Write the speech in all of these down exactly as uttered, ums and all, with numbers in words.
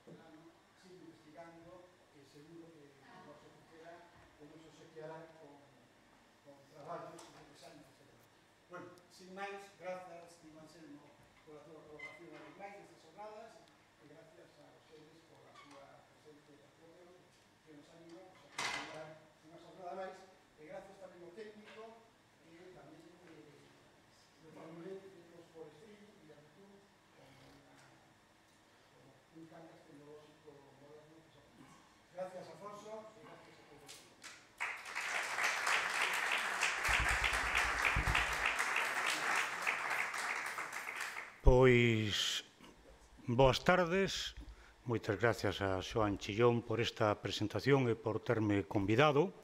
sigue investigando e seguro que o noso Cera o noso se quedará con, con traballos interesantes. Bueno, sin máis, grazas, Tim Anselmo, pola túa colaboración en máis destas jornadas e gracias a vocês pola túa presencia e apoio que nos animan a continuar unha jornada máis e gracias tamén ao técnico e tamén do Manuel dos Forestrillos e a tú con un Cangas tecnológico moderno. Gracias, Afonso, e gracias a todos. Pois, boas tardes, moitas gracias a Xoán Chillón por esta presentación e por terme convidado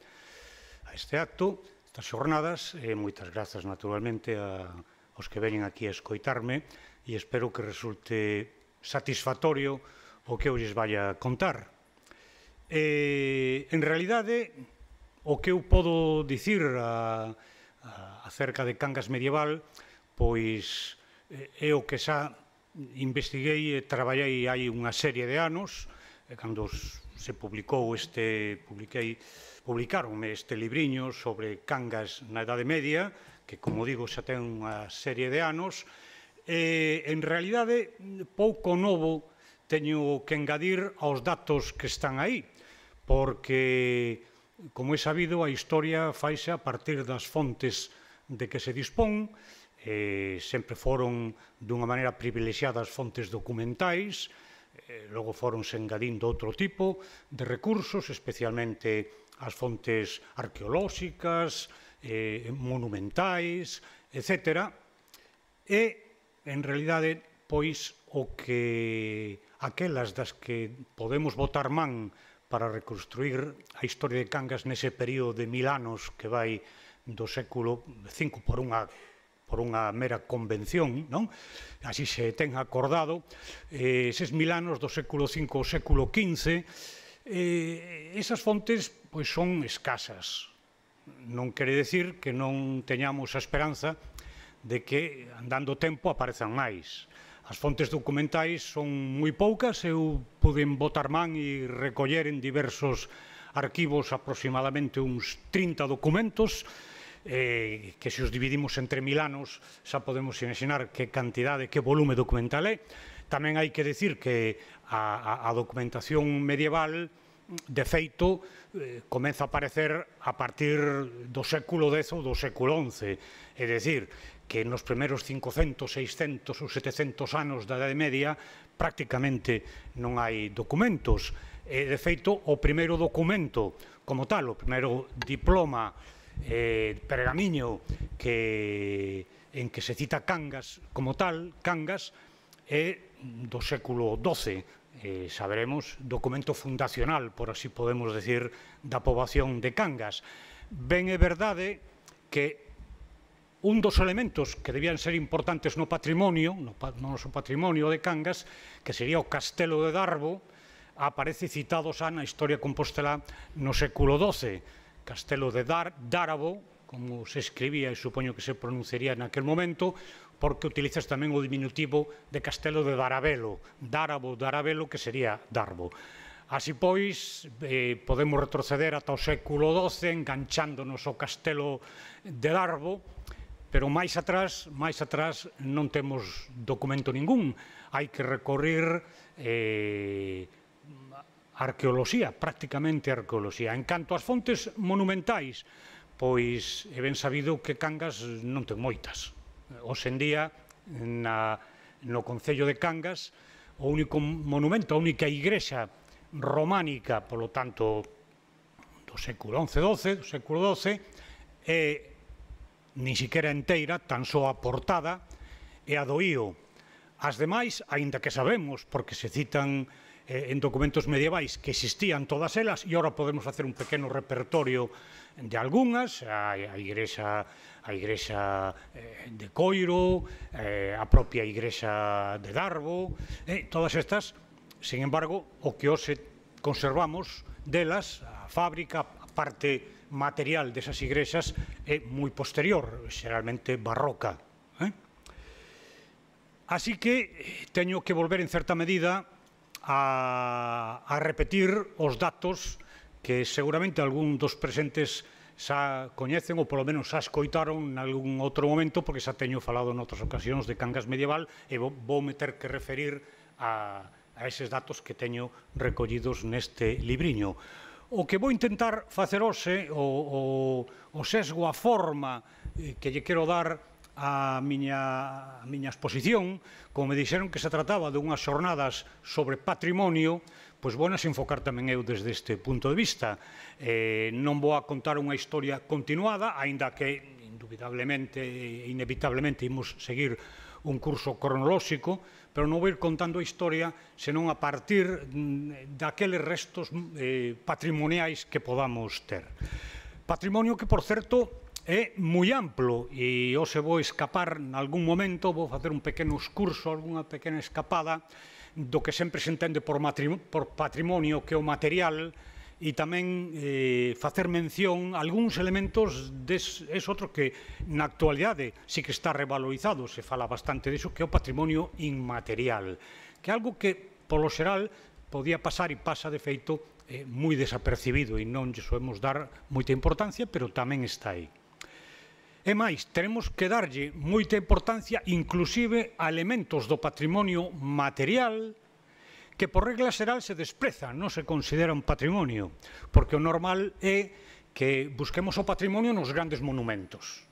a este acto, estas xornadas, e moitas grazas naturalmente a, aos que veñen aquí a escoitarme e espero que resulte satisfactorio o que eu lles vaya a contar. E, en realidade, o que eu podo dicir a, a, acerca de Cangas medieval, pois é o que xa investiguei e traballei hai unha serie de anos, cando se publicou este, publiquei, publicaronme este libriño sobre Cangas na Edade Media, que, como digo, xa ten unha serie de anos, e, en realidade, pouco novo teño que engadir aos datos que están aí, porque, como é sabido, a historia faise a partir das fontes de que se dispón, Eh, sempre foron dunha maneira privilexiada as fontes documentais, eh, logo foronse engadindo outro tipo de recursos, especialmente as fontes arqueolóxicas, eh, monumentais, etcétera. E, en realidade, pois, o que aquelas das que podemos botar man para reconstruir a historia de Cangas nese período de mil anos que vai do século cinco por unha por unha mera convención, non? Así se ten acordado, eh, eses mil anos do século cinco ao século quince, eh, esas fontes pois son escasas. Non quere decir que non teñamos a esperanza de que, andando tempo, aparezan máis. As fontes documentais son moi poucas, eu puden botar man e recoller en diversos arquivos aproximadamente uns trinta documentos, Eh, que se os dividimos entre mil anos xa podemos imaginar que cantidade, que volume documental é. Tamén hai que decir que a, a, a documentación medieval, de feito, eh, comeza a aparecer a partir do século dez ou do século once, é dicir, que nos primeiros cincocentos, seiscentos ou setecentos anos da Edade Media prácticamente non hai documentos. E, de feito, o primeiro documento como tal, o primeiro diploma Eh, pergamiño que, en que se cita Cangas como tal, Cangas, é do século doce, eh, saberemos, documento fundacional, por así podemos decir, da poboación de Cangas. Ben é verdade que un dos elementos que debían ser importantes no patrimonio, no, no noso patrimonio de Cangas, que sería o Castelo de Darbo, aparece citado xa na historia compostelá no século doce, Castelo de Dar, Dárabo, como se escribía e supoño que se pronunciaría naquel momento, porque utilizas tamén o diminutivo de Castelo de Darabelo, Dárabo, Darabelo, que sería Darbo. Así pois, eh, podemos retroceder ata o século doce, enganchándonos ao Castelo de Darbo, pero máis atrás, máis atrás non temos documento ningún. Hai que recorrer eh, arqueoloxía, prácticamente arqueoloxía. En canto ás fontes monumentais, pois é ben sabido que Cangas non ten moitas. Hoxe en día, na, no concello de Cangas, o único monumento, a única igrexa románica, polo tanto, do século once doce, do século doce, é nin siquiera enteira, tan só a portada, e a do Ío. As demais, aínda que sabemos, porque se citan en documentos medievais que existían todas elas, e agora podemos facer un pequeno repertorio de algunhas, a, a igrexa, a igrexa eh, de Coiro, eh, a propia igrexa de Darbo, eh, todas estas, sin embargo, o que hoxe conservamos delas, a fábrica, a parte material desas igrexas, é moi posterior, xeralmente barroca. Eh? Así que teño que volver en certa medida a, a repetir os datos que seguramente algún dos presentes xa coñecen ou polo menos xa escoitaron en algún outro momento, porque xa teño falado en outras ocasións de Cangas medieval e vou, vou meter que referir a, a eses datos que teño recollidos neste libriño. O que vou intentar facer hoxe, o, o, o sesgo, a forma eh, que lle quero dar a miña, a miña exposición, como me dixeron que se trataba de unhas xornadas sobre patrimonio, pois vou nas enfocar tamén eu desde este punto de vista. Eh, non vou a contar unha historia continuada, aínda que indubidablemente e inevitablemente imos seguir un curso cronolóxico, pero non vou ir contando a historia senón a partir daqueles restos eh, patrimoniais que podamos ter. Patrimonio que, por certo, é moi amplo e hoxe vou escapar en algún momento, vou facer un pequeno excurso, algunha pequena escapada do que sempre se entende por patrimonio, que é o material, e tamén eh, facer mención a algúns elementos des, es outro que na actualidade sí que está revalorizado, se fala bastante diso, que é o patrimonio inmaterial, que é algo que, polo xeral, podía pasar e pasa de feito eh, moi desapercibido e non lle soemos dar moita importancia, pero tamén está aí. E máis, teremos que darlle moita importancia inclusive a elementos do patrimonio material que por regla xeral se desprezan, non se considera un patrimonio, porque o normal é que busquemos o patrimonio nos grandes monumentos.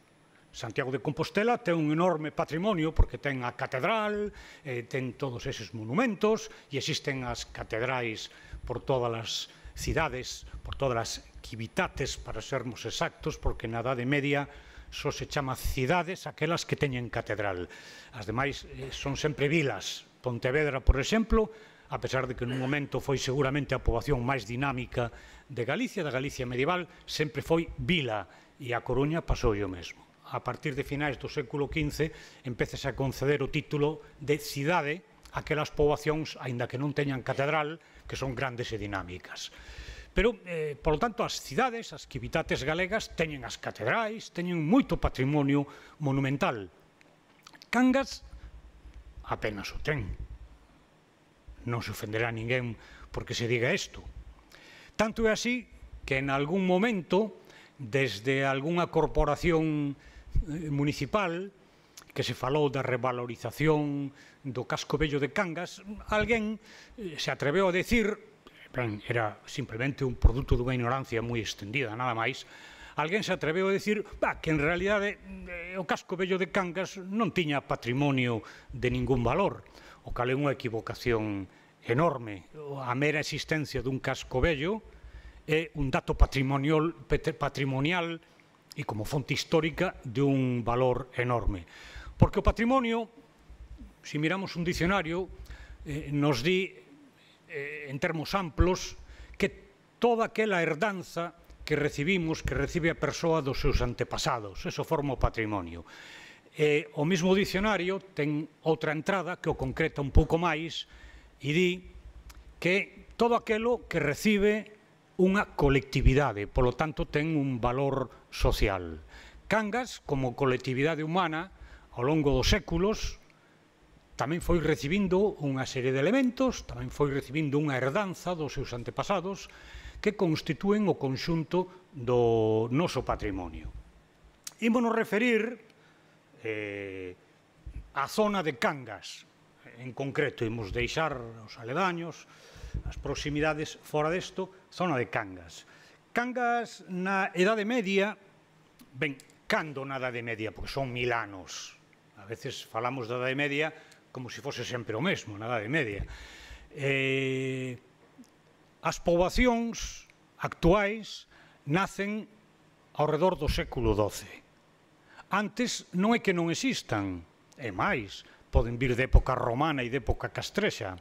Santiago de Compostela ten un enorme patrimonio porque ten a catedral, eh, ten todos eses monumentos e existen as catedrais por todas as cidades, por todas as civitates, para sermos exactos, porque na Idade Media só se chama cidades aquelas que teñen catedral. As demais eh, son sempre vilas. Pontevedra, por exemplo, a pesar de que nun momento foi seguramente a poboación máis dinámica de Galicia, da Galicia medieval, sempre foi vila, e a Coruña pasou o mesmo. A partir de finais do século quince empezase a conceder o título de cidade aquelas poboacións, aínda que non teñan catedral, que son grandes e dinámicas. Pero, eh, por lo tanto, as cidades, as civitates galegas, teñen as catedrais, teñen moito patrimonio monumental. Cangas apenas o ten. Non se ofenderá ninguén porque se diga isto. Tanto é así que en algún momento, desde algunha corporación municipal, que se falou da revalorización do casco vello de Cangas, alguén se atreveu a decir, ben, era simplemente un produto dunha ignorancia moi extendida, nada máis, alguén se atreveu a decir bah, que en realidade o casco vello de Cangas non tiña patrimonio de ningún valor, o cal é unha equivocación enorme. A mera existencia dun casco vello é un dato patrimonial, patrimonial e como fonte histórica de un valor enorme. Porque o patrimonio, se miramos un dicionario, eh, nos di en termos amplos, que toda aquela herdanza que recibimos, que recibe a persoa dos seus antepasados, eso forma o patrimonio. E o mesmo dicionario ten outra entrada que o concreta un pouco máis e di que todo aquelo que recibe unha colectividade, polo tanto ten un valor social. Cangas, como colectividade humana, ao longo dos séculos, tamén foi recibindo unha serie de elementos, tamén foi recibindo unha herdanza dos seus antepasados que constitúen o conxunto do noso patrimonio. Ímonos referir eh, á zona de Cangas, en concreto, imos deixar os aledaños, as proximidades fora desto, zona de Cangas. Cangas na Idade Media, ben, cando na Idade Media, porque son mil anos, a veces falamos da Idade Media como se fose sempre o mesmo, na Idade Media. Eh, as poboacións actuais nacen ao redor do século doce. Antes non é que non existan, é máis, poden vir de época romana e de época castrexa,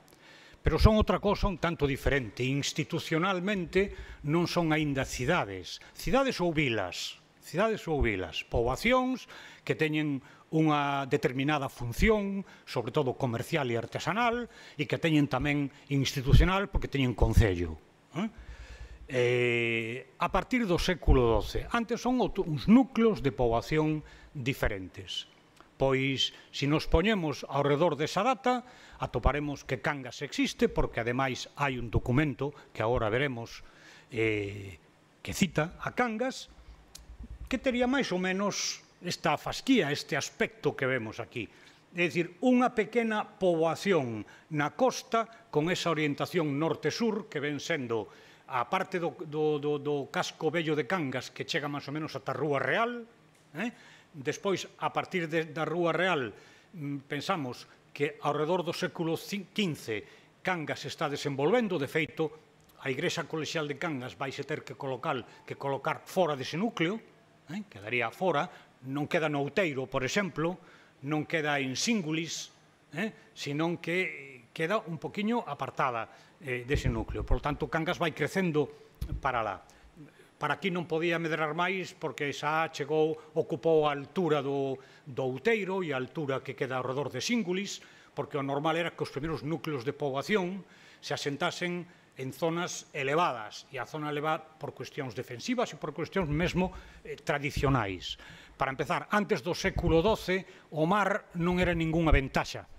pero son outra cosa un tanto diferente. Institucionalmente non son aínda cidades, cidades ou vilas, cidades ou vilas, poboacións que teñen unha determinada función, sobre todo comercial e artesanal, e que teñen tamén institucional porque teñen concello. A partir do século doce, antes son uns núcleos de poboación diferentes. Pois, se nos poñemos ao redor desa data, atoparemos que Cangas existe, porque ademais hai un documento que agora veremos eh, que cita a Cangas, que tería máis ou menos esta fasquía, este aspecto que vemos aquí. É dicir, unha pequena poboación na costa con esa orientación norte-sur que ven sendo a parte do, do, do, do casco vello de Cangas que chega máis ou menos ata a Rúa Real, eh? Despois, a partir de, da Rúa Real, pensamos que ao redor do século quince Cangas está desenvolvendo. De feito, a Igrexa Colexial de Cangas vaise ter que colocar, que colocar fora dese núcleo, eh? Quedaría fora, non queda no Outeiro, por exemplo, non queda en Síngulis, eh? Senón que queda un poquinho apartada eh, dese núcleo. Por tanto, Cangas vai crecendo para lá. Para aquí non podía medrar máis porque xa chegou, ocupou a altura do, do Outeiro e a altura que queda ao redor de Síngulis, porque o normal era que os primeiros núcleos de poboación se asentasen en zonas elevadas, e a zona elevada por cuestións defensivas e por cuestións mesmo eh, tradicionais. Para empezar, antes do século doce, o mar non era ningunha ventaxa,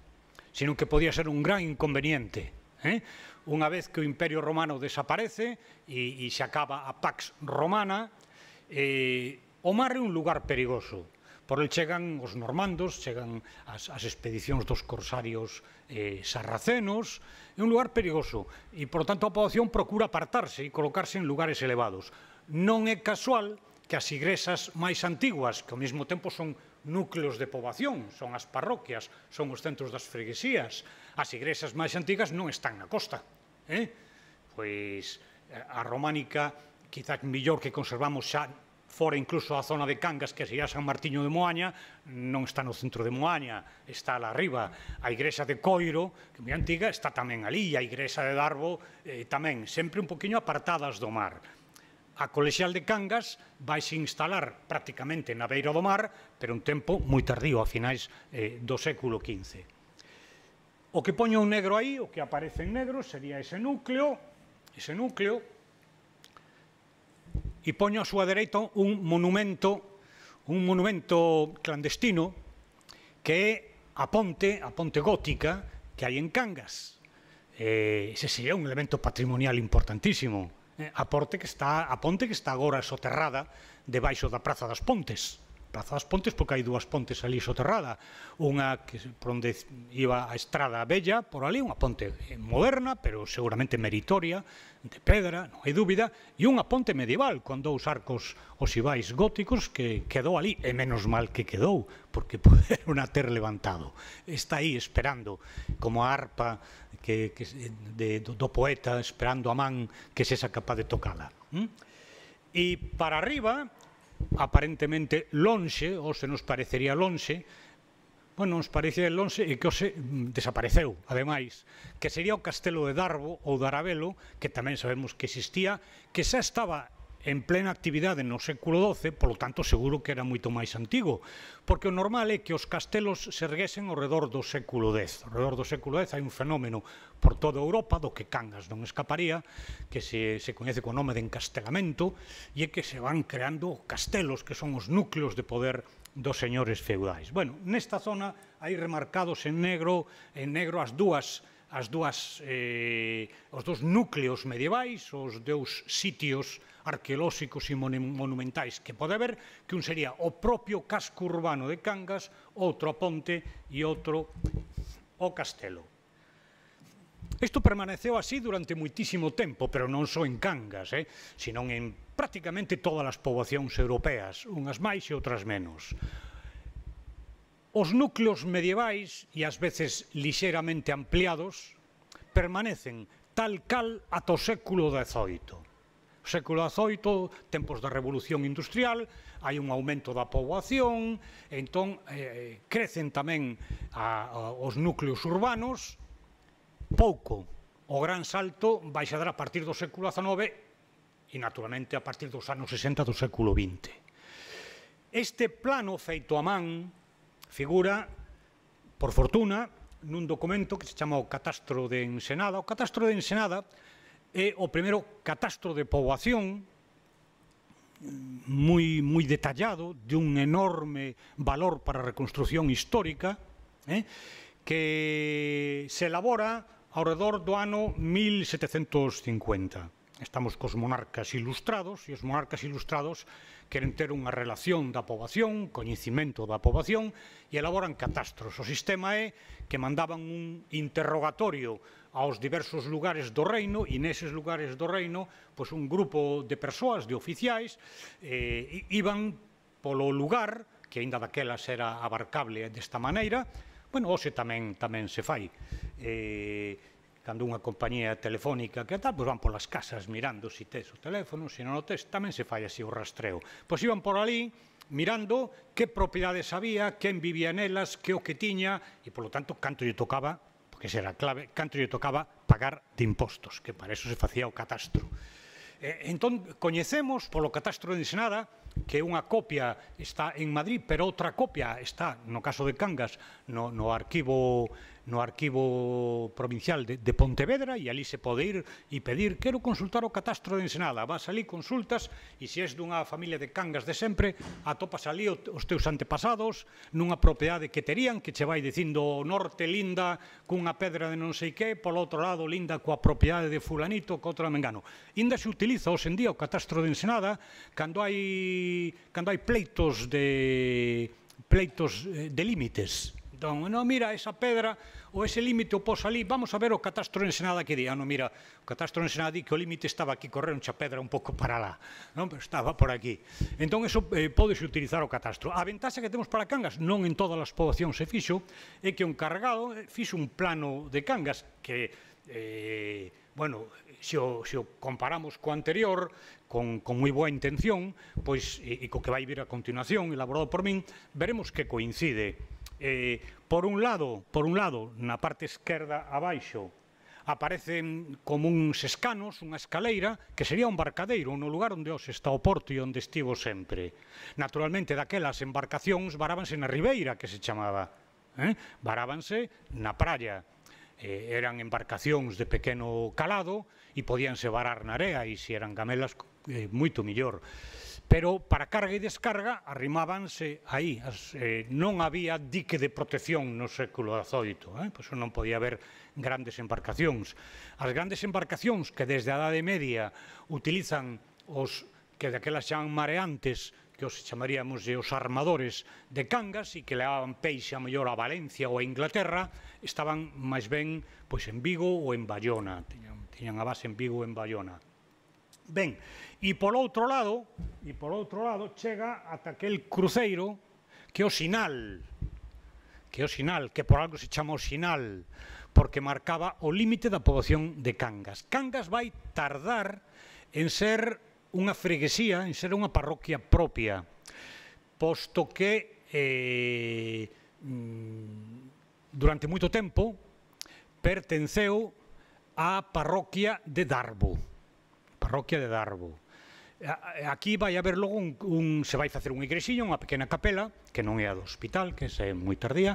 senón que podía ser un gran inconveniente. Eh? Unha vez que o Imperio Romano desaparece e, e se acaba a Pax Romana, eh, o mar é un lugar perigoso. Por el chegan os normandos, chegan as, as expedicións dos corsarios eh, sarracenos, é un lugar perigoso e, por tanto, a poboación procura apartarse e colocarse en lugares elevados. Non é casual que as igrexas máis antiguas, que ao mesmo tempo son núcleos de poboación, son as parroquias, son os centros das freguesías, as igrexas máis antigas non están na costa. Eh? Pois a románica, quizás millor que conservamos xa fora incluso a zona de Cangas, que sería San Martiño de Moaña, non está no centro de Moaña, está lá arriba. A igrexa de Coiro, que é moi antiga, está tamén ali, a igrexa de Darbo eh, tamén, sempre un poquinho apartadas do mar. A colexial de Cangas vaise instalar prácticamente na beira do mar, pero un tempo moi tardío, a finais eh, do século quince. O que poño un negro aí, o que aparece en negro, sería ese núcleo, ese núcleo, e poño a súa dereita un monumento, un monumento clandestino, que é a ponte, a ponte gótica que hai en Cangas. Eh, ese sería un elemento patrimonial importantísimo. Eh, a, ponte que está, a ponte que está agora soterrada debaixo da Praza das Pontes. Praza das Pontes porque hai dúas pontes ali soterrada, unha que por onde iba a Estrada Bella, por ali, unha ponte moderna, pero seguramente meritoria, de pedra, non hai dúbida, e unha ponte medieval, con dous arcos oxivais góticos que quedou ali, e menos mal que quedou, porque poderon a ter levantado. Está aí esperando, como a arpa que, que, de, do, do poeta, esperando a man que sexa capaz de tocala. ¿Mm? E para arriba, aparentemente lonxe, ou se nos parecería lonxe, bueno, nos parecía lonxe e que hoxe desapareceu, ademais, que sería o castelo de Darbo ou de Arabelo, que tamén sabemos que existía, que xa estaba en plena actividade no século doce, polo tanto, seguro que era moito máis antigo, porque o normal é que os castelos se erguesen ao redor do século dez. Ao redor do século dez hai un fenómeno por toda Europa, do que Cangas non escaparía, que se, se coñece co nome de encastelamento, e é que se van creando castelos, que son os núcleos de poder dos señores feudais. Bueno, nesta zona hai remarcados en negro, en negro as dúas as dúas, eh, os dos núcleos medievais, os dous sitios arqueolóxicos e monumentais que pode haber, que un sería o propio casco urbano de Cangas, outro a ponte e outro o castelo. Isto permaneceu así durante moitísimo tempo, pero non só en Cangas, eh, senón en prácticamente todas as poboacións europeas, unhas máis e outras menos. Os núcleos medievais, e ás veces lixeiramente ampliados, permanecen tal cal ata o século dezoito. O século dezoito, tempos da Revolución Industrial, hai un aumento da poboación, entón eh, crecen tamén a, a, os núcleos urbanos, pouco. O gran salto vai se dar a partir do século dezanove e, naturalmente, a partir dos anos sesenta do século vinte. Este plano feito a man figura, por fortuna, nun documento que se chama o Catastro de Ensenada. O Catastro de Ensenada é o primeiro catastro de poboación moi, moi detallado, de un enorme valor para a reconstrucción histórica, eh, que se elabora ao redor do ano mil setecentos cincuenta. Estamos cos monarcas ilustrados, e os monarcas ilustrados queren ter unha relación da poboación, coñecimento da poboación, e elaboran catastros. O sistema é que mandaban un interrogatorio aos diversos lugares do reino, e neses lugares do reino, pois un grupo de persoas, de oficiais, eh, iban polo lugar, que aínda daquelas era abarcable desta maneira. Bueno, hoxe tamén tamén se fai. Eh, cando unha compañía telefónica que tal, pois van polas casas mirando se tes o teléfono, se non o tes, tamén se fai así o rastreo. Pois iban por ali mirando que propiedades había, quen vivía nelas, que o que tiña, e polo tanto, canto lle tocaba, porque esa era a clave, canto lle tocaba pagar de impostos, que para eso se facía o catastro. Eh, entón, coñecemos polo catastro de Ensenada que unha copia está en Madrid, pero outra copia está, no caso de Cangas, no, no arquivo no arquivo provincial de, de Pontevedra, e ali se pode ir e pedir, quero consultar o catastro de Ensenada, vas ali, consultas, e se és dunha familia de Cangas de sempre, atopas ali os teus antepasados nunha propiedade que terían, que che vai dicindo o norte linda cunha pedra de non sei que, polo outro lado linda coa propiedade de fulanito, co outro mengano. Inda se utiliza hoxe en día o catastro de Ensenada cando hai cando hai pleitos de pleitos de límites. Entón, non, mira, esa pedra ou ese límite o pos ali, vamos a ver o catastro de Ensenada que di. Ah, non, mira, o catastro de Ensenada di que o límite estaba aquí, correron xa pedra un pouco para lá, non? Pero estaba por aquí. Entón, eso eh, pódese utilizar o catastro. A ventaxa que temos para Cangas, non en todas as poboacións se fixo, é que o encargado fixo un plano de Cangas que, eh, bueno, se o, se o comparamos co anterior, con, con moi boa intención, pois, e, e co que vai vir a continuación, elaborado por min, veremos que coincide. Eh, por un lado, por un lado, na parte esquerda abaixo, aparecen como uns escanos, unha escaleira, que sería un barcadeiro, no lugar onde hoxe está o porto e onde estivo sempre. Naturalmente, daquelas embarcacións varábanse na ribeira, que se chamaba. Eh? Varábanse na praia. Eh, eran embarcacións de pequeno calado e podíanse varar na area, e se eran gamelas, eh, moito millor. Pero para carga e descarga arrimábanse aí. As, eh, non había dique de protección no século dezoito, eh? Pois non podía haber grandes embarcacións. As grandes embarcacións que desde a Idade Media utilizan os que daquelas chaman mareantes, que os chamaríamos os armadores de Cangas, e que levaban peixe a mellor a Valencia ou a Inglaterra, estaban máis ben pois en Vigo ou en Bayona. Tiñan, tiñan a base en Vigo ou en Bayona. Ben, e por outro lado, e por outro lado chega ata aquel cruceiro que é o Sinal, que é o Sinal, que por algo se chama o Sinal, porque marcaba o límite da poboación de Cangas. Cangas vai tardar en ser unha freguesía, en ser unha parroquia propia, posto que eh, durante moito tempo pertenceu á parroquia de Darbo. Parroquia de Darbo. Aquí vai haber logo un, un se vai facer unha igrexiña, unha pequena capela, que non é a do hospital, que é moi tardía,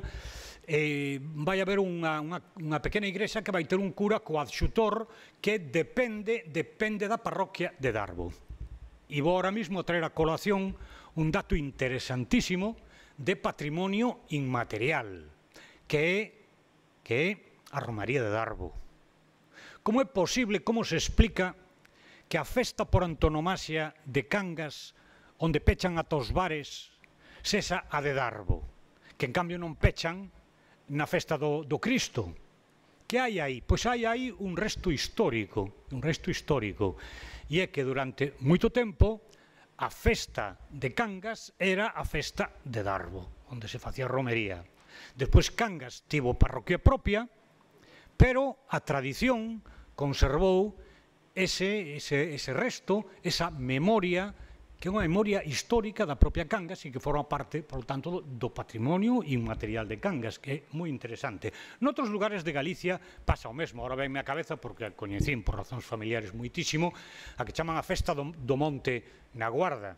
e vai haber unha, unha, unha pequena igrexa que vai ter un cura coadxutor que depende, depende da parroquia de Darbo. E vou ahora mismo a traer a colación un dato interesantísimo de patrimonio inmaterial, que é, que é a Romaría de Darbo. Como é posible, como se explica que a festa por antonomasia de Cangas, onde pechan ata os bares, sexa a de Darbo, que en cambio non pechan na festa do, do Cristo? Que hai aí? Pois hai aí un resto histórico, un resto histórico, e é que durante moito tempo a festa de Cangas era a festa de Darbo, onde se facía romería. Despois Cangas tivo parroquia propia, pero a tradición conservou ese, ese, ese resto, esa memoria, que é unha memoria histórica da propia Cangas e que forma parte, por tanto, do patrimonio inmaterial de Cangas, que é moi interesante. Noutros lugares de Galicia pasa o mesmo, ahora venme a cabeza, porque a coñecín por razóns familiares moitísimo, a que chaman a festa do, do Monte na Guarda,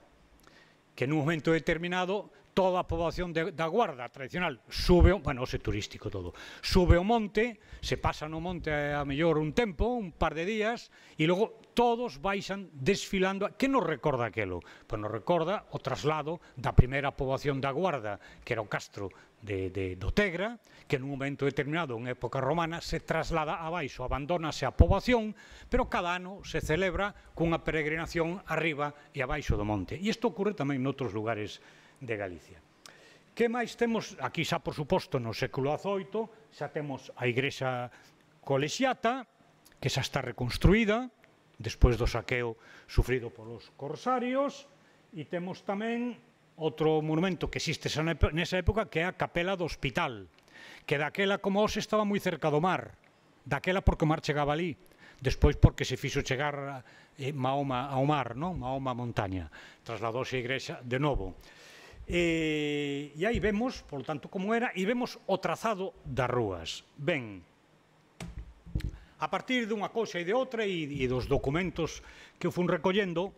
que nun momento determinado toda a poboación de, da Guarda tradicional sube, bueno, ose turístico todo, sube o monte, se pasa no monte a, a mellor un tempo, un par de días, e logo todos baixan desfilando. Que nos recorda aquelo? Pois nos recorda o traslado da primeira poboación da Guarda, que era o castro de, de, do Tegra, que nun momento determinado, en época romana, se traslada abaixo, abandónase a poboación, pero cada ano se celebra cunha peregrinación arriba e abaixo do monte. E isto ocurre tamén noutros lugares de Galicia. Que máis temos? Aquí xa, por suposto, no século dezoito, xa temos a igrexa colexiata, que xa está reconstruída, despois do saqueo sufrido polos corsarios, e temos tamén outro monumento que existe nesa época, que é a capela do hospital, que daquela, como hoxe, estaba moi cerca do mar, daquela porque o mar chegaba ali, despois porque se fixo chegar eh, Mahoma ao mar, non? Mahoma a montaña, trasladouse a igrexa de novo. E, e aí vemos, por tanto, como era, e vemos o trazado das rúas. Ben, a partir dunha cousa e de outra e, e dos documentos que eu fun recollendo,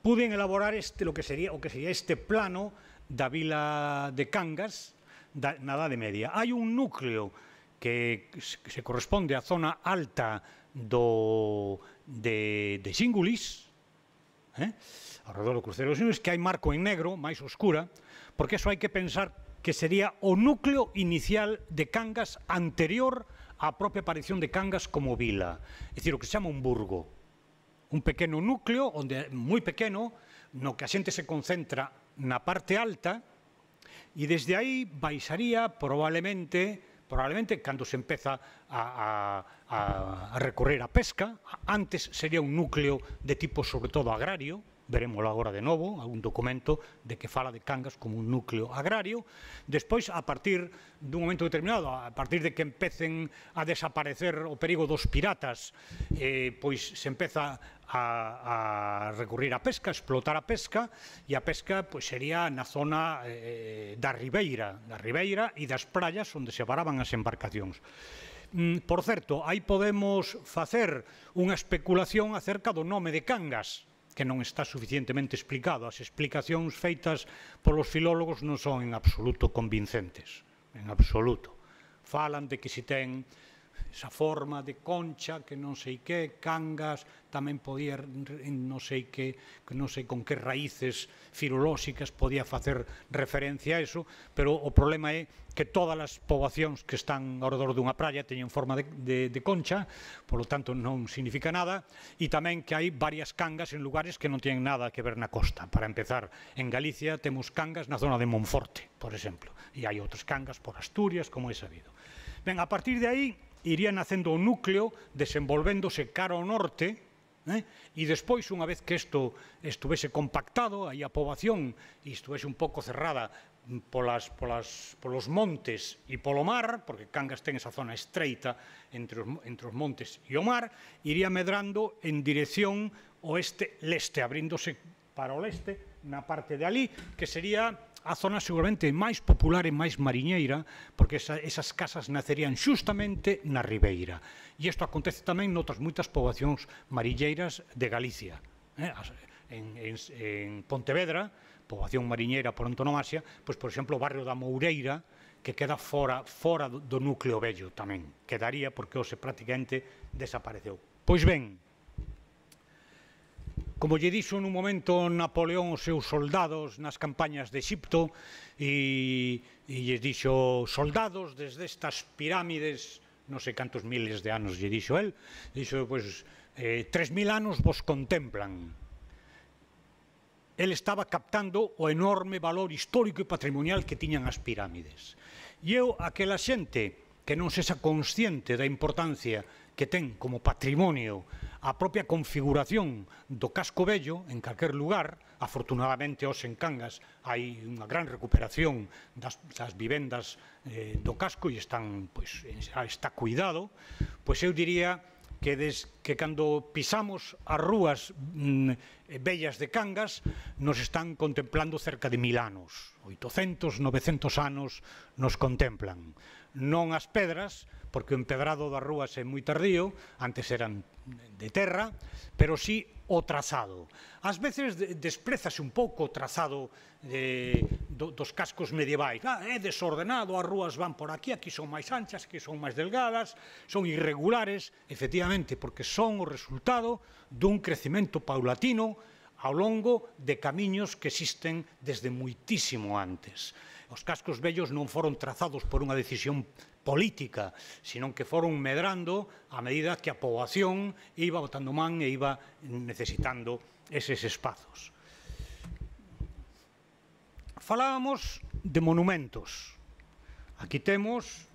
puden elaborar este, lo que sería, o que sería este plano da vila de Cangas da, na Idade Media. Hai un núcleo que se corresponde á zona alta do, de, de Xíngulis, eh? ao redor do cruceiro dos Xíngulis, que hai marco en negro, máis oscura, porque eso hai que pensar que sería o núcleo inicial de Cangas anterior á propia aparición de Cangas como vila. É dicir, o que se chama un burgo. Un pequeno núcleo, onde moi pequeno, no que a xente se concentra na parte alta, e desde aí baixaría probablemente, probablemente cando se empeza a, a, a recorrer a pesca. Antes sería un núcleo de tipo sobre todo agrario, veremoslo agora de novo, algún documento de que fala de Cangas como un núcleo agrario. Despois, a partir dun momento determinado, a partir de que empecen a desaparecer o perigo dos piratas, eh, pois se empeza a, a recurrir a pesca, a explotar a pesca, e a pesca pois, sería na zona eh, da Ribeira, da Ribeira e das praias onde se varaban as embarcacións. Mm, por certo, aí podemos facer unha especulación acerca do nome de Cangas, que non está suficientemente explicado. As explicacións feitas polos filólogos non son en absoluto convincentes, en absoluto. Falan de que se ten esa forma de concha, que non sei que, Cangas, tamén podía, non sei que, non sei con que raíces filolóxicas podía facer referencia a eso, pero o problema é que todas as poboacións que están ao redor dunha praia teñen forma de, de, de concha, polo tanto non significa nada, e tamén que hai varias cangas en lugares que non teñen nada que ver na costa. Para empezar, en Galicia temos cangas na zona de Monforte, por exemplo, e hai outras cangas por Asturias, como é sabido. Ben, a partir de aí, iría nacendo o núcleo, desenvolvéndose cara ao norte, eh? E despois, unha vez que isto estuvese compactado, aí a poboación e estuvese un pouco cerrada polas, polas, polos montes e polo mar, porque Cangas ten esa zona estreita entre os, entre os montes e o mar, iría medrando en dirección oeste-leste, abríndose para o leste, na parte de ali, que sería a zona seguramente máis popular e máis mariñeira, porque esa, esas casas nacerían xustamente na Ribeira. E isto acontece tamén noutras moitas poboacións mariñeiras de Galicia. Eh? En, en, en Pontevedra, poboación mariñeira por antonomasia, pois, por exemplo, o barrio da Moureira, que queda fora, fora do, do núcleo vello tamén. Quedaría porque hoxe prácticamente desapareceu. Pois ben, como lle dixo nun momento Napoleón aos seus soldados nas campañas de Exipto, e, e lle dixo soldados desde estas pirámides, non sei cantos miles de anos lle dixo el, dixo, pois, eh, tres mil anos vos contemplan. El estaba captando o enorme valor histórico e patrimonial que tiñan as pirámides. E eu, aquela xente que non sexa consciente da importancia que ten como patrimonio a propia configuración do casco vello en calquer lugar, afortunadamente hoxe en Cangas hai unha gran recuperación das, das vivendas eh, do casco e están, pois, está cuidado, pois eu diría que, des, que cando pisamos as rúas mm, bellas de Cangas nos están contemplando cerca de mil anos, oitocentos, novecentos anos nos contemplan. non as pedras, porque o empedrado das rúas é moi tardío, antes eran de terra, pero sí o trazado. Ás veces desprézase un pouco o trazado eh, do, dos cascos medievais. Ah, é desordenado, as rúas van por aquí, aquí son máis anchas, aquí son máis delgadas, son irregulares, efectivamente, porque son o resultado dun crecemento paulatino ao longo de camiños que existen desde moitísimo antes. Os cascos vellos non foron trazados por unha decisión política, sino que foron medrando a medida que a poboación iba botando man e iba necesitando eses espazos. Falábamos de monumentos. Aquí temos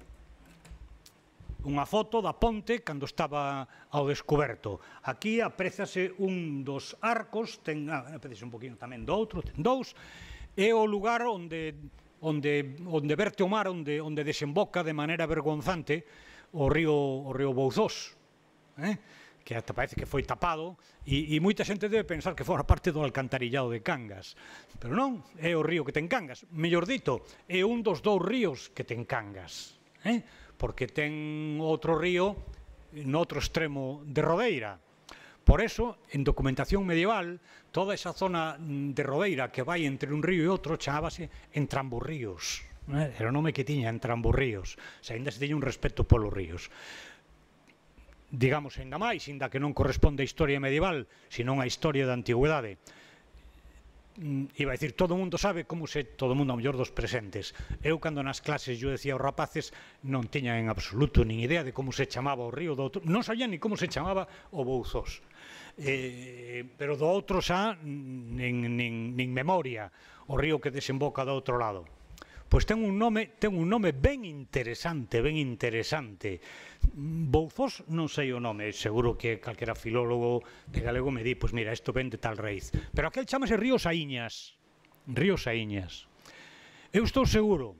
unha foto da ponte cando estaba ao descoberto. Aquí apréciase un dos arcos, ten, ah, apréciase un poquinho tamén do outro, ten dous, é o lugar onde onde, onde verte o mar, onde, onde desemboca de maneira vergonzante o río, o río Bouzós, eh? que ata parece que foi tapado, e, e moita xente debe pensar que fora parte do alcantarillado de Cangas, pero non, é o río que ten Cangas. Mellor dito, é un dos dous ríos que ten Cangas, eh? porque ten outro río no outro extremo de Rodeira. Por eso, en documentación medieval, toda esa zona de Rodeira que vai entre un río e outro chamábase Entramburríos. Era o nome que tiña, Entramburríos. Se ainda se tiña un respeto polos ríos. Digamos, ainda máis, ainda que non corresponde á historia medieval, senón á historia da antigüedade. Iba a dicir, todo o mundo sabe como se, todo o mundo ao mellor dos presentes. Eu, cando nas clases yo decía aos rapaces, non tiña en absoluto nin idea de como se chamaba o río do outro, non sabía ni como se chamaba o Bouzós. Eh, pero do outro xa, nin, nin, nin memoria, o río que desemboca do outro lado. Pois ten un nome, ten un nome ben interesante, ben interesante. Bouzós non sei o nome, seguro que calquera filólogo de galego me di, pois mira, isto ven de tal raíz. Pero aquel chamase Río Saíñas. Río Saíñas. Eu estou seguro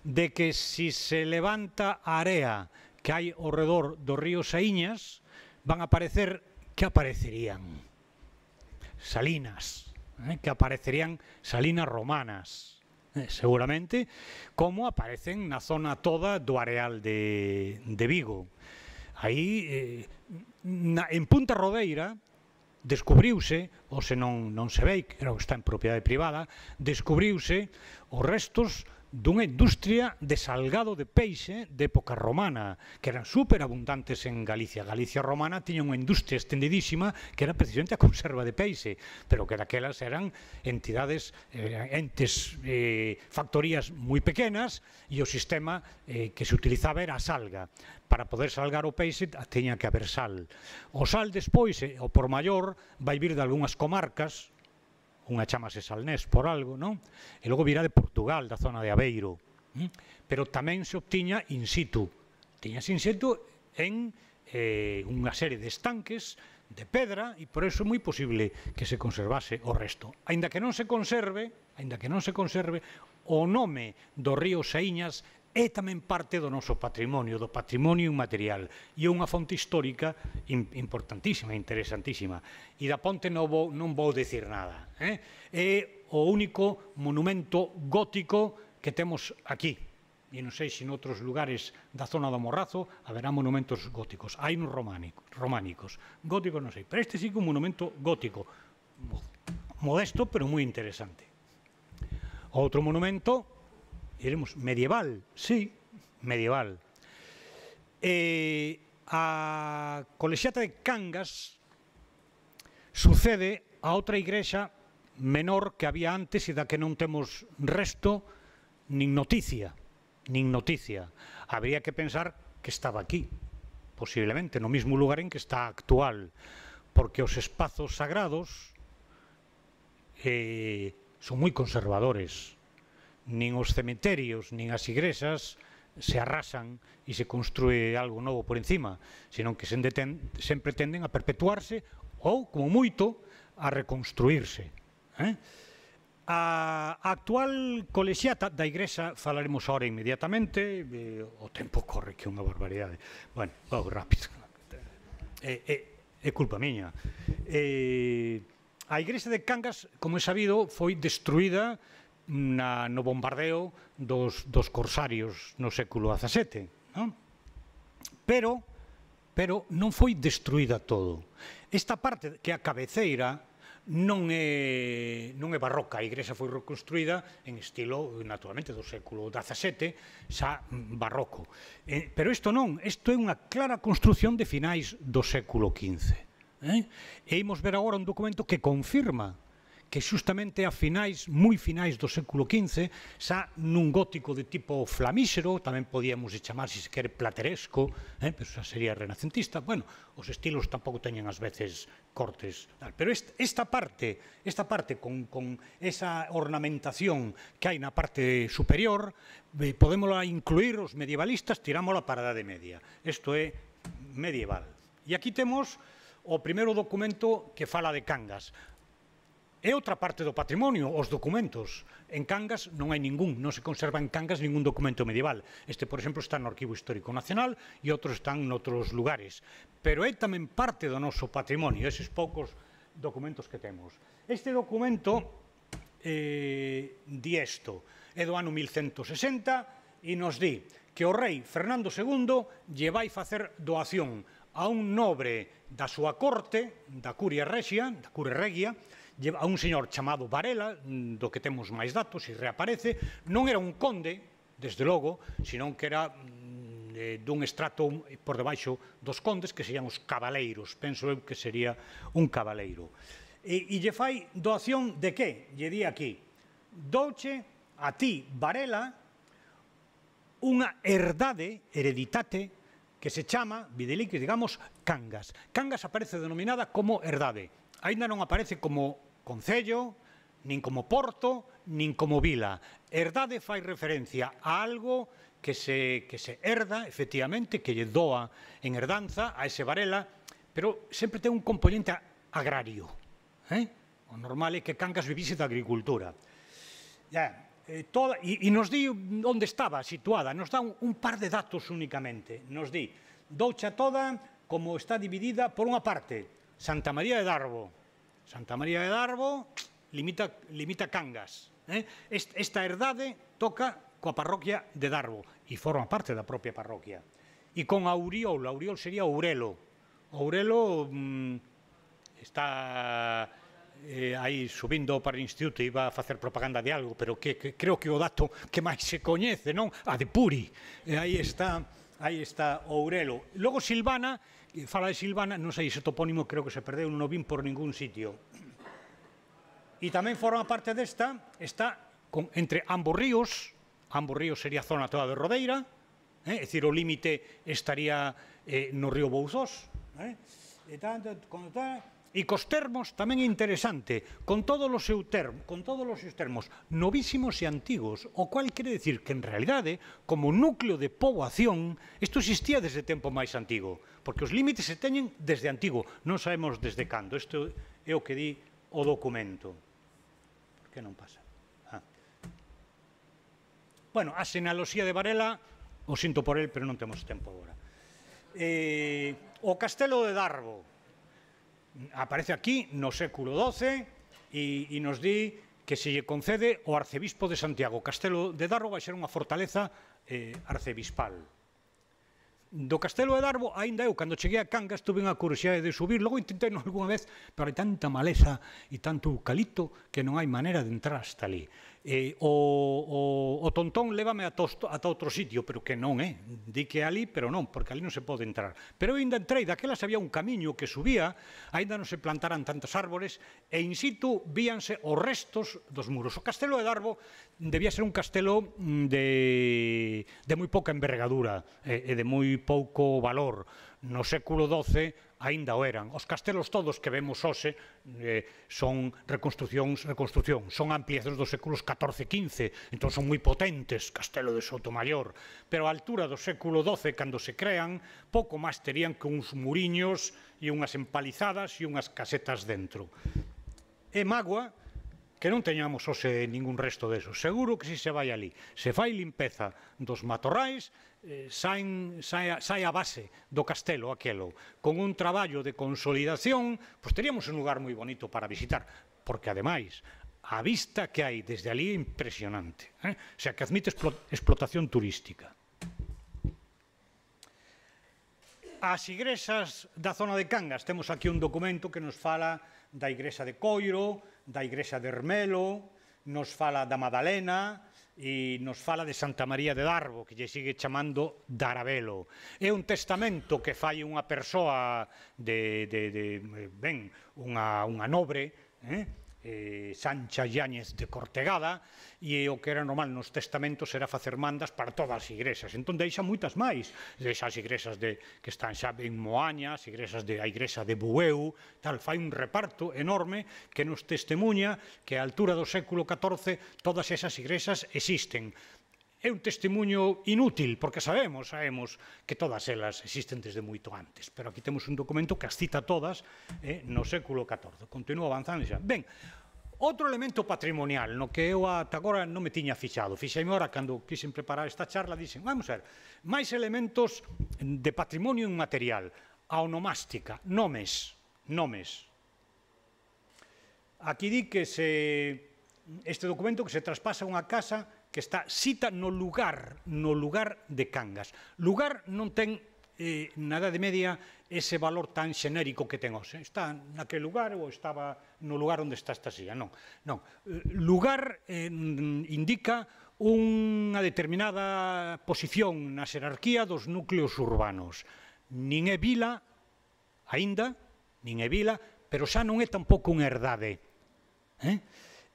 de que se se levanta a area que hai ao redor do río Saíñas, van a aparecer, que aparecerían? Salinas, eh? que aparecerían salinas romanas. Eh, seguramente, como aparecen na zona toda do areal de, de Vigo. Aí, eh, na, en Punta Rodeira, descubriuse, ou se non, non se vei, que está en propiedade privada, descubriuse os restos dunha industria de salgado de peixe de época romana, que eran superabundantes en Galicia. Galicia romana tiña unha industria extendidísima que era precisamente a conserva de peixe, pero que daquelas eran entidades, eh, entes, eh, factorías moi pequenas, e o sistema eh, que se utilizaba era a salga. Para poder salgar o peixe tiña que haber sal. O sal despois, eh, o por maior, vai vir de algunhas comarcas, unha chamase Salnés por algo, non? E logo virá de Portugal, da zona de Aveiro. Pero tamén se obtiña in situ. Tiñas in situ en eh, unha serie de estanques de pedra, e por iso é moi posible que se conservase o resto. Aínda que non se conserve, aínda que non se conserve, o nome do río Saíñas é tamén parte do noso patrimonio, do patrimonio inmaterial, e é unha fonte histórica importantísima, interesantísima. E da ponte non vou, non vou dicir nada. Eh? É o único monumento gótico que temos aquí. E non sei se noutros lugares da zona do Morrazo haberá monumentos góticos. Hai uns románicos. Góticos non sei, pero este sí que é un monumento gótico. Modesto, pero moi interesante. Outro monumento, diremos, medieval, sí, medieval. Eh, a colexiata de Cangas sucede a outra igrexa menor que había antes e da que non temos resto nin noticia, nin noticia. Habría que pensar que estaba aquí, posiblemente, no mismo lugar en que está actual, porque os espazos sagrados eh, son moi conservadores. Nin os cementerios, nin as igrexas se arrasan e se construe algo novo por encima, senón que sempre tenden a perpetuarse ou, como moito, a reconstruirse. Eh? A actual colexiata da igrexa falaremos ahora inmediatamente, eh, o tempo corre que é unha barbaridade. Bueno, vou rápido. É, é, é culpa miña. Eh, a igrexa de Cangas, como é sabido, foi destruída na, no bombardeo dos, dos corsarios no século dezasete, non? Pero, pero non foi destruída todo. Esta parte que é a cabeceira non é, non é barroca, a igrexa foi reconstruída en estilo, naturalmente, do século dezasete, xa barroco. Eh, pero isto non, isto é unha clara construción de finais do século quince. Eh? E imos ver agora un documento que confirma que xustamente a finais, moi finais do século quince, xa nun gótico de tipo flamíxero, tamén podíamos chamar, se se quere, plateresco, eh, pero xa sería renacentista. Bueno, os estilos tampouco teñen ás veces cortes. Pero esta, esta parte, esta parte con, con esa ornamentación que hai na parte superior, eh, podémola incluir os medievalistas, tirámola para a Idade Media. Isto é medieval. E aquí temos o primeiro documento que fala de Cangas. É outra parte do patrimonio, os documentos. En Cangas non hai ningún, non se conserva en Cangas ningún documento medieval. Este, por exemplo, está no Arquivo Histórico Nacional e outros están noutros lugares. Pero é tamén parte do noso patrimonio, eses poucos documentos que temos. Este documento eh, di isto, é do ano mil cento sesenta e nos di que o rei Fernando segundo lle vai facer doación a un nobre da súa corte, da Curia Regia, da Curia Regia, a un señor chamado Varela, do que temos máis datos, e reaparece, non era un conde, desde logo, senón que era eh, dun estrato por debaixo dos condes, que serían os cabaleiros, penso eu que sería un cabaleiro. E, e lle fai doación de que? Lle di aquí, douche a ti, Varela, unha herdade, hereditate, que se chama, videlique, digamos, Cangas. Cangas aparece denominada como herdade. Ainda non aparece como concello, nin como porto, nin como vila. Herdade fai referencia a algo que se, que se herda, efectivamente, que lle doa en herdanza a ese Varela, pero sempre ten un componente agrario. Eh? O normal é que Cangas vivise da agricultura. Ya, eh, toda, e, e nos di onde estaba situada, nos dá un, un par de datos únicamente. Nos di, doucha toda como está dividida por unha parte, Santa María de Darbo. Santa María de Darbo limita, limita Cangas. Eh? Esta herdade toca coa parroquia de Darbo e forma parte da propia parroquia. E con Auriol, Auriol sería Ourelo. Ourelo mm, está eh, aí subindo para o instituto e iba a facer propaganda de algo, pero que, que creo que o dato que máis se coñece, non? A de Puri. E aí está, aí está Ourelo. Logo Silvana, fala de Silvana, non sei, ese topónimo creo que se perdeu, non o vin por ningún sitio. E tamén forma parte desta, está con, entre ambos ríos, ambos ríos sería a zona toda de Rodeira, eh, é dicir, o límite estaría eh, no río Bouzós, eh, e, tanto, con, e cos termos tamén é interesante, con todos os seus termos, con todos os seus termos novísimos e antigos, o cual quere decir que en realidade, como núcleo de poboación, isto existía desde tempo máis antigo, porque os límites se teñen desde antigo, non sabemos desde cando. Isto é o que di o documento. Por que non pasa? Ah. Bueno, a xenealoxía de Varela, o sinto por el, pero non temos tempo agora. Eh, o Castelo de Darbo aparece aquí no século doce e, e nos di que se lle concede o arcebispo de Santiago. O Castelo de Darbo vai ser unha fortaleza eh, arcebispal. Do Castelo de Darbo, aínda eu, cando cheguei a Cangas, tuve unha curiosidade de subir, logo intentei algunha vez, pero hai tanta maleza e tanto eucalipto que non hai maneira de entrar hasta ali. Eh, o, o, o Tontón lévame ata, ata outro sitio, pero que non é. Di que é ali, pero non, porque ali non se pode entrar. Pero eu ainda entrei, daquelas había un camiño que subía, ainda non se plantaran tantas árbores, e in situ víanse os restos dos muros. O Castelo de Darbo debía ser un castelo de, de moi pouca envergadura e de moi pouco valor. No século doce aínda o eran. Os castelos todos que vemos hoxe eh, son reconstruccións, reconstrucción, son ampliacións dos séculos catorce e quince, entón son moi potentes, Castelo de Sotomayor, pero a altura do século doce, cando se crean, pouco máis terían que uns muriños e unhas empalizadas e unhas casetas dentro. É mágoa que non teñamos hoxe ningún resto deso. Seguro que si se vai ali, se fai limpeza dos matorrais, eh, saen, sae, sae a base do castelo aquelo. Con un traballo de consolidación, pois teríamos un lugar moi bonito para visitar, porque ademais, a vista que hai desde ali é impresionante. O sea, que admite explotación turística. As igrexas da zona de Cangas, temos aquí un documento que nos fala da igrexa de Coiro, da igrexa de Ermelo, nos fala da Madalena e nos fala de Santa María de Darbo, que lle sigue chamando Darabelo. É un testamento que fai unha persoa de, de, de ben, unha, unha nobre, eh? Eh, Sancha Yáñez de Cortegada, e o que era normal nos testamentos era facer mandas para todas as igrexas. Entón deixa moitas máis, deixa as igrexas de, que están xa en Moaña, as igrexas de, a igrexa de Bueu, tal, fai un reparto enorme que nos testemunha que a altura do século catorce todas esas igrexas existen. É un testemunho inútil, porque sabemos, sabemos que todas elas existen desde moito antes, pero aquí temos un documento que as cita todas eh, no século catorce. Continúa avanzando xa. Ben, outro elemento patrimonial, no que eu ata agora non me tiña fixado, fixeime ora cando quixen preparar esta charla, dixen, vamos a ver, máis elementos de patrimonio inmaterial, a onomástica, nomes, nomes. Aquí di que se, este documento que se traspasa unha casa que está cita no lugar, no lugar de Cangas. Lugar non ten eh, na Idade Media ese valor tan xenérico que ten hoxe. Está naquele lugar ou estaba no lugar onde está esta silla. Non, non. Lugar eh, indica unha determinada posición na xerarquía dos núcleos urbanos. Nin é vila, aínda, nin é vila, pero xa non é tampouco unha herdade. Eh?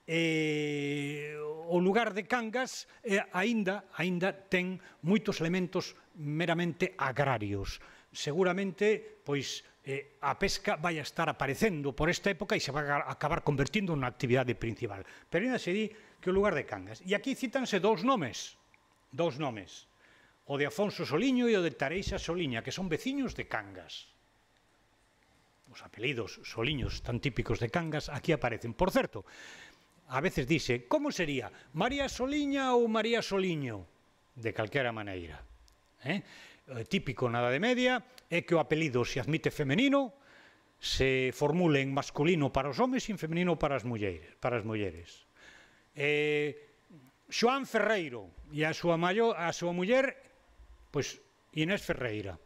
Eh, o lugar de Cangas eh, aínda, aínda ten moitos elementos meramente agrarios. Seguramente, pois, eh, a pesca vai a estar aparecendo por esta época e se vai a acabar convertindo na actividade principal. Pero ainda se di que o lugar de Cangas. E aquí cítanse dous nomes, dous nomes, o de Afonso Soliño e o de Tareixa Soliña, que son veciños de Cangas. Os apelidos Soliños tan típicos de Cangas aquí aparecen. Por certo, a veces dice, como sería? María Soliña ou María Soliño? De calquera maneira. Eh? Típico na Idade Media é que o apelido se admite femenino, se formule en masculino para os homes e en femenino para as mulleres. Para as mulleres. Eh, Xoán Ferreiro e a súa, maio, a súa muller, pois Inés Ferreira,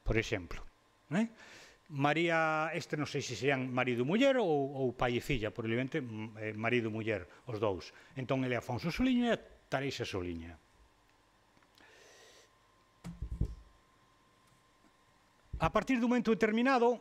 por exemplo. Eh? María, este non sei se sean marido e muller ou, ou pai e filla, probablemente eh, marido e muller, os dous. Entón, ele é Afonso Soliña e Tareixa Soliña. A partir dun momento determinado,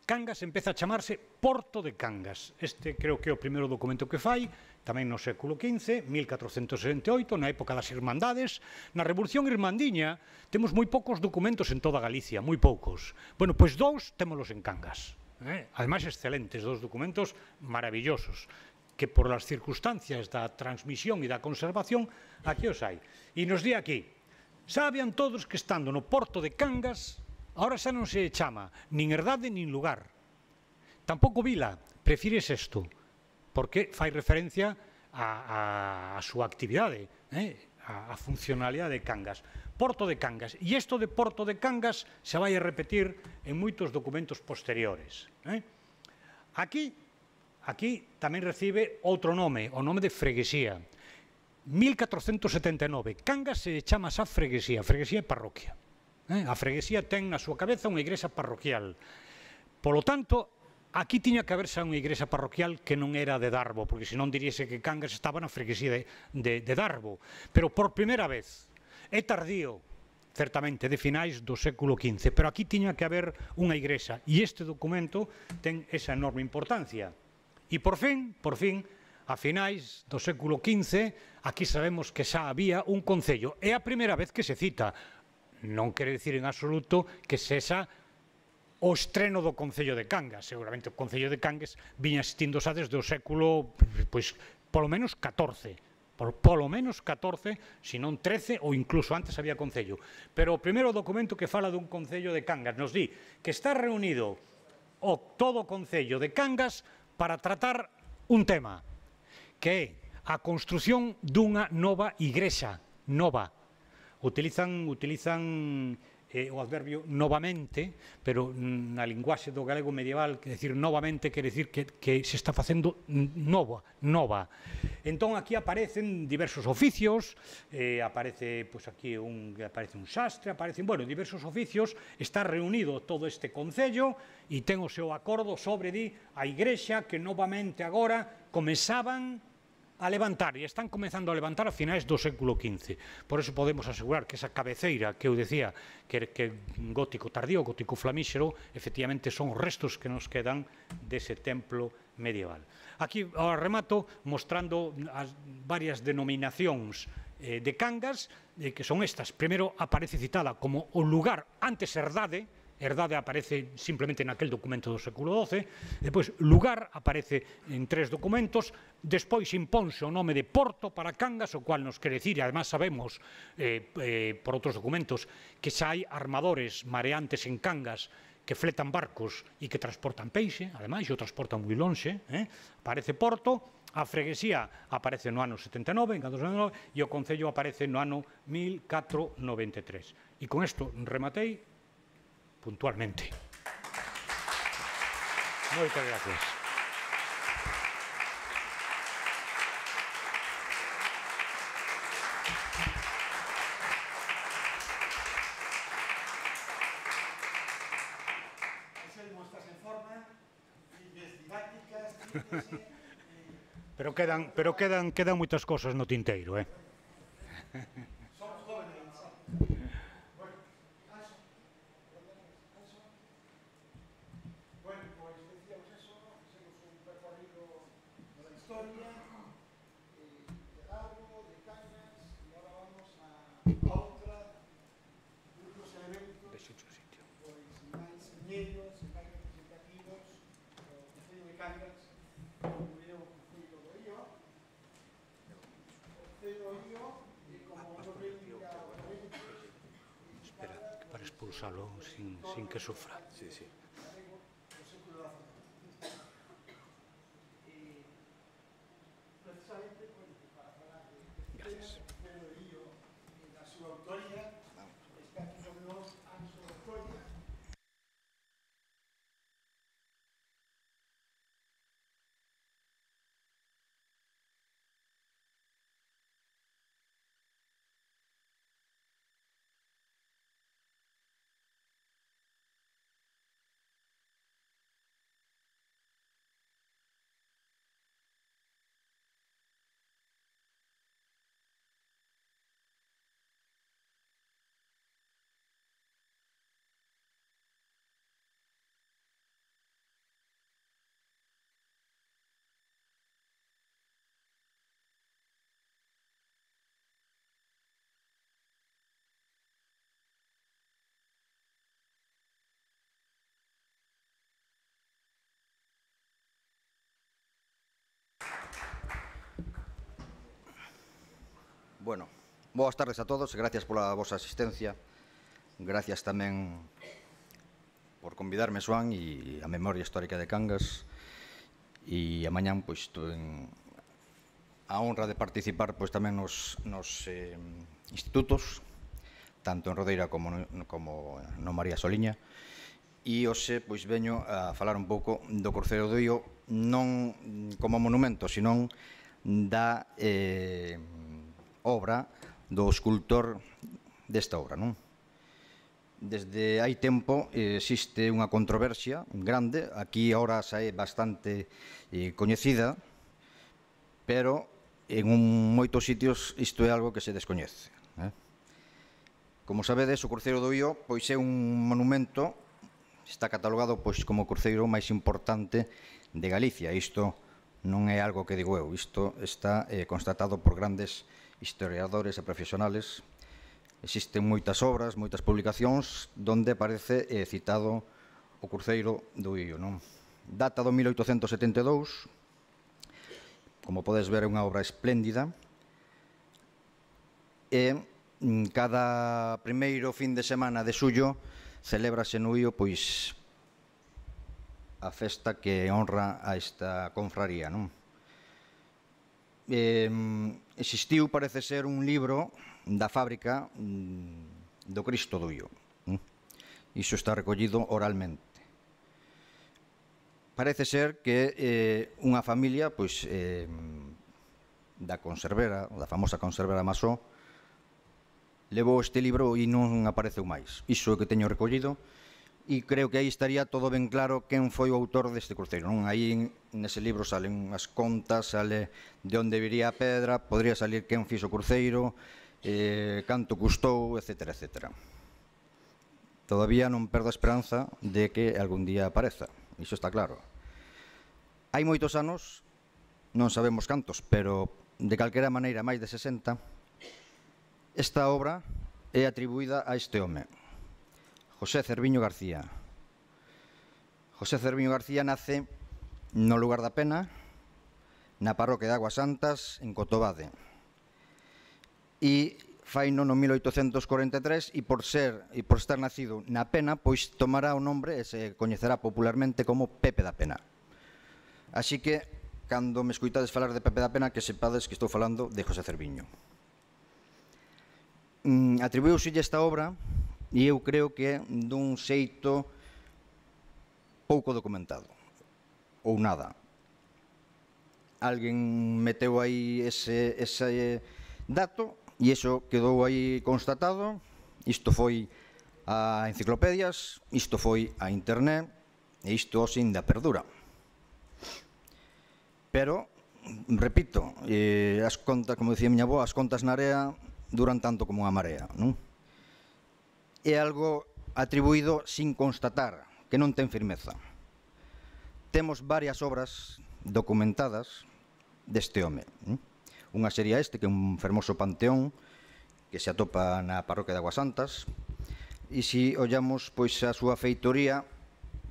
Cangas empeza a chamarse Porto de Cangas. Este creo que é o primeiro documento que fai, tamén no século quince, mil catrocentos sesenta e oito, na época das Irmandades. Na Revolución Irmandiña temos moi poucos documentos en toda Galicia, moi poucos. Bueno, pois dous témolos en Cangas. Eh? Ademais, excelentes, dous documentos maravillosos, que por as circunstancias da transmisión e da conservación, aquí os hai. E nos di aquí, sabian todos que estando no Porto de Cangas, ahora xa non se chama nin herdade nin lugar. Tampouco vila, prefires isto, porque fai referencia a, a, a súa actividade, eh? a, a funcionalidade de Cangas. Porto de Cangas. E isto de Porto de Cangas se vai a repetir en moitos documentos posteriores. Eh? Aquí, aquí tamén recibe outro nome, o nome de freguesía. mil catrocentos setenta e nove. Cangas se chama xa freguesía. Freguesía é parroquia. Eh? A freguesía ten na súa cabeza unha igrexa parroquial. Polo tanto, aquí tiña que haber xa unha igrexa parroquial que non era de Darbo, porque senón diríase que Cangas estaba na freguesía de, de, de Darbo. Pero por primeira vez, é tardío, certamente, de finais do século quince, pero aquí tiña que haber unha igrexa, e este documento ten esa enorme importancia. E por fin, por fin, a finais do século quince, aquí sabemos que xa había un concello. É a primeira vez que se cita. Non quere dicir en absoluto que sexa o estreno do Concello de Cangas. Seguramente o Concello de Cangas viña existindo xa desde o século, pois, polo menos catorce. Por, polo menos catorce, se non trece, ou incluso antes había Concello. Pero o primeiro documento que fala dun Concello de Cangas nos di que está reunido o todo o Concello de Cangas para tratar un tema, que é a construción dunha nova igrexa, nova. Utilizan, utilizan eh, o adverbio novamente, pero na linguaxe do galego medieval, que decir novamente quere decir que, que se está facendo nova, nova. Entón aquí aparecen diversos oficios, eh, aparece pois aquí un, aparece un xastre, aparecen, bueno, diversos oficios, está reunido todo este concello e ten o seu acordo sobre di a igrexa que novamente agora comezaban a levantar, e están comezando a levantar a finais do século quince. Por eso podemos asegurar que esa cabeceira que eu decía que, que gótico tardío, gótico flamíxero, efectivamente son os restos que nos quedan dese templo medieval. Aquí ao remato mostrando as varias denominacións eh, de Cangas, eh, que son estas. Primeiro aparece citada como o lugar antes herdade, herdade aparece simplemente naquel documento do século doce, depois lugar aparece en tres documentos, despois imponse o nome de Porto para Cangas, o cual nos quere dicir, e además sabemos eh, eh, por outros documentos que xa hai armadores mareantes en Cangas que fletan barcos e que transportan peixe, ademais, o transportan moi lonxe, eh? Aparece Porto, a freguesía aparece no ano setenta e nove, en catorce setenta e nove, e o concello aparece no ano mil catrocentos noventa e tres. E con isto rematei puntualmente. Moitas gracias. Estás en forma, didácticas, síntese, Pero quedan, pero quedan, quedan moitas cosas no tinteiro, eh? son jóvenes. Bueno, Anso, Anso. Bueno, pues decíamos eso, hicimos un recorrido de la historia, eh, de Lago, de Cangas, y ahora vamos a, a otra, otros elementos, pues máis señeros, máis representativos, o Concello de Cangas, como veo o Concello do Ío, o Concello do Ío, e como non veía o evento, Espera, para expulsalo sin, sin que sufra. Sí, sí. do século doce. E precisamente, bueno, para falar de Gracias. Concello do Ío e da súa autoría, está aquí con nós Anso Colla. Bueno, boas tardes a todos, gracias pola vosa asistencia. Gracias tamén por convidarme, Xoán, e a Memoria Histórica de Cangas. E amañán, pois, en a honra de participar pois, tamén nos, nos eh, institutos, tanto en Rodeira como no, como no María Soliña. E hoxe, pois, veño a falar un pouco do Cruceiro do Ío, non como monumento, senón da eh, obra do escultor desta obra, non? Desde hai tempo eh, existe unha controversia grande, aquí ahora xa é bastante eh, coñecida, pero en un, moitos sitios isto é algo que se descoñece. Eh? Como sabedes, o Cruceiro do Ío pois é un monumento, está catalogado pois como o cruceiro máis importante de Galicia. Isto non é algo que digo eu, isto está eh, constatado por grandes historiadores e profesionales. Existen moitas obras, moitas publicacións donde aparece eh, citado o Cruceiro do Ío, non? Data do mil oitocentos setenta e dous, como podes ver é unha obra espléndida, e cada primeiro fin de semana de xullo celébrase no Ío pois a festa que honra a esta confraría, non? Eh, existiu, parece ser, un libro da fábrica do Cristo do Ío. Iso está recollido oralmente. Parece ser que eh, unha familia pois, eh, da conservera, da famosa conservera Masó, levou este libro e non apareceu máis. Iso é o que teño recollido e creo que aí estaría todo ben claro quen foi o autor deste cruceiro. Non? Aí nese libro salen as contas, sale de onde viría a pedra, podría salir quen fixo o cruceiro, eh, canto custou, etcétera, etcétera. Todavía non perdo a esperanza de que algún día apareza. Iso está claro. Hai moitos anos, non sabemos cantos, pero de calquera maneira máis de sesenta, esta obra é atribuída a este home, José Cerviño García. José Cerviño García nace no lugar da Pena, na parroquia de Aguas Santas, en Cotobade. E faino no mil oitocentos corenta e tres e por ser e por estar nacido na Pena, pois tomará o nombre e se coñecerá popularmente como Pepe da Pena. Así que, cando me escoitades falar de Pepe da Pena, que sepades que estou falando de José Cerviño. Mm, atribuíuselle esta obra e eu creo que dun xeito pouco documentado, ou nada. Alguén meteu aí ese, ese dato e iso quedou aí constatado. Isto foi a enciclopedias, isto foi a internet e isto sin da perdura. Pero, repito, eh, as contas, como dicía miña avó, as contas na area duran tanto como unha marea, non? É algo atribuído sin constatar, que non ten firmeza. Temos varias obras documentadas deste home. Unha sería este, que é un fermoso panteón que se atopa na parroquia de Aguas Santas, e se ollamos pois a súa feitoría,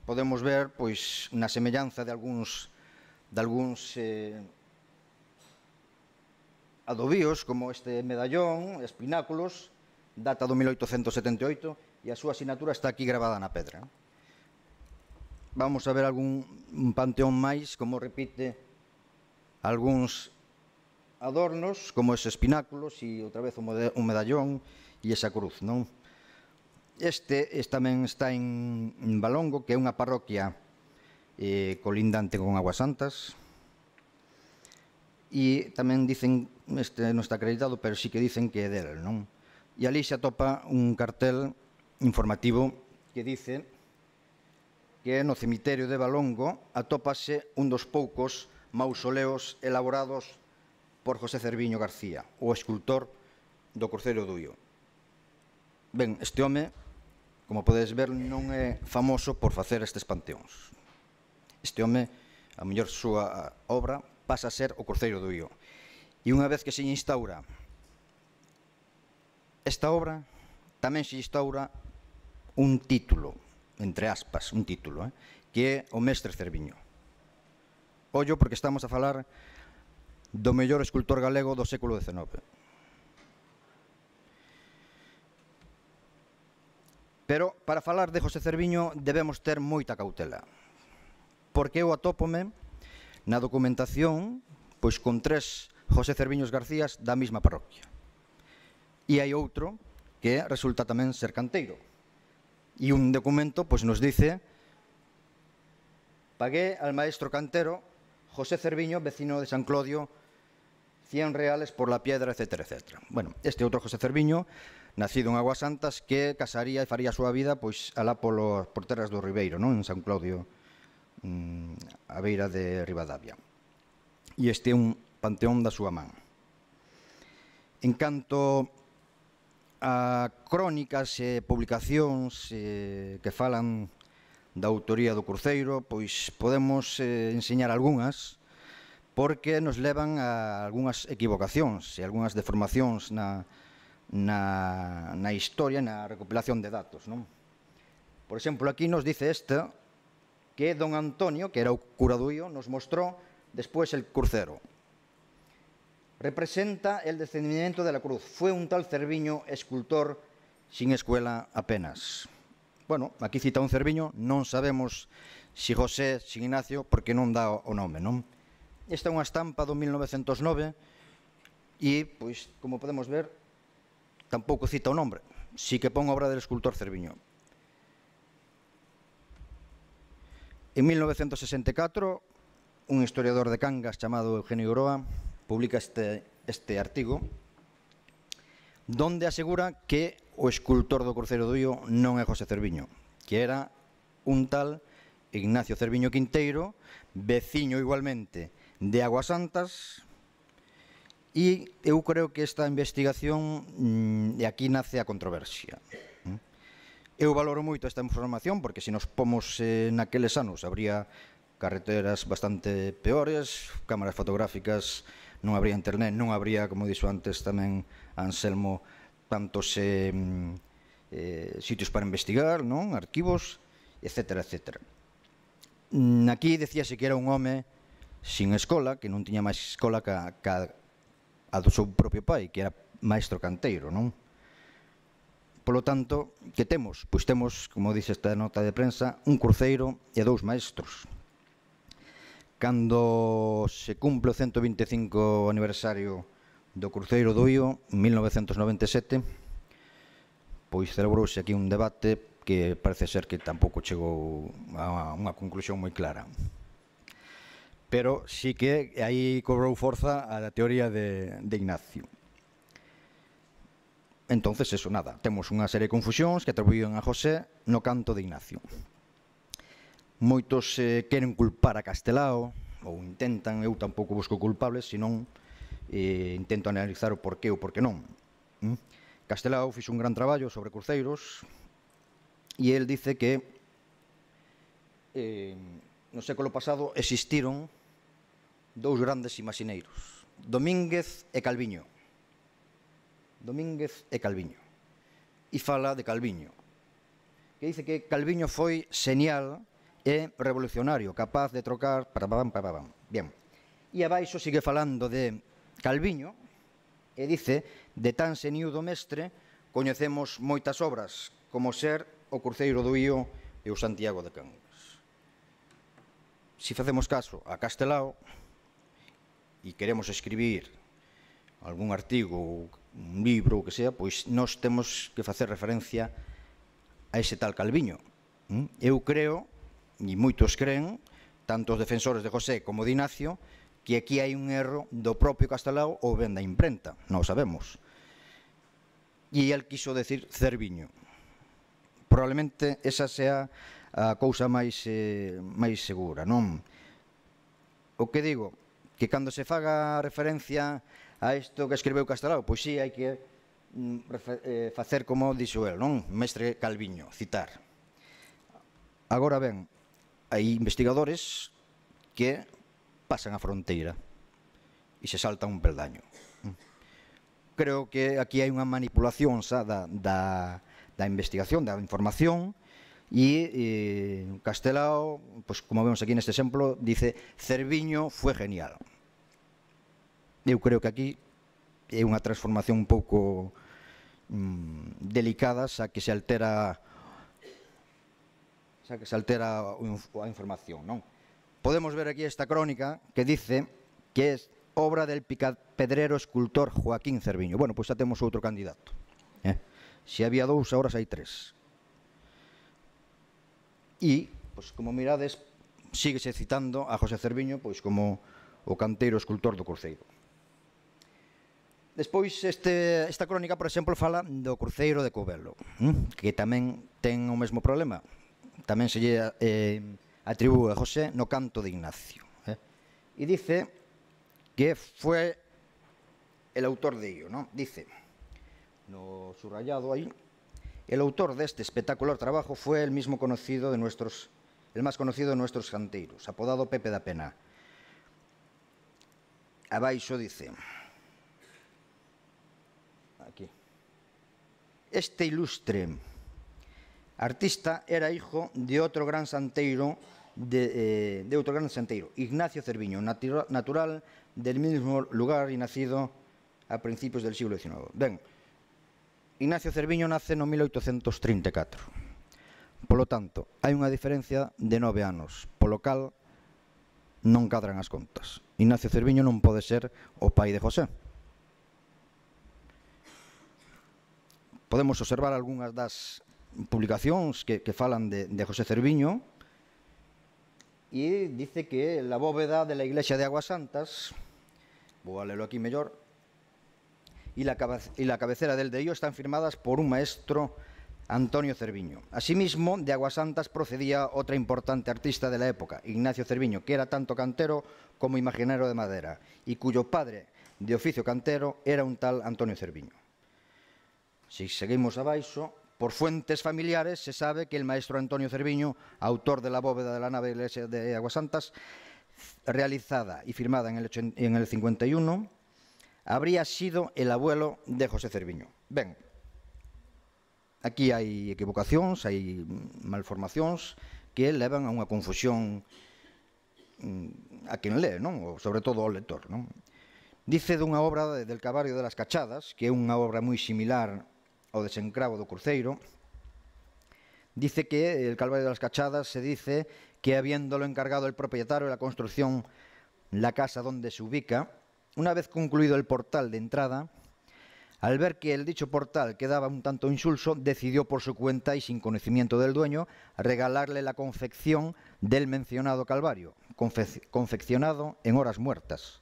podemos ver pois na semellanza de algúns de algúns eh, adobíos, como este medallón, espináculos, data do mil oitocentos setenta e oito, e a súa asignatura está aquí gravada na pedra. Vamos a ver algún un panteón máis, como repite algúns adornos, como eses espináculos, e outra vez un medallón e esa cruz, non? Este, este tamén está en, en Valongo, que é unha parroquia eh, colindante con Aguas Santas, e tamén dicen, este non está acreditado, pero sí que dicen que é del, non? E ali se atopa un cartel informativo que dice que no cemiterio de Valongo atópase un dos poucos mausoleos elaborados por José Cerviño García, o escultor do Cruceiro do Uío. Ben, este home, como podedes ver, non é famoso por facer estes panteóns. Este home, a mellor súa obra, pasa a ser o Cruceiro do Uío. E unha vez que se instaura esta obra, tamén se instaura un título, entre aspas, un título, eh, que é o Mestre Cerviño. Ollo, porque estamos a falar do mellor escultor galego do século dezenove. Pero, para falar de José Cerviño, debemos ter moita cautela, porque eu atópome na documentación pois con tres José Cerviños Garcías da mesma parroquia. E hai outro que resulta tamén ser canteiro. E un documento pois nos dice: pagué al maestro cantero José Cerviño, vecino de San Clodio, cien reales por la piedra, etcétera, etcétera. Bueno, este outro José Cerviño, nacido en Aguas Santas, que casaría e faría a súa vida pois alá polo, por terras do Ribeiro, non? En San Clodio, a beira de Ribadavia. E este é un panteón da súa man. En canto a crónicas e publicacións eh, que falan da autoría do cruceiro, pois podemos eh, enseñar algunhas, porque nos levan a algunhas equivocacións e algunhas deformacións na, na, na historia, na recopilación de datos, non? Por exemplo, aquí nos dice esta, que don Antonio, que era o cura do Uío, nos mostró después el crucero. Representa el descendimiento de la cruz. Fue un tal Cerviño escultor sin escuela apenas. Bueno, aquí cita un Cerviño, non sabemos si José, si Ignacio, porque non dá o nome, non? Esta é unha estampa do mil novecentos nove e, pois, como podemos ver, tampouco cita o nombre. Si que pon obra del escultor Cerviño. En mil novecentos sesenta e catro, un historiador de Cangas chamado Eugenio Oroa publica este, este artigo donde asegura que o escultor do Cruceiro do Io non é José Cerviño, que era un tal Ignacio Cerviño Quinteiro, veciño igualmente de Aguasantas, e eu creo que esta investigación, e aquí nace a controversia. Eu valoro moito esta información porque se nos pomos eh, naqueles anos habría carreteras bastante peores, cámaras fotográficas, non habría internet, non habría, como dixo antes tamén Anselmo, tantos eh, eh, sitios para investigar, non? Arquivos, etcétera, etcétera. Aquí decíase que era un home sin escola, que non tiña máis escola que a, que a do seu propio pai, que era maestro canteiro, non? Polo tanto, que temos? Pois temos, como dice esta nota de prensa, un cruceiro e dous maestros. Cando se cumple o ciento vinte e cinco aniversario do Cruceiro do Io, en mil novecentos noventa e sete, pois celebrouse aquí un debate que parece ser que tampouco chegou a unha conclusión moi clara. Pero sí que aí cobrou forza a teoría de, de Ignacio. Entonces, eso, nada, temos unha serie de confusións que atribuían a José no canto de Ignacio. Moitos eh, queren culpar a Castelao, ou intentan, eu tampouco busco culpables, senón eh, intento analizar o porqué ou porqué non. ¿Mm? Castelao fixo un gran traballo sobre cruceiros e el dice que eh, no século pasado existiron dous grandes imaxineiros, Domínguez e Calviño. Domínguez e Calviño. E fala de Calviño, que dice que Calviño foi señal e revolucionario, capaz de trocar... Bien. E abaixo sigue falando de Calviño e dice: de tan seniudo mestre coñecemos moitas obras, como ser o Cruceiro do Io e o Santiago de Cangas. Se facemos caso a Castelao e queremos escribir algún artigo, un libro, o que sea, pois nós temos que facer referencia a ese tal Calviño. Eu creo, e moitos creen, tanto os defensores de José como de Ignacio, que aquí hai un erro do propio Castelao ou ben da imprenta, non o sabemos. E el quiso decir Cerviño. Probablemente esa sea a cousa máis, eh, máis segura, non? O que digo, que cando se faga referencia a isto que escribeu Castelao, pois sí, hai que eh, facer como dixo el, non? Mestre Calviño, citar. Agora ben, hai investigadores que pasan a fronteira e se saltan un peldaño. Creo que aquí hai unha manipulación xa da, da, da investigación, da información, e eh, Castelao, pues, como vemos aquí neste exemplo, dice: Cerviño fue genial. Eu creo que aquí é unha transformación un pouco mm, delicada, xa que se altera xa que se altera a información, non? Podemos ver aquí esta crónica que dice que é obra del picapedrero escultor Joaquín Cerviño. Bueno, pois xa temos outro candidato. Eh? Se había dous, agora hai tres. E, pois, como mirades, síguese citando a José Cerviño pois como o canteiro escultor do Cruceiro. Despois, este, esta crónica, por exemplo, fala do Cruceiro de Covelo, que tamén ten o mesmo problema. Tamén se lle eh, atribúe a José no canto de Ignacio. Eh? E dice que foi el autor de ello, ¿no? Dice, no subrayado ahí, el autor de este espectacular trabajo fue el mismo conocido de nuestros, el más conocido de nuestros canteiros, apodado Pepe da Pena. Abaixo dice, aquí, este ilustre artista era hijo de otro gran santeiro, de, eh, de otro gran santeiro, Ignacio Cerviño, natura, natural del mismo lugar y nacido a principios del siglo diecinueve. Ben, Ignacio Cerviño nace no mil oitocentos trinta e catro. Polo tanto, hai unha diferencia de nove anos, polo cal non cadran as contas. Ignacio Cerviño non pode ser o pai de José. Podemos observar algunhas das publicacións que, que falan de, de José Cerviño y dice que la bóveda de la iglesia de Aguasantas, voy a leerlo aquí mejor, y la, y la cabecera del de ello están firmadas por un maestro, Antonio Cerviño. Asimismo, de Aguasantas procedía otra importante artista de la época, Ignacio Cerviño, que era tanto cantero como imaginero de madera, y cuyo padre de oficio cantero era un tal Antonio Cerviño. Si seguimos abaixo, por fuentes familiares se sabe que el maestro Antonio Cerviño, autor de la bóveda de la nave de la iglesia de Aguasantas, realizada y firmada en el, en el cincuenta y uno, habría sido el abuelo de José Cerviño. Ben, aquí hai equivocacións, hai malformacións que levan a unha confusión a quen lee, non? Sobre todo ao lector, non? Dice dunha obra del Calvario de las Cachadas, que é unha obra moi similar ao desencravo do Cruceiro. Dice que el Calvario de las Cachadas se dice que habiéndolo encargado el propietario de la construcción, la casa donde se ubica, una vez concluido el portal de entrada, al ver que el dicho portal quedaba un tanto insulso, decidió por su cuenta y sin conocimiento del dueño regalarle la confección del mencionado Calvario, confe confeccionado en horas muertas.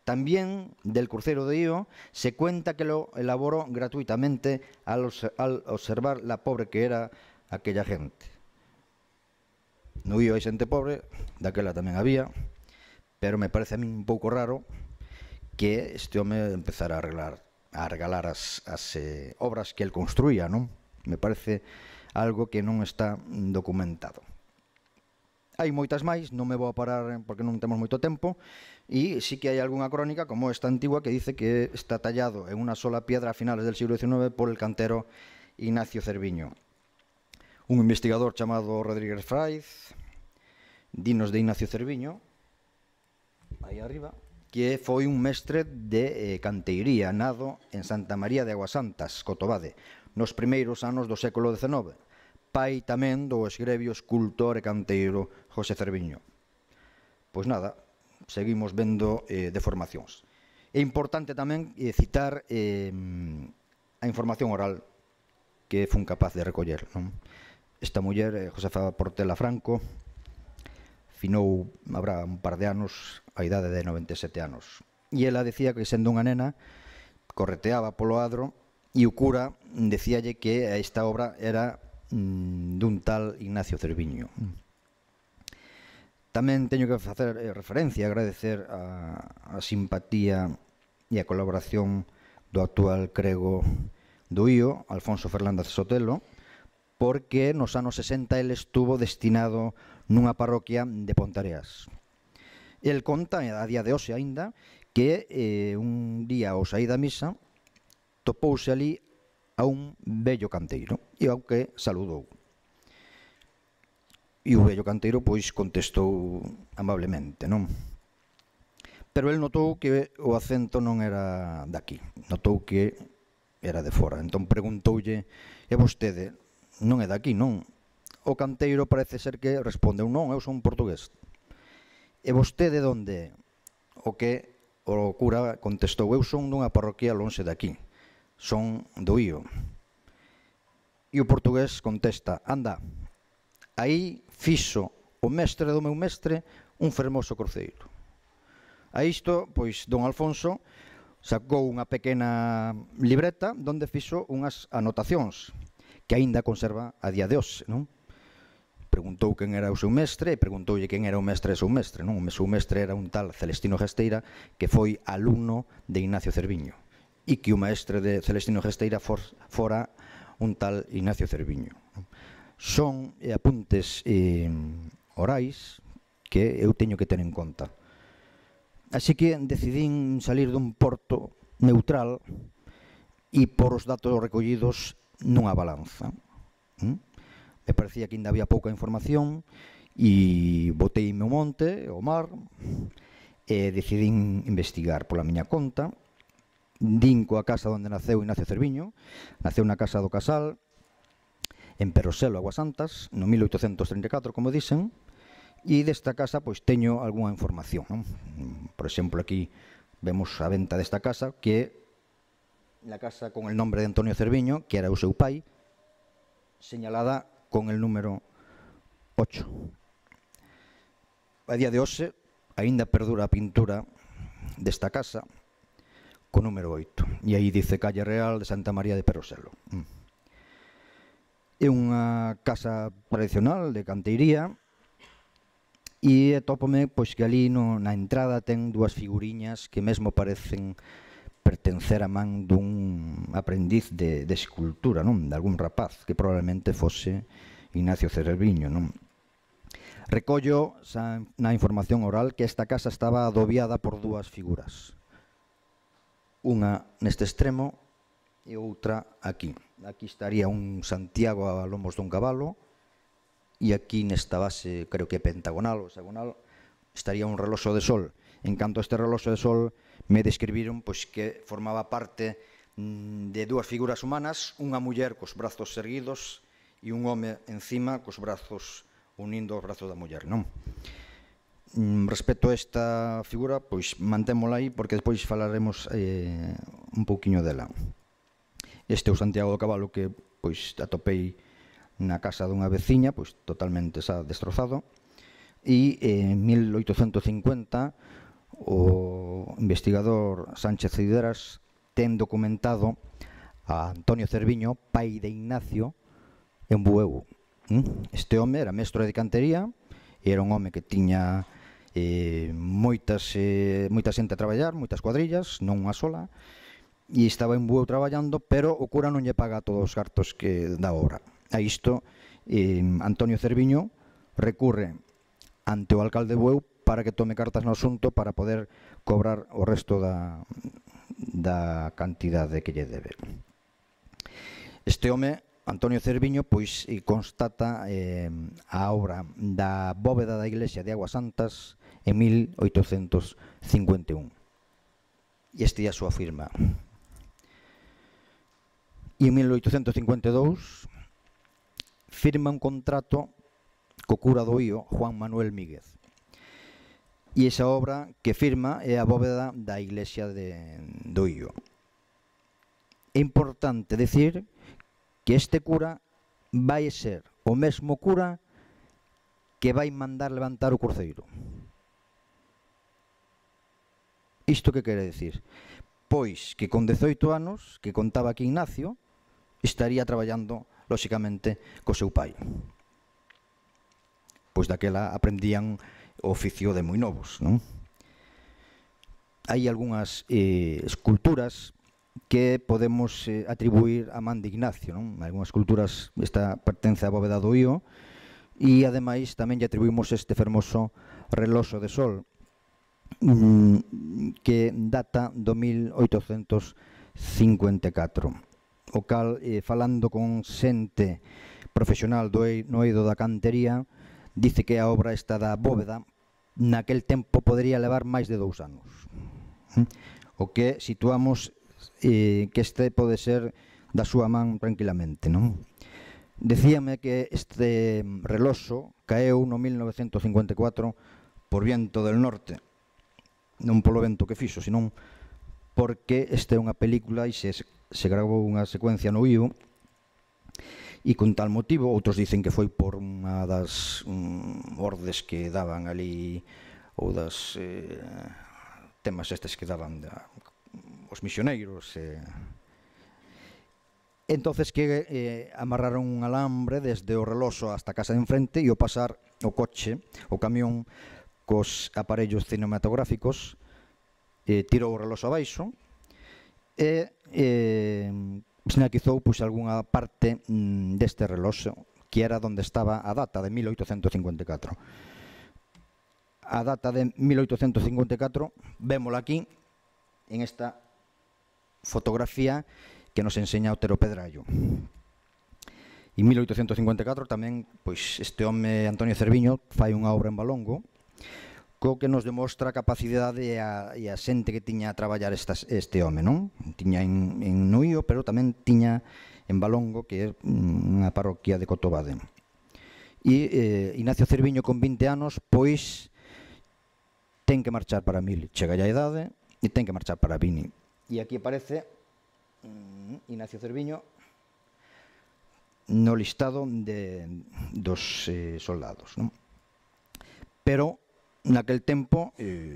También del Crucero de Ío se cuenta que lo elaboró gratuitamente al, al observar la pobre que era aquella gente. No Ío hai xente pobre, daquela tamén había, pero me parece a mí un pouco raro que este home empezara a arreglar a regalar as, as eh, obras que el construía, non? Me parece algo que non está documentado. Hai moitas máis, non me vou a parar porque non temos moito tempo, e sí que hai algunha crónica, como esta antigua, que dice que está tallado en unha sola piedra a finales del siglo diecinueve por el cantero Ignacio Cerviño. Un investigador chamado Rodríguez Fraiz, dinos de Ignacio Cerviño, aí arriba, que foi un mestre de eh, canteiría nado en Santa María de Aguasantas, Cotobade, nos primeiros anos do século decenove, pai tamén do esgrebio escultor e canteiro José Cerviño. Pois nada, seguimos vendo eh, deformacións. É importante tamén eh, citar eh, a información oral que fun capaz de recoller, non? Esta muller, eh, Josefa Portela Franco, finou, habrá un par de anos, a idade de noventa e sete anos. E ela decía que, sendo unha nena, correteaba polo adro e o cura decíalle que esta obra era mm, dun tal Ignacio Cerviño. Tamén teño que facer eh, referencia, agradecer a, a simpatía e a colaboración do actual crego do Ío, Alfonso Fernández Sotelo, porque nos anos sesenta ele estuvo destinado nunha parroquia de Pontareas. El conta, a día de hoxe aínda, que eh, un día ao saír da misa topouse ali a un vello canteiro e ao que saludou. E o vello canteiro pois contestou amablemente, non? Pero el notou que o acento non era daqui, notou que era de fora. Entón preguntoulle: "E vostede non é daqui, non?" O canteiro parece ser que respondeu: "Non, eu son portugués." "E vostede onde?" O que o cura contestou: "Eu son dunha parroquia lonxe daqui, son do Ío." E o portugués contesta: "Anda, aí fixo o mestre do meu mestre un fermoso cruceiro." A isto, pois, don Alfonso sacou unha pequena libreta onde fixo unhas anotacións que aínda conserva a día de hoxe, non? Preguntou quen era o seu mestre e preguntoulle quen era o mestre do seu mestre, non? O seu mestre era un tal Celestino Gesteira, que foi alumno de Ignacio Cerviño, e que o mestre de Celestino Gesteira for, fora un tal Ignacio Cerviño. Son eh, apuntes eh, orais que eu teño que ter en conta. Así que decidín salir dun porto neutral e por os datos recollidos nunha balanza. ¿Mm? Me parecía que ainda había pouca información e boteime o monte, o mar, e decidín investigar pola miña conta. Din coa casa onde naceu Ignacio Cerviño. Naceu na casa do Casal, en Peroselo, Aguasantas, no mil oitocentos treinta e catro, como dicen, e desta casa pois teño algunha información, non? Por exemplo, aquí vemos a venta desta casa, que é la casa con el nombre de Antonio Cerviño, que era o seu pai, señalada con el número ocho. a día de hoxe, aínda perdura a pintura desta casa co número oito. E aí dice Calle Real de Santa María de Peroselo. É unha casa tradicional de canteiría e atópome pois, que ali no, na entrada ten dúas figuriñas que mesmo parecen pertencer a man dun aprendiz de, de escultura, non? De algún rapaz, que probablemente fose Ignacio Cerviño, non? Recollo xa, na información oral que esta casa estaba adobiada por dúas figuras. Unha neste extremo e outra aquí. Aquí estaría un Santiago a lomos dun cabalo e aquí nesta base, creo que pentagonal ou hexagonal, estaría un reloxo de sol. En canto a este reloxo de sol me describiron pois, que formaba parte de dúas figuras humanas, unha muller cos brazos erguidos e un home encima cos brazos unindo os brazos da muller, non? Respecto a esta figura, pois mantémola aí porque despois falaremos eh, un pouquiño dela. Este é o Santiago do Cabalo que pois atopei na casa dunha veciña, pois totalmente xa destrozado, e en mil oitocentos cincuenta o investigador Sánchez Cideras ten documentado a Antonio Cerviño, pai de Ignacio, en Bueu. Este home era mestre de cantería e era un home que tiña eh, moitas, eh, moita xente a traballar, moitas cuadrillas, non unha sola, e estaba en Bueu traballando, pero o cura non lle paga todos os cartos que da obra. A isto, eh, Antonio Cerviño recurre ante o alcalde de Bueu para que tome cartas no asunto para poder cobrar o resto da, da cantidade que lle debe. Este home, Antonio Cerviño, pois constata eh, a obra da bóveda da iglesia de Aguas Santas en mil oitocentos cincuenta e un. E este é a súa firma. E en mil oitocentos cincuenta e dous firma un contrato co cura do Ío, Juan Manuel Míguez. E esa obra que firma é a bóveda da iglesia de, do Ío. É importante decir que este cura vai ser o mesmo cura que vai mandar levantar o cruceiro. Isto que quere decir? Pois que con dezoito anos, que contaba aquí Ignacio, estaría traballando, lóxicamente, co seu pai. Pois daquela aprendían o oficio de moi novos, non? Hai algunhas eh, esculturas que podemos eh, atribuir a man de Ignacio, non? Algunhas esculturas, esta pertence á bóveda do Ío, e ademais tamén lle atribuímos este fermoso reloxo de sol, mm, que data do mil oitocentos cincuenta e catro. O cal, eh, falando con xente profesional do e, no eido da cantería, dice que a obra esta da bóveda naquel tempo podría levar máis de dous anos. O que situamos eh, que este pode ser da súa man tranquilamente, non? Decíame que este reloxo caeu no mil novecentos cincuenta e catro por viento del norte, non polo vento que fixo, senón porque esta é unha película e se, se gravou unha secuencia no Ío e con tal motivo, outros dicen que foi por unha das um, ordes que daban ali ou das eh, temas estes que daban da, os misioneiros eh. Entonces que eh, amarraron un alambre desde o reloxo hasta a casa de enfrente e ao pasar o coche, o camión cos aparellos cinematográficos eh, tirou o reloxo abaixo e eh, esnaquizou pois, algunha parte mm, deste reloxo que era onde estaba a data de mil oitocentos cincuenta e catro. A data de mil oitocentos cincuenta e catro vémola aquí en esta fotografía que nos enseña Otero Pedrallo. En mil oitocentos cincuenta e catro tamén pois, este home Antonio Cerviño fai unha obra en Valongo co que nos demostra a capacidade e a, e a xente que tiña a traballar estas, este home, non? Tiña en, en Nuío, pero tamén tiña en Valongo, que é unha parroquia de Cotobade. E eh, Ignacio Cerviño con vinte anos, pois ten que marchar para Mil, chega a idade e ten que marchar para Vini. E aquí aparece mm, Ignacio Cerviño no listado de, dos eh, soldados, non? Pero naquel tempo eh,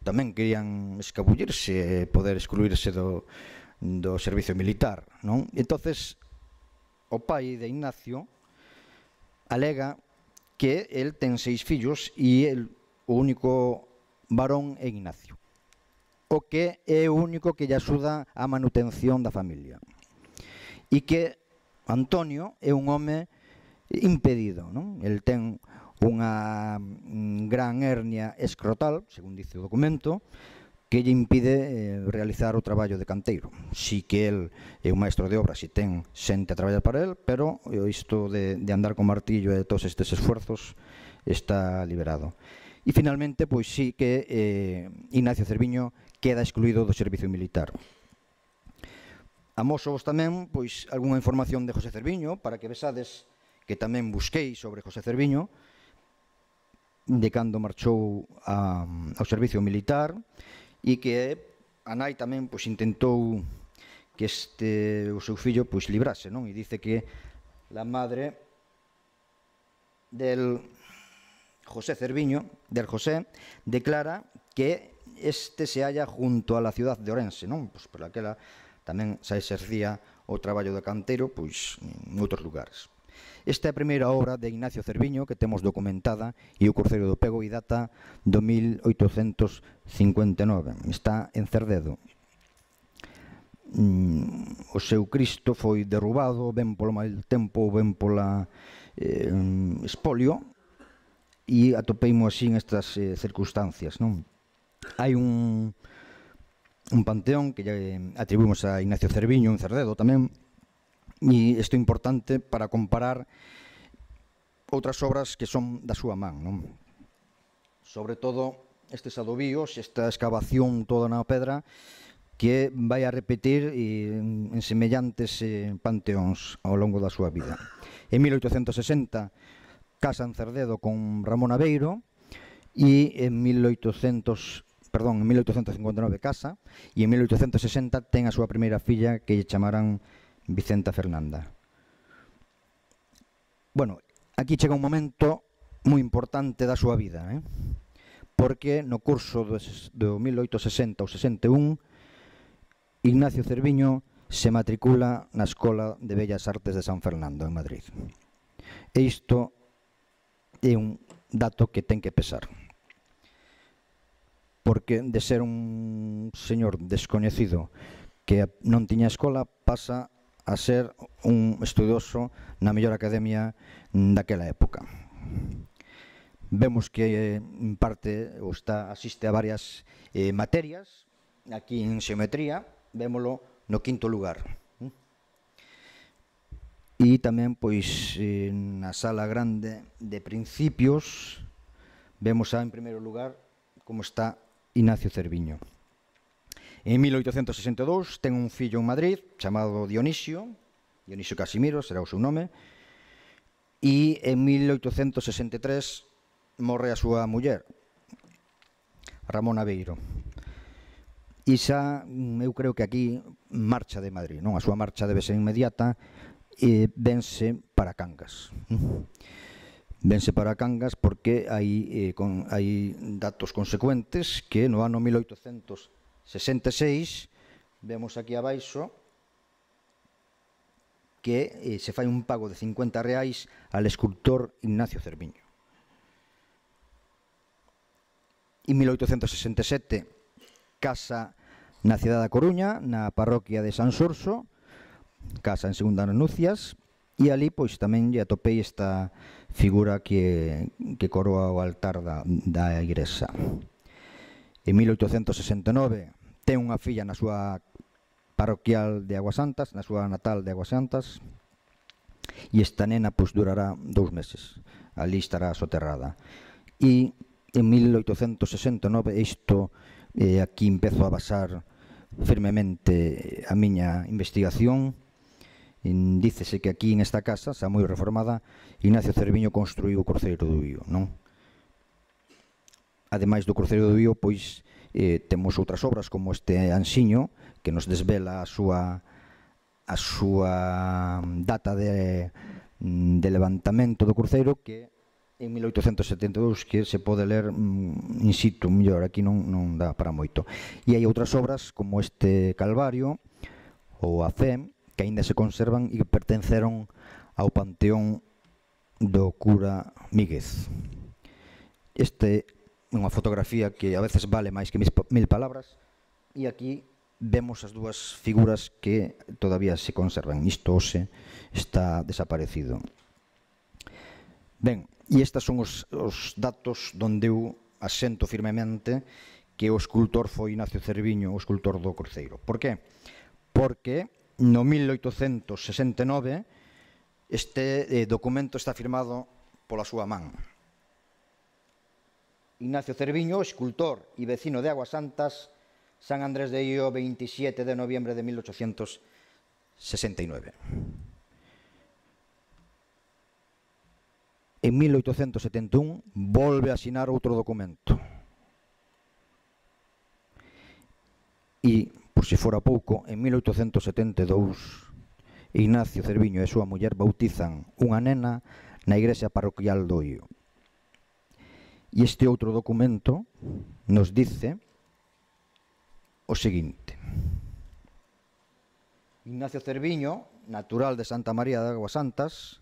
tamén querían escabullirse e poder excluirse do, do servicio militar, non? Entonces, o pai de Ignacio alega que el ten seis fillos e el, o único varón é Ignacio, o que é o único que lle axuda a manutención da familia, e que Antonio é un home impedido, non? El ten unha gran hernia escrotal, según dice o documento, que lle impide eh, realizar o traballo de canteiro. Si que el é un maestro de obra, si ten xente a traballar para el, pero isto de, de andar con martillo e todos estes esfuerzos está liberado. E finalmente, pois sí que eh, Ignacio Cerviño queda excluído do servicio militar. Amosovos tamén pois algunha información de José Cerviño para que vesades que tamén busquei sobre José Cerviño de cando marchou a, ao servicio militar, e que a nai tamén pois intentou que este o seu fillo pois librase, non? E dice que la madre del José Cerviño, del José, declara que este se halla junto a la ciudad de Orense, non? Pois por aquela tamén se exercía o traballo de canteiro pois en outros lugares. Esta é a primeira obra de Ignacio Cerviño que temos documentada, e o Cruceiro do Pego e data do mil oitocentos cincuenta e nove. Está en Cerdedo. Mm, o seu Cristo foi derrubado, ben polo mal tempo, ben pola eh, espolio, e atopeimo así en estas eh, circunstancias, non? Hai un, un panteón que lle atribuimos a Ignacio Cerviño en Cerdedo tamén, e isto é importante para comparar outras obras que son da súa man, non? Sobre todo estes adobíos, esta excavación toda na pedra que vai a repetir en, en semellantes eh, panteóns ao longo da súa vida. En mil oitocentos sesenta casa en Cerdedo con Ramón Aveiro, e en mil oitocentos, perdón, en mil oitocentos cincuenta e nove casa, e en mil oitocentos sesenta ten a súa primeira filla que lle chamarán Vicenta Fernanda. Bueno, aquí chega un momento moi importante da súa vida, eh? Porque no curso do, do mil oitocentos sesenta ou sesenta e un Ignacio Cerviño se matricula na Escola de Bellas Artes de San Fernando, en Madrid. E isto é un dato que ten que pesar, porque de ser un señor descoñecido que non tiña escola pasa a ser un estudioso na mellor academia daquela época. Vemos que en parte o está, asiste a varias eh, materias, aquí en xeometría, vémolo no quinto lugar. E tamén, pois, eh, na sala grande de principios, vemos a, en primeiro lugar, como está Ignacio Cerviño. En mil oitocentos sesenta e dous ten un fillo en Madrid chamado Dionisio, Dionisio Casimiro, será o seu nome, e en mil oitocentos sesenta e tres morre a súa muller, Ramón Aveiro. E xa, eu creo que aquí marcha de Madrid, non? A súa marcha debe ser inmediata, e vense para Cangas. Vense para Cangas porque hai, eh, con, hai datos consecuentes que no ano mil oitocentos sesenta e seis vemos aquí abaixo que eh, se fai un pago de cincuenta reais al escultor Ignacio Cerviño. En mil oitocentos sesenta e sete casa na cidade da Coruña, na parroquia de San Xurxo, casa en segunda nupcias, e ali pois tamén lle atopei esta figura que, que coroa o altar da, da igrexa. En mil oitocentos sesenta e nove ten unha filla na súa parroquial de Aguasantas, na súa natal de Aguasantas, e esta nena pois durará dous meses, ali estará soterrada. E en mil oitocentos sesenta e nove isto, eh, aquí empezo a basar firmemente a miña investigación. En, dícese que aquí en esta casa, xa moi reformada, Ignacio Cerviño construiu o Cruceiro do Bío, non? Ademais do Cruceiro do Bío, pois eh, temos outras obras como este Anxiño, que nos desvela a súa a súa data de, de levantamento do cruceiro, que en mil oitocentos setenta e dous que se pode ler mm, in situ, mellor, aquí non, non dá para moito. E hai outras obras como este Calvario ou a Fe, que aínda se conservan e que pertenceron ao panteón do cura Míguez. Este é unha fotografía que a veces vale máis que mil palabras, e aquí vemos as dúas figuras que todavía se conservan. Isto hoxe está desaparecido. Ben, e estes son os, os datos donde eu asento firmemente que o escultor foi Ignacio Cerviño, o escultor do Cruceiro. Por que? Porque no mil oitocentos sesenta e nove este eh, documento está firmado pola súa man. Ignacio Cerviño, escultor e vecino de Aguas Santas, San Andrés de Io, veintisiete de noviembre de mil oitocentos sesenta e nove. En mil oitocentos setenta e un volve a asinar outro documento. E, por se fora pouco, en mil oitocentos setenta e dous, Ignacio Cerviño e súa muller bautizan unha nena na igrexa parroquial do Io. E este outro documento nos dice o seguinte: Ignacio Cerviño, natural de Santa María de Aguas Santas,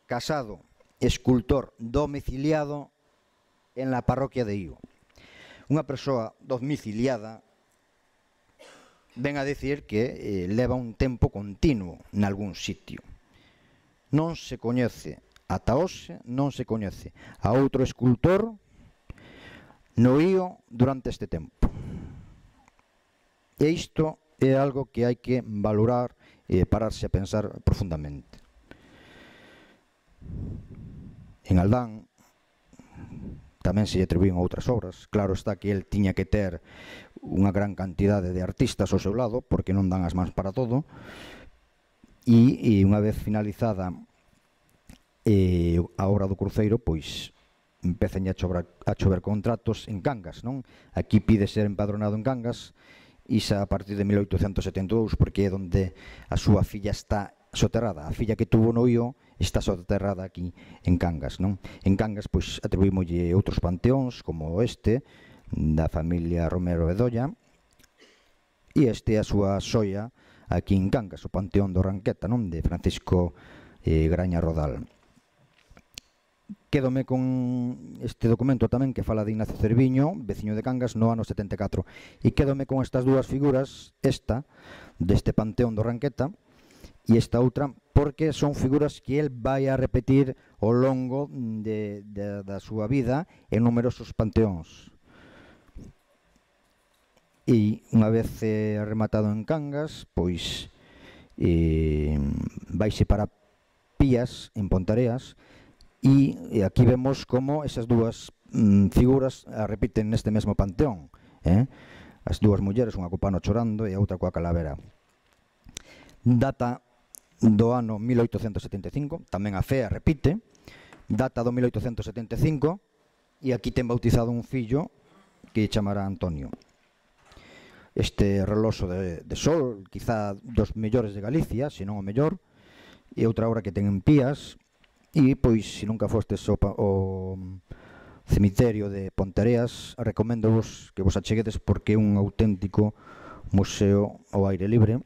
casado, escultor domiciliado en la parroquia de Io. Unha persoa domiciliada ven a decir que eh, leva un tempo continuo nalgún sitio. Non se coñece, ata hoxe non se coñece a outro escultor no Io durante este tempo. E isto é algo que hai que valorar e pararse a pensar profundamente. En Aldán tamén se lle atribuían outras obras. Claro está que el tiña que ter unha gran cantidade de artistas ao seu lado, porque non dan as mans para todo, e, e unha vez finalizada eh, a obra do Cruceiro, pois empezan a chover, a chover contratos en Cangas, non? Aquí pide ser empadronado en Cangas, e xa a partir de mil oitocentos setenta e dous, porque é onde a súa filla está soterrada. A filla que tuvo no Io está soterrada aquí en Cangas, non? En Cangas, pois, atribuímolle outros panteóns, como este, da familia Romero Bedoya, e este a súa xoia aquí en Cangas, o panteón do Ranqueta, non? De Francisco eh, Graña Rodal. Quédome con este documento tamén que fala de Ignacio Cerviño, veciño de Cangas, no ano setenta e catro. E quédome con estas dúas figuras, esta, deste panteón do Ranqueta, e esta outra, porque son figuras que el vai a repetir ao longo de, de, da súa vida en numerosos panteóns. E unha vez eh, rematado en Cangas, pois eh, vaise para Pías, en Pontareas, e, e aquí vemos como esas dúas mm, figuras a repiten neste mesmo panteón, eh? As dúas mulleres, unha co pano chorando e a outra coa calavera. Data do ano mil oitocentos setenta e cinco, tamén a Fea repite, data do mil oitocentos setenta e cinco, e aquí ten bautizado un fillo que chamará Antonio. Este reloxo de, de sol, quizá dos mellores de Galicia, se non o mellor, e outra obra que ten en Pías, e pois, se nunca fostes o, o cemiterio de Pontareas, recomendo vos que vos acheguedes porque é un auténtico museo ao aire libre,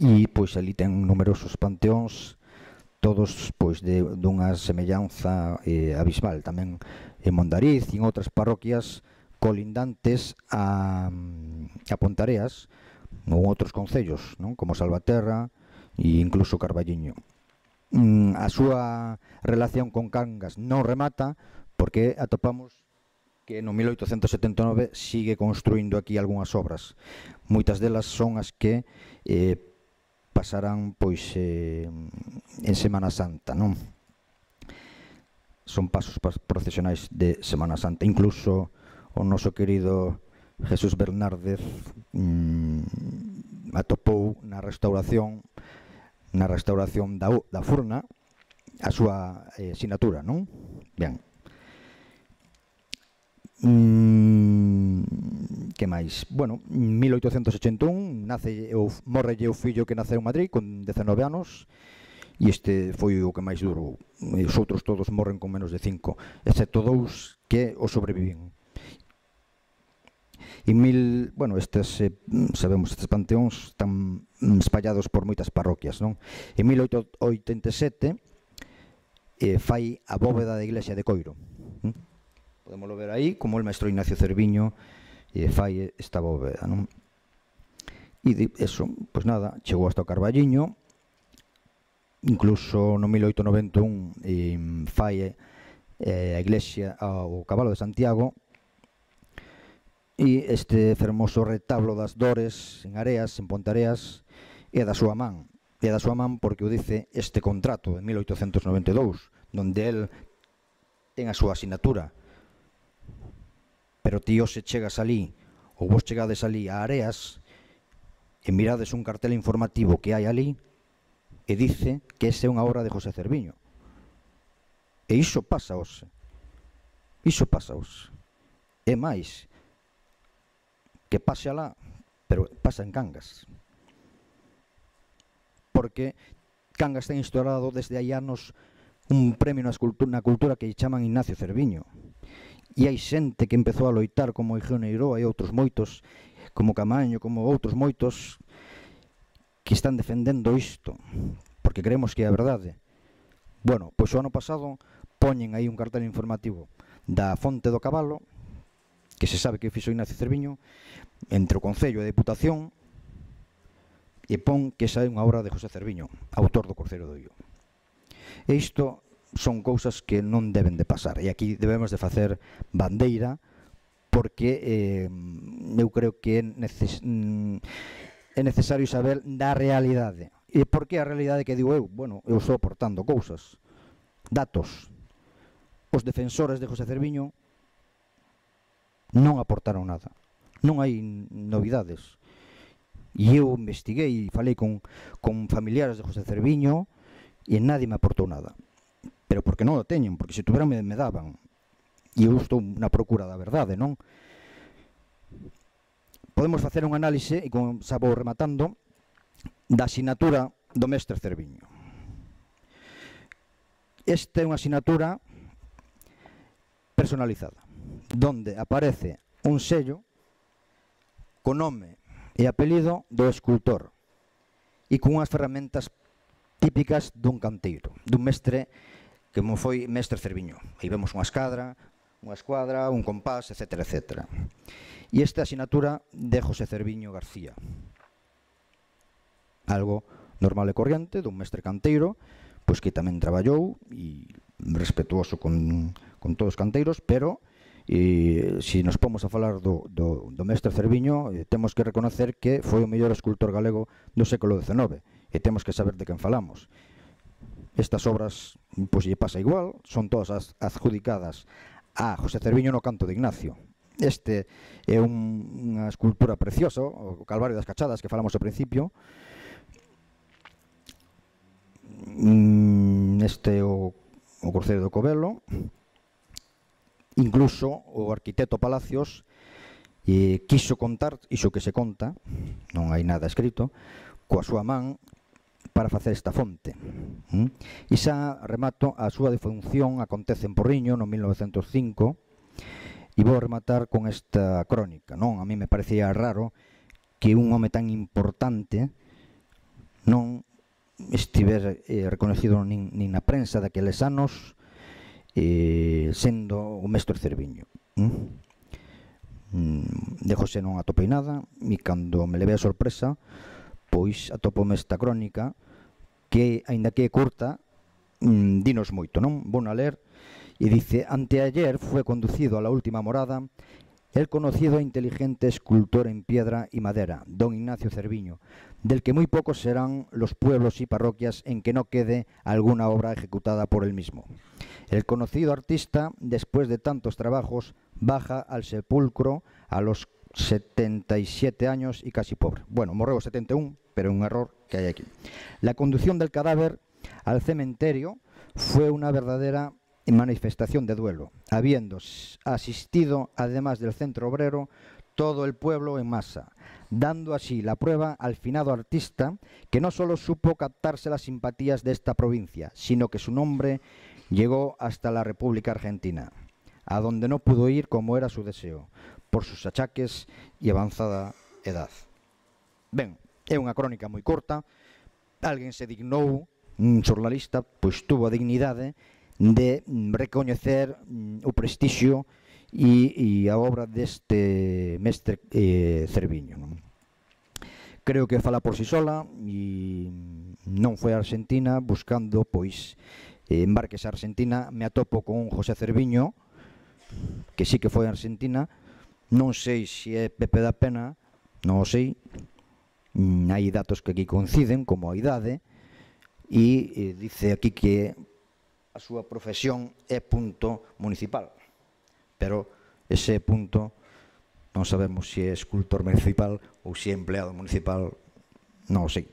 e pois ali ten numerosos panteóns, todos pois de dunha semellanza eh, abismal, tamén en Mondariz e en outras parroquias colindantes a, a Pontareas ou outros concellos, non? Como Salvaterra e incluso Carballiño. Mm, a súa relación con Cangas non remata porque atopamos que no mil oitocentos setenta e nove sigue construindo aquí algunhas obras. Moitas delas son as que eh, pasarán pois eh, en Semana Santa, non? Son pasos procesionais de Semana Santa. Incluso o noso querido Jesús Bernárdez mmm, atopou na restauración na restauración da, da Furna a súa eh, sinatura, non? Ben. Mm, que máis? Bueno, en mil oitocentos ochenta e un nace o, morrelle o fillo que naceu en Madrid con dezenove anos e este foi o que máis durou. Os outros todos morren con menos de cinco, excepto dous que o sobreviven. E mil, bueno, estes, eh, sabemos, estes panteóns están espallados por moitas parroquias, non? En mil oitocentos oitenta e sete eh, fai a bóveda da iglesia de Coiro. ¿Mm? Podemoslo ver aí, como o maestro Ignacio Cerviño eh, fai esta bóveda, non? E de, eso, pois nada, chegou hasta o Carballiño, incluso no mil oitocentos noventa e un eh, fai eh, a iglesia ao Cabalo de Santiago, e este fermoso retablo das Dores en Areas, en Pontareas, é da súa man. É da súa man porque o dice este contrato de mil oitocentos noventa e dous, donde el ten a súa asignatura. Pero tío, se chegas ali, ou vos chegades ali a Areas, e mirades un cartel informativo que hai ali, e dice que esa é unha obra de José Cerviño. E iso pasa hoxe. Iso pasa hoxe. E máis, que pase alá, pero pasa en Cangas. Porque Cangas ten instaurado desde hai anos un premio na cultura, na cultura que chaman Ignacio Cerviño. E hai xente que empezou a loitar como Igeo Neiroa e outros moitos, como Camaño, como outros moitos, que están defendendo isto, porque creemos que é a verdade. Bueno, pois o ano pasado poñen aí un cartel informativo da Fonte do Cabalo, que se sabe que fixo Ignacio Cerviño, entre o Concello e a Deputación, e pon que esa é unha obra de José Cerviño, autor do Corceiro do Io. E isto son cousas que non deben de pasar, e aquí debemos de facer bandeira, porque eh, eu creo que é, neces é necesario saber da realidade. E por que a realidade que digo eu? Bueno, eu estou aportando cousas, datos. Os defensores de José Cerviño non aportaron nada, non hai novidades. E eu investiguei e falei con, con familiares de José Cerviño e nadie me aportou nada. Pero porque non o teñen, porque se tuveran me, me daban. E eu estou na procura da verdade, non? Podemos facer un análise, e como xa vou rematando, da asignatura do mestre Cerviño. Esta é unha asignatura personalizada, donde aparece un sello con nome e apelido do escultor e con unhas ferramentas típicas dun canteiro, dun mestre que mo foi mestre Cerviño. Aí vemos unha escadra, unha escuadra, un compás, etcétera, etcétera. E esta asignatura de José Cerviño García, algo normal e corriente dun mestre canteiro, pois que tamén traballou e respetuoso con, con todos os canteiros, pero e se nos pomos a falar do, do, do mestre Cerviño, eh, temos que reconocer que foi o mellor escultor galego do século dezenove, e temos que saber de quen falamos. Estas obras, pois lle pasa igual, son todas as adjudicadas a José Cerviño no Canto de Ignacio. Este é un, unha escultura preciosa, o Calvario das Cachadas, que falamos ao principio. Este é o, o Corceiro do Covelo. Incluso o arquitecto Palacios eh, quiso contar iso que se conta, non hai nada escrito, coa súa man para facer esta fonte. Mm? E xa remato, a súa defunción acontece en Porriño no mil novecentos cinco, e vou rematar con esta crónica, non? A mí me parecía raro que un home tan importante non estiver eh, reconocido nin, nin na prensa daqueles anos, eh, sendo o mestre Cerviño. Mm? De José non atopei nada, e cando me levei a sorpresa, pois atopome esta crónica que, aínda que é curta, mm, dinos moito, non? Vou a ler, e dice: anteayer fue conducido a la última morada el conocido e inteligente escultor en piedra y madera, don Ignacio Cerviño, del que muy pocos serán los pueblos y parroquias en que no quede alguna obra ejecutada por él mismo. El conocido artista, después de tantos trabajos, baja al sepulcro a los setenta y siete años y casi pobre. Bueno, morreu setenta e un, pero un error que hay aquí. La conducción del cadáver al cementerio fue una verdadera manifestación de duelo, habiendo asistido, además del centro obrero, todo el pueblo en masa, dando así la prueba al finado artista que no solo supo captarse las simpatías de esta provincia, sino que su nombre llegó hasta la República Argentina, a donde no pudo ir como era su deseo, por sus achaques e avanzada edad. Ben, é unha crónica moi corta, alguén se dignou, un xornalista, pois tuvo a dignidade de recoñecer o prestixio e, e a obra deste mestre eh, Cerviño. Non? Creo que fala por si sola e non foi a Argentina buscando, pois, eh, embarques a Argentina, me atopo con un José Cerviño, que sí que foi a Argentina, non sei se é Pepe da Pena, non o sei, mm, hai datos que aquí coinciden, como a idade, e eh, dice aquí que a súa profesión é punto municipal, pero ese punto non sabemos se é escultor municipal ou se é empleado municipal, non o sei.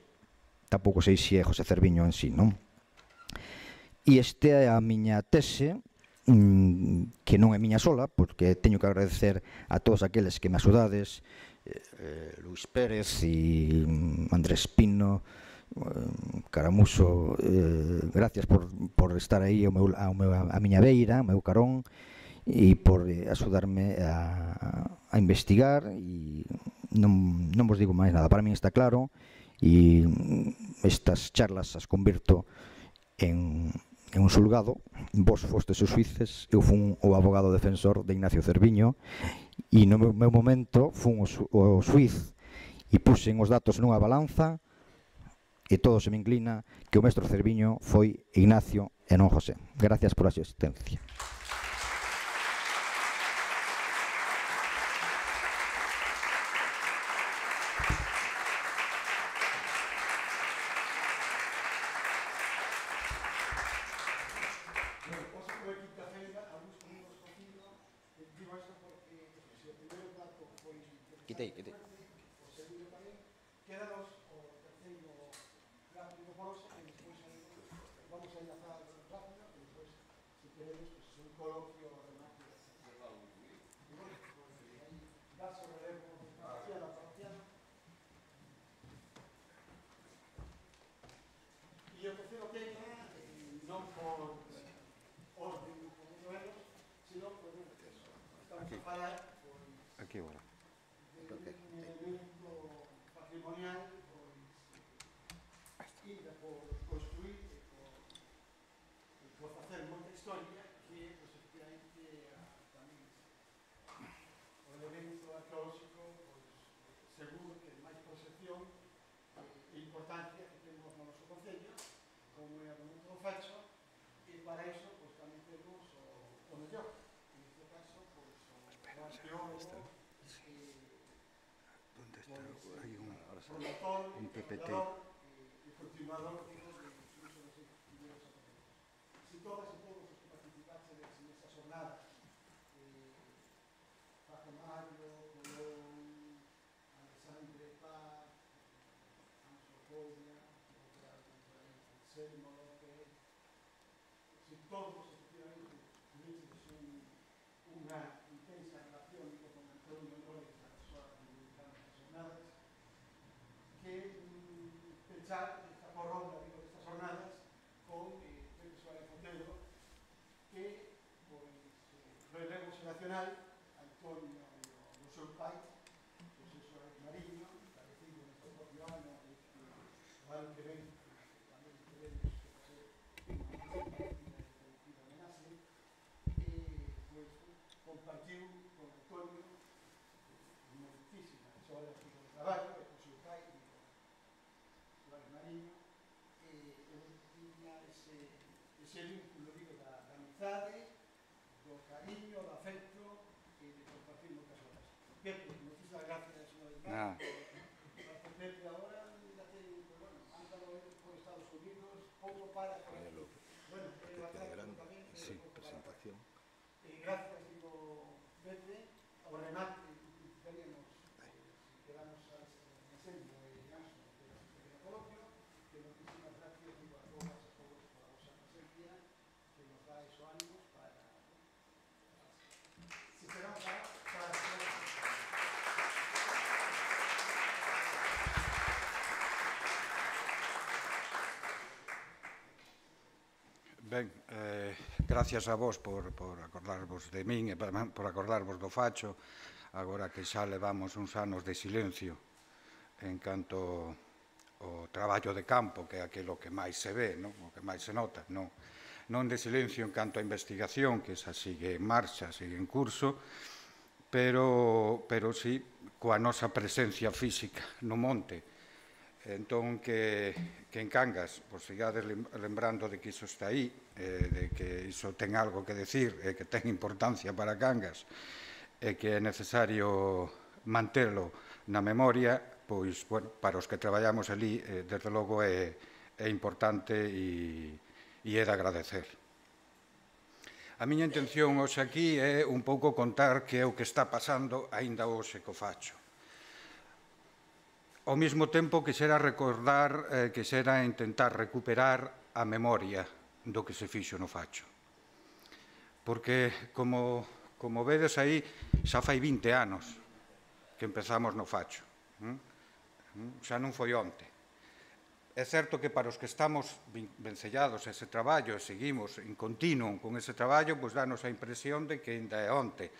Tampouco sei se é José Cerviño en sí, non? E este é a miña tese, que non é miña sola, porque teño que agradecer a todos aqueles que me axudades, eh, Luis Pérez e Andrés Pino, eh, Caramuso, eh, gracias por, por estar aí ao meu, ao meu, a miña beira, ao meu carón, e por eh, axudarme a, a investigar, e non, non vos digo máis nada, para mí está claro, e estas charlas as convirto en en un xulgado, vos fostes os xuíces, eu fun o abogado defensor de Ignacio Cerviño e no meu, meu momento fun o, o xuíz e puxen os datos nunha balanza e todo se me inclina que o mestre Cerviño foi Ignacio e non José. Gracias por a asistencia. Quitei, quitei. O segundo tamén, quedanos o terceiro rápido poroso, e despois vamos a enlazar rápido, e despois, se queremos, pues, un coloquio remate. Das o relevo parcial a parcial. E o terceiro tema, non por orden como modelos, sino por estamos a falar aquí agora. un elemento patrimonial, pois, ida por construir e por, e por facer moita historia, que é, pois, efectivamente, tamén o elemento arqueolóxico, pois, seguro que máis proxección e importancia que temos no noso concello, como é o momento do Facho, e para iso, pois, tamén temos o, o mellor, en este caso, pois, o arqueólogo, Hay un, promotor, un P P T. y continuador de incluso de los primeros aparatos. Si todas y todos los que participasen en estas jornadas, eh, Paco Mario, Colón, Alexandre Paz, Anso Polla, Anselmo López, si todos efectivamente tuviesen una intensa relación con Antonio López a las jornadas, que mm, pensar esta corronda, digo, de estas jornadas con eh, Pepe Suárez Otero, que, pois, eh, relevo xeracional, Antonio do seu pai, José Suárez Mariño, parecido neste propio ano, o ano que ven, tamén teremos que facer unha colectiva homenaxe, e, pois, compartiu con Antonio moitísimas horas de traballo, e con seu pai, Suárez Mariño, e eu tiña ese, ese vínculo, digo, da, da amizade, do cariño, do afecto e de compartir moitas horas. Pepe, moitísimas gracias unha vez máis. Ah. Pepe agora ya ten, pues, bueno, han estado por Estados Unidos, pouco para por aquí. Bueno, é bastante tamén, sí, presentación. E gracias, digo, Pepe, ao remate que teníamos, eh, si quedamos a este enseño e ganso de pequeno coloquio, que moitísimas gracias, digo, a todas e a todos por a vosa presencia, que nos dá esos ánimos para... Si queramos para... para... Ben, eh, gracias a vos por, por acordarvos de min e por acordarvos do Facho, agora que xa levamos uns anos de silencio en canto ao traballo de campo, que é aquilo que máis se ve, non? O que máis se nota, non, non de silencio en canto a investigación, que esa sigue en marcha, sigue en curso, pero, pero sí coa nosa presencia física no monte. Entón, que, que en Cangas, pois, sigades lembrando de que iso está aí, eh, de que iso ten algo que decir, e que ten importancia para Cangas, e que é necesario mantelo na memoria, pois, bueno, para os que traballamos ali, eh, desde logo é, é importante e, e é de agradecer. A miña intención hoxe aquí é un pouco contar que é o que está pasando aínda hoxe co Facho. Ao mesmo tempo, quixera recordar, eh, quixera intentar recuperar a memoria do que se fixo no Facho. Porque, como, como vedes aí, xa fai vinte anos que empezamos no Facho. ¿Mm? Xa non foi onte. É certo que para os que estamos vencellados a ese traballo e seguimos en continuo con ese traballo, pois danos a impresión de que ainda é onte.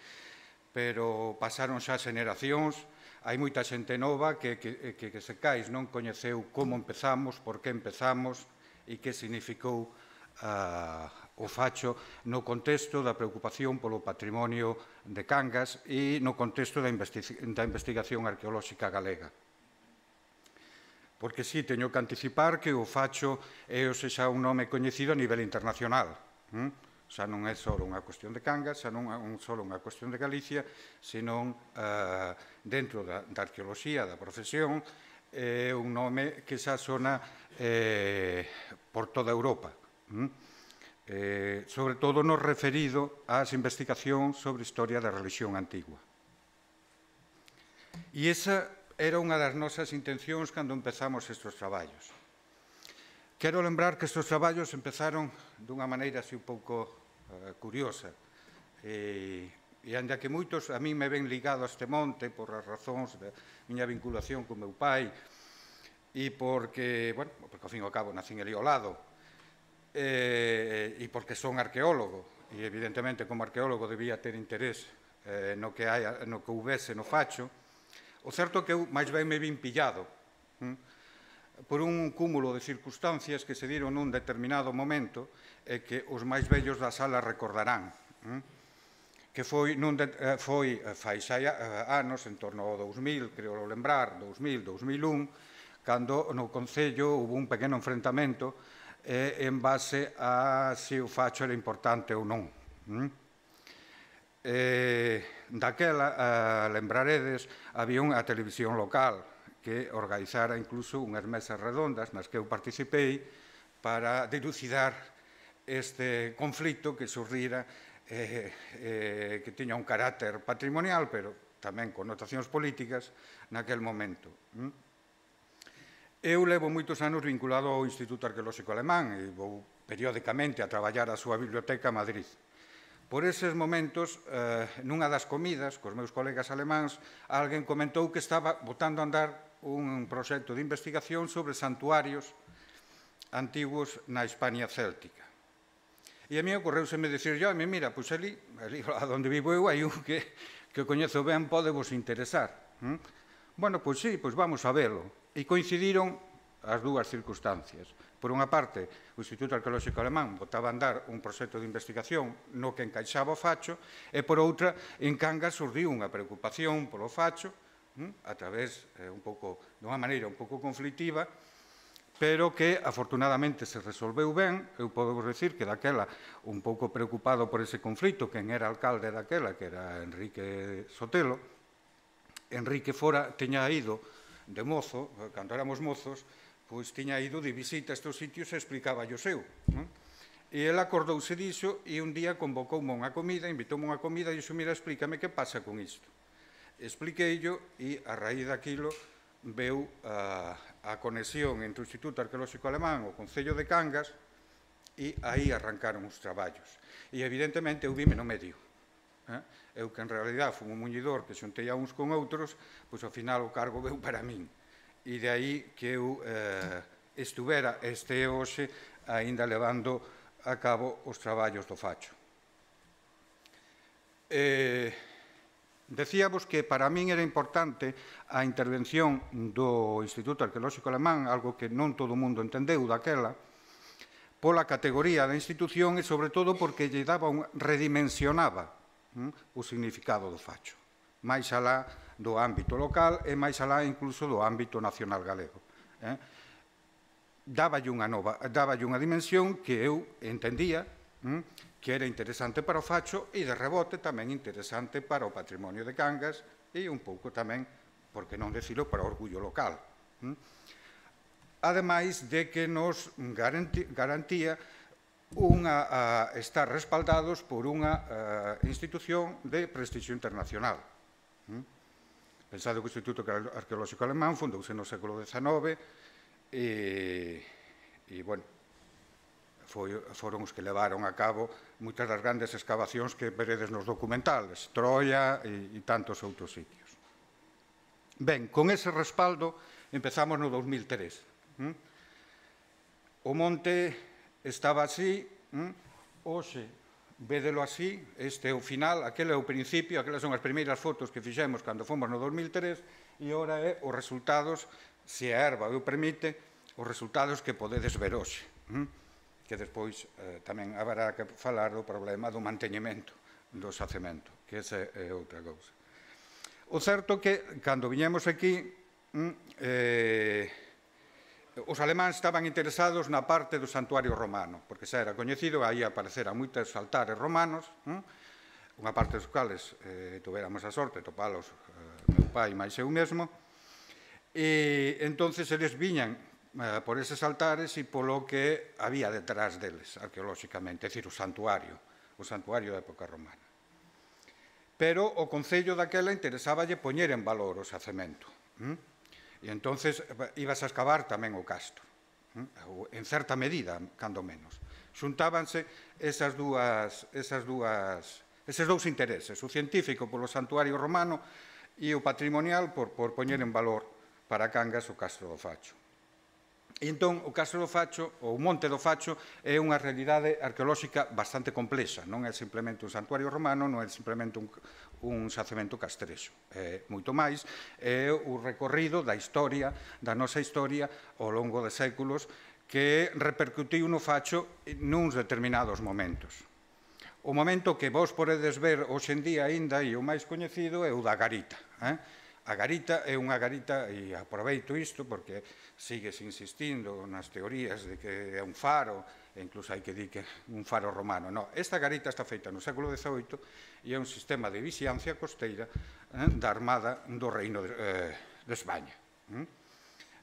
Pero pasaron xa xeneracións. Hai moita xente nova que, que, que, que se cais non coñeceu como empezamos, por que empezamos e que significou uh, o Facho no contexto da preocupación polo patrimonio de Cangas e no contexto da, investi da investigación arqueolóxica galega. Porque sí, teño que anticipar que o Facho é o xa un nome coñecido a nivel internacional. Hm? Xa non é só unha cuestión de Cangas, xa non é só unha cuestión de Galicia, senón eh, dentro da, da arqueoloxía, da profesión, é un nome que xa sona eh, por toda Europa. Mm? Eh, sobre todo no referido ás investigacións sobre historia da religión antigua. E esa era unha das nosas intencións cando empezamos estes traballos. Quero lembrar que estes traballos empezaron dunha maneira así un pouco uh, curiosa. E, e ainda que moitos a mí me ven ligado a este monte por as razóns da miña vinculación con meu pai e porque, bueno, porque ao fin e ao cabo nacín ali ao lado e, e porque son arqueólogo e evidentemente como arqueólogo debía ter interés eh, no, que hai, no que houvese no Facho. O certo é que eu máis ben me vin pillado hm? por un cúmulo de circunstancias que se diron nun determinado momento e que os máis vellos da sala recordarán. Que foi, nun de, foi fai xa anos, en torno ao dous mil, creo lembrar, dous mil, dous mil un, cando no Concello hubo un pequeno enfrentamento eh, en base a se o Facho era importante ou non. Eh, daquela, eh, lembraredes, había unha televisión local que organizara incluso unhas mesas redondas nas que eu participei para dilucidar este conflito que surrira eh, eh, que tiña un carácter patrimonial, pero tamén connotacións políticas naquel momento. Eu levo moitos anos vinculado ao Instituto Arqueolóxico Alemán e vou periódicamente a traballar a súa biblioteca a Madrid. Por eses momentos, eh, nunha das comidas, cos meus colegas alemáns, alguén comentou que estaba botando a andar un proxecto de investigación sobre santuarios antigos na Hispania céltica. E a mí ocorreuseme dicir, yo, mira, pois ali, ali onde vivo eu, hai un que, que o coñezo ben, pode vos interesar. ¿Mm? Bueno, pois sí, pois vamos a velo. E coincidiron as dúas circunstancias. Por unha parte, o Instituto Arqueolóxico Alemán botaba a andar un proxecto de investigación no que encaixaba o Facho, e por outra, en Cangas surdiu unha preocupación polo Facho, a través, eh, un pouco, de unha maneira un pouco conflictiva, pero que afortunadamente se resolveu ben. Eu podo vos decir que daquela, un pouco preocupado por ese conflito, quen era alcalde daquela, que era Enrique Sotelo, Enrique fora, teña ido de mozo, cando éramos mozos, pois tiña ido de visita a estes sitios e explicaba o seu. Non? E ele acordouse diso e un día convocoume unha comida, invitoume unha comida e dixo, mira, explícame que pasa con isto. Expliqueillo e a raíz daquilo veu a, a conexión entre o Instituto Arqueolóxico Alemán e o Concello de Cangas e aí arrancaron os traballos. E evidentemente eu vime no medio. Eh? Eu que en realidad fui un muñidor que xuntei a uns con outros, pois ao final o cargo veu para min. E de aí que eu eh, estuvera este hoxe aínda levando a cabo os traballos do Facho. Eh, decíamos que para min era importante a intervención do Instituto Arqueolóxico Alemán, algo que non todo o mundo entendeu daquela, pola categoría da institución e, sobre todo, porque lle daba un, redimensionaba hm, o significado do Facho, máis alá do ámbito local e máis alá incluso do ámbito nacional galego. Eh? Dáballe unha nova, dáballe unha dimensión que eu entendía hm, que era interesante para o Facho e, de rebote, tamén interesante para o patrimonio de Cangas e un pouco tamén, por que non decilo, para o orgullo local. Ademais de que nos garantía unha, a, estar respaldados por unha a, institución de prestixio internacional. Pensado que o Instituto Arqueolóxico Alemán fundouse no século dezenove e, e bueno, Foi, foron os que levaron a cabo moitas das grandes excavacións que veredes nos documentales, Troia e, e tantos outros sitios. Ben, con ese respaldo empezamos no dos mil tres. ¿Mm? O monte estaba así, ¿Mm? Hoxe, védelo así, este é o final, aquele é o principio, aquelas son as primeiras fotos que fixemos cando fomos no dos mil tres e ora é os resultados, se a erva o permite, os resultados que podedes ver hoxe. ¿Mm? Que despois eh, tamén haberá que falar do problema do manteñemento do xacemento, que esa é outra cousa. O certo que, cando viñemos aquí, eh, os alemáns estaban interesados na parte do santuario romano, porque xa era coñecido, aí apareceran moitos altares romanos, hm? Unha parte dos cuales eh, tuveramos a sorte de topalos eh, meu pai máis eu mesmo, e entonces eles viñan por eses altares e polo que había detrás deles, arqueolóxicamente, é dicir, o santuario, o santuario da época romana. Pero o Concello daquela interesáballe poñer en valor o xacemento. E entonces ibas a excavar tamén o castro, en certa medida, cando menos. Xuntábanse esas dúas, esas dúas, eses dous intereses, o científico polo santuario romano e o patrimonial por, por poñer en valor para Cangas o castro do Facho. E entón, o Castro do Facho, ou o Monte do Facho, é unha realidade arqueolóxica bastante complexa. Non é simplemente un santuario romano, non é simplemente un, un xacemento castrexo. É moito máis, é o recorrido da historia, da nosa historia, ao longo de séculos, que repercutiu no Facho nuns determinados momentos. O momento que vos podedes ver hoxe en día aínda, e o máis coñecido, é o da garita. Eh? A garita é unha garita, e aproveito isto porque sigues insistindo nas teorías de que é un faro, e incluso hai que dir que é un faro romano. No, esta garita está feita no século dezoito e é un sistema de vixiancia costeira eh, da Armada do Reino de, eh, de España.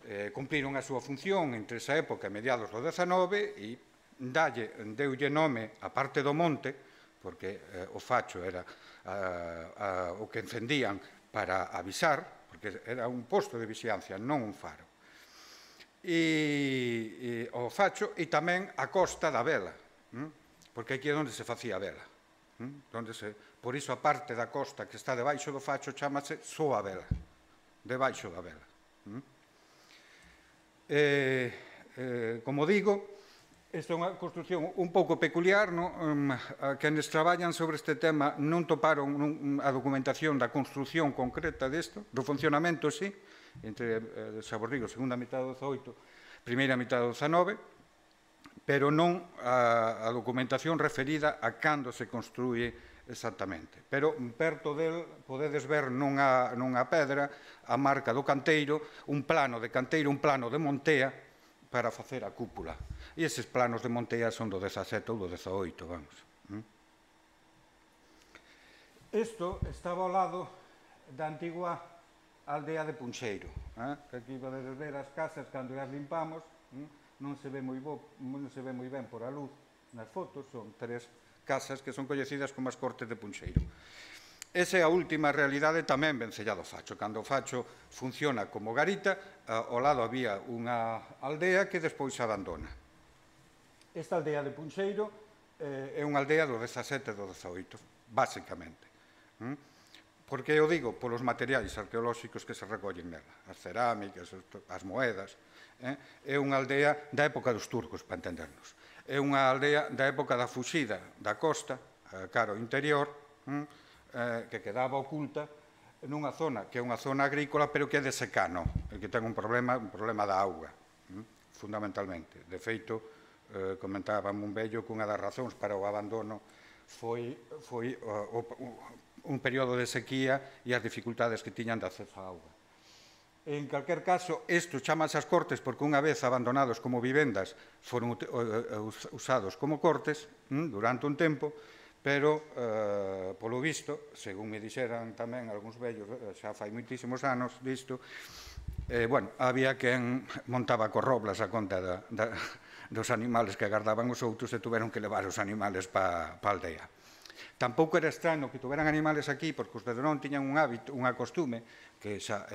Eh, cumpriron a súa función entre esa época e mediados do dezenove e dalle, deulle nome a parte do monte, porque eh, o Facho era a, a, o que encendían para avisar, porque era un posto de vixiancia, non un faro. E, e o Facho e tamén a costa da vela, porque aquí é onde se facía a vela. Onde se, por iso a parte da costa que está debaixo do Facho chamase só a vela, debaixo da vela. Eh, eh, como digo, esta é unha construción un pouco peculiar, no? um, a quenes traballan sobre este tema non toparon un, a documentación da construción concreta desto, do funcionamento, sí, entre eh, Sabordigo, segunda mitad do dezoito, primeira mitad do dezenove, pero non a, a documentación referida a cando se construye exactamente. Pero perto del podedes ver nunha, nunha pedra a marca do canteiro, un plano de canteiro, un plano de montea, para facer a cúpula. E eses planos de Montea son do dezasete ou do dezaoito, vamos. Isto estaba ao lado da antigua aldea de Punxeiro. Aquí podedes ver as casas cando as limpamos, non se ve moi ben por a luz nas fotos, son tres casas que son coñecidas como as Cortes de Punxeiro. Esa é a última realidade tamén vencella do Facho. Cando o Facho funciona como garita, ao lado había unha aldea que despois se abandona. Esta aldea de Punxeiro eh, é unha aldea do dezasete e do dezaoito, basicamente. ¿Mm? Por que eu digo? Polos materiais arqueolóxicos que se recollen nela, as cerámicas, as moedas. Eh? É unha aldea da época dos turcos, para entendernos. é unha aldea da época da fuxida da costa, cara ao interior, que quedaba oculta nunha zona que é unha zona agrícola, pero que é de secano, e que ten un problema, un problema da auga, fundamentalmente. De feito, comentábamos un vello que unha das razóns para o abandono foi un período de sequía e as dificultades que tiñan de acceso á auga. En calquer caso, isto chamas as cortes porque unha vez abandonados como vivendas foron usados como cortes durante un tempo, pero, polo visto, según me dixeran tamén algúns vellos, xa fai moitísimos anos disto, bueno, había quen montaba corroblas a conta dos animales que agardaban os outros e tuveron que levar os animales pa a aldea. Tampouco era extraño que tuveran animales aquí, porque os de Donón tiñan un hábito, unha costume, que xa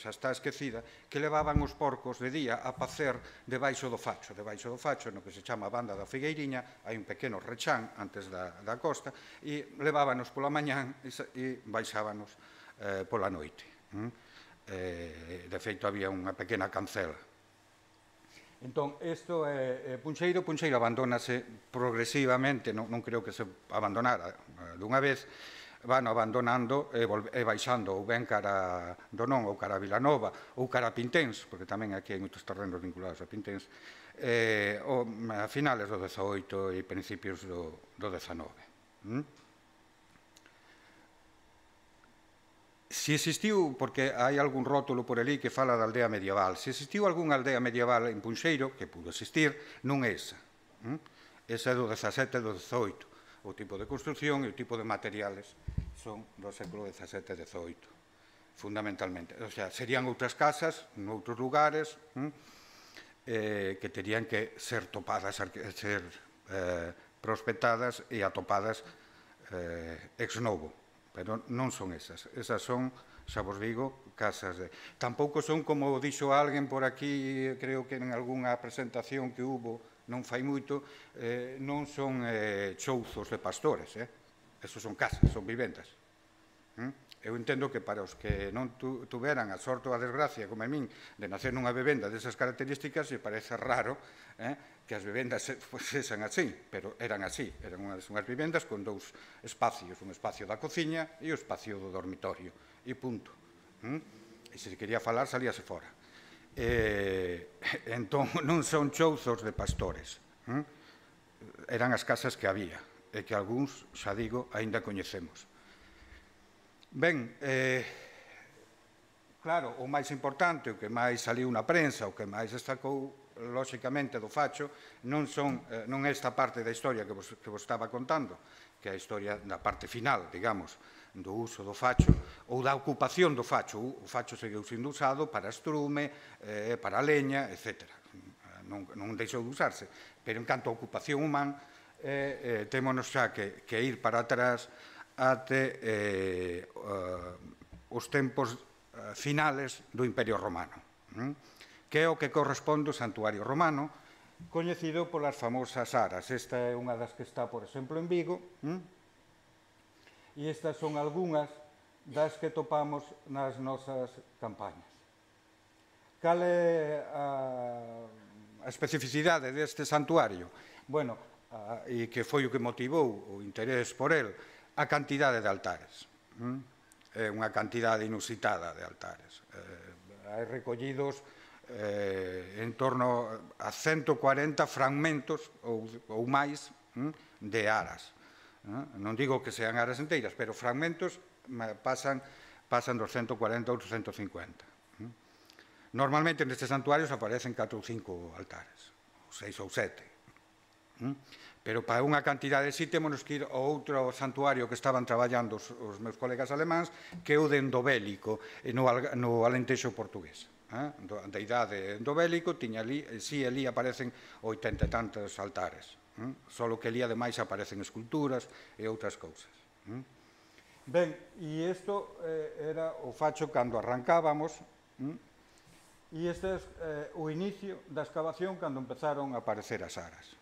está esquecida, que levaban os porcos de día a pacer debaixo do facho. Debaixo do facho, no que se chama Banda da Figueiriña, hai un pequeno rechán antes da costa, e levábanos pola mañán e baixábanos pola noite. De feito, había unha pequena cancela. Entón, isto é Puncheiro. Puncheiro abandónase progresivamente, non creo que se abandonara dunha vez, van abandonando e baixando ou ben cara Donón ou cara Vilanova ou cara Pinténs, porque tamén aquí hai moitos terrenos vinculados a Pinténs, a finales do dezaoito e principios do dezanove. Si existiu, porque hai algún rótulo por ali que fala da aldea medieval, se existiu algunha aldea medieval en Punxeiro, que pudo existir, non é esa. Esa é do dezasete e do dezaoito. O tipo de construcción e o tipo de materiales son do século dezasete e dezaoito, fundamentalmente. O sea, serían outras casas, noutros lugares, que terían que ser topadas, ser prospectadas e atopadas ex novo. Pero non son esas. Esas son, xa vos digo, casas de... Tampouco son, como dixo alguén por aquí, creo que en algunha presentación que hubo, non fai moito, non son chouzos de pastores. Esos son casas, son vivendas. Eu entendo que para os que non tuveran a sorte ou a desgracia, como a min, de nacer nunha vivenda desas características, se parece raro que as vivendas sexan así, pero eran así. Eran unhas vivendas con dous espacios, un espacio da cociña e o espacio do dormitorio, e punto. E se quería falar, salíase fora. Entón, non son chouzos de pastores. Eran as casas que había, e que algúns, xa digo, aínda coñecemos. Ben, claro, o máis importante, o que máis saliu na prensa, o que máis destacou, lóxicamente, do facho, non é esta parte da historia que vos estaba contando, que é a historia da parte final, digamos, do uso do facho, ou da ocupación do facho. O facho seguiu sendo usado para estrume, para leña, etcétera. Non deixou de usarse, pero en canto a ocupación humana, témonos xa que ir para atrás até os tempos finales do Imperio Romano, que é o que corresponde ao santuario romano, coñecido polas famosas aras. Esta é unha das que está, por exemplo, en Vigo, e estas son algunhas das que topamos nas nosas campañas. Cal é a especificidade deste santuario? Bueno, e que foi o que motivou o interés por el, a cantidade de altares. É unha cantidade inusitada de altares. Hai recollidos en torno a ciento cuarenta fragmentos ou máis de aras. Non digo que sean aras enteiras, pero fragmentos pasan dos ciento cuarenta ou ciento cincuenta. Normalmente nestes santuarios aparecen catro ou cinco altares, ou seis ou sete. Pero para unha cantidade así temos que ir ao outro santuario que estaban traballando os meus colegas alemáns, que é o de Endobélico, no Alentexo portugués. Da idade endobélico, tiña ali, si ali aparecen oitenta e tantos altares, só que ali ademais aparecen esculturas e outras cousas. Ben, e isto era o facho cando arrancábamos, e este é o inicio da excavación cando empezaron a aparecer as aras.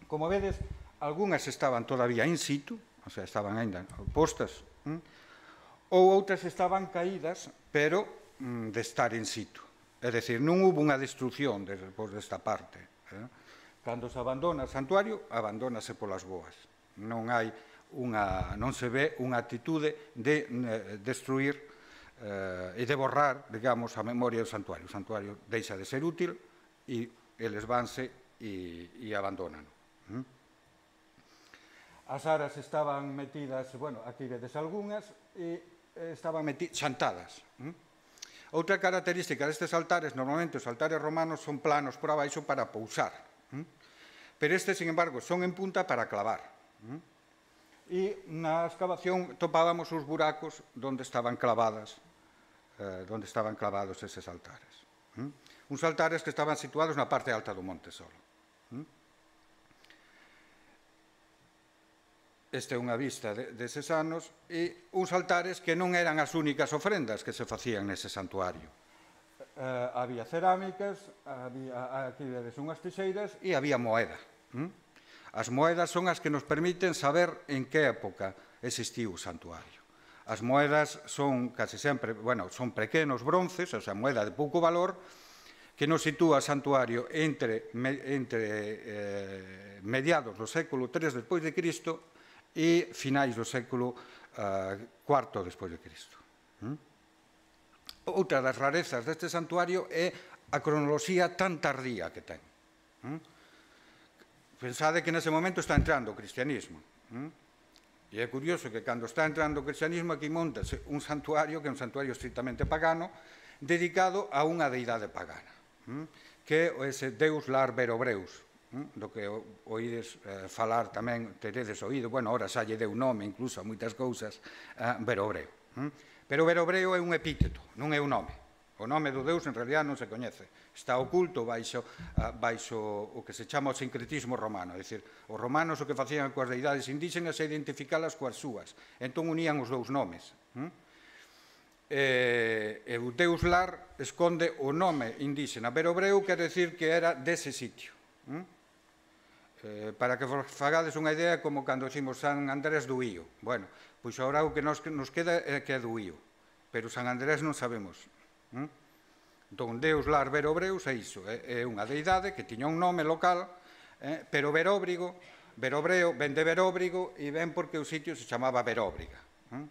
Como vedes, algunhas estaban todavía in situ, o sea, estaban ainda postas, ou outras estaban caídas, pero de estar in situ. É dicir, non hubo unha destrucción despois desta parte. Cando se abandona o santuario, abandónase polas boas. Non hai unha, non se ve unha actitude de eh, destruir eh, e de borrar, digamos, a memoria do santuario. O santuario deixa de ser útil e eles vanse e, e abandonan. ¿Mm? As aras estaban metidas, bueno, aquí vedes algunhas, e estaban metidas, xantadas. ¿Mm? Outra característica destes altares, normalmente os altares romanos son planos por abaixo para pousar. ¿Mm? Pero estes, sin embargo, son en punta para clavar. ¿Mm? E na excavación topábamos os buracos onde estaban clavadas, eh, onde estaban clavados eses altares. ¿Mm? Uns altares que estaban situados na parte alta do monte solo. ¿Mm? Esta é unha vista de, deses anos, e uns altares que non eran as únicas ofrendas que se facían nese santuario. Eh, había cerámicas, había, aquí vedes unhas tixeiras, e había moeda. ¿Mm? As moedas son as que nos permiten saber en que época existiu o santuario. As moedas son casi sempre, bueno, son pequenos bronces, ou sea, moeda de pouco valor, que nos sitúa o santuario entre, entre eh, mediados do século tres despois de Cristo e finais do século eh, cuarto despois de Cristo. ¿Mm? Outra das rarezas deste santuario é a cronoloxía tan tardía que ten. ¿Mm? Pensade que nese momento está entrando o cristianismo. ¿Mm? E é curioso que cando está entrando o cristianismo aquí montase un santuario, que é un santuario estrictamente pagano, dedicado a unha deidade pagana, ¿Mm? que é ese Deus Lar Verobreus, do que oídes eh, falar tamén, teredes oído, bueno, ora xa lle deu nome incluso a moitas cousas, eh, Verobreo. Hm? Pero Verobreo é un epíteto, non é un nome. O nome do Deus en realidad non se coñece. Está oculto baixo, uh, baixo o que se chama o sincretismo romano. É dicir, os romanos o que facían coas deidades indígenas é identificalas coas súas. Entón unían os dous nomes. Hm? E, e o Deus Lar esconde o nome indígena. Verobreo quer decir que era dese sitio. Hm? Eh, para que vos fagades unha idea como cando dicimos San Andrés do Ío. Bueno, pois agora o que nos, nos queda é que é do Ío, pero San Andrés non sabemos. ¿Mm? Entón, Deus Lar Verobreus é iso, é, é unha deidade que tiña un nome local, eh, pero Veróbrigo, Verobreo, ven de Veróbrigo e ven porque o sitio se chamaba Veróbriga. ¿Mm?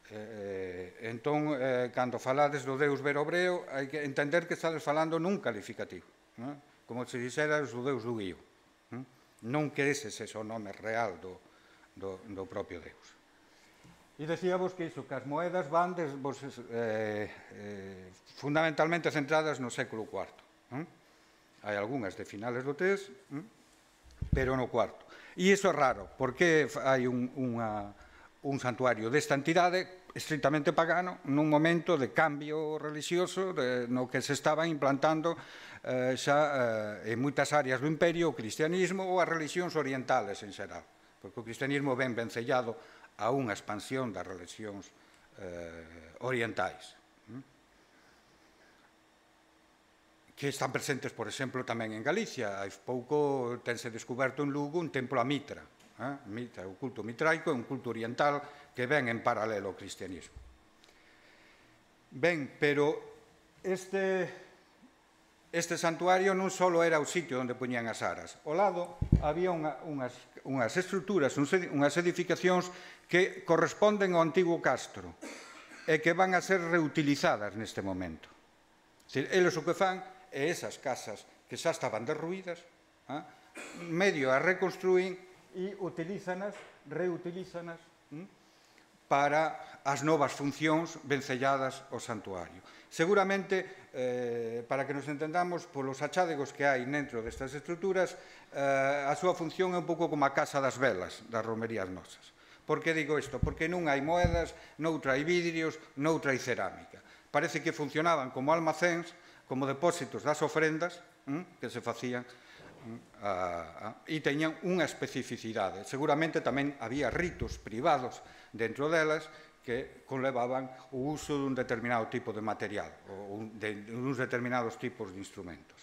Eh, entón, eh, cando falades do Deus Verobreo, hai que entender que estades falando nun calificativo, ¿no? Como se dixeras o Deus do Ío. Non que ese é o nome real do, do, do propio Deus. E decíamos que iso, que as moedas van des, vos, eh, eh, fundamentalmente centradas no século cuarto. ¿eh? Hai algunhas de finales do tres, ¿eh? pero no cuarto. E iso é raro, porque hai un, unha, un santuario desta entidade estritamente pagano nun momento de cambio religioso de, no que se estaban implantando eh, xa eh, en moitas áreas do imperio o cristianismo ou as religións orientales en xeral, porque o cristianismo ven vencellado a unha expansión das religións eh, orientais, ¿eh? que están presentes, por exemplo, tamén en Galicia. Hai pouco tense descoberto en Lugo un templo a Mitra. Eh? Mitra, o culto mitraico é un culto oriental que ven en paralelo ao cristianismo. Ben, pero este... Este santuario non só era o sitio onde poñían as aras. Ao lado había unha, unhas, unhas estruturas, unhas edificacións que corresponden ao antigo castro e que van a ser reutilizadas neste momento. Dicir, eles o que fan é esas casas que xa estaban derruídas, eh, medio a reconstruín e utilízanas, reutilízanas eh, para as novas funcións vencelladas ao santuario. Seguramente, eh, para que nos entendamos, polos achádegos que hai dentro destas estruturas, eh, a súa función é un pouco como a casa das velas das romerías nosas. Por que digo isto? Porque non hai moedas, noutra hai vidrios, noutra hai cerámica. Parece que funcionaban como almacéns, como depósitos das ofrendas hm, que se facían hm, a, a, e teñan unha especificidade. Seguramente tamén había ritos privados dentro delas que conlevaban o uso dun determinado tipo de material ou de uns determinados tipos de instrumentos.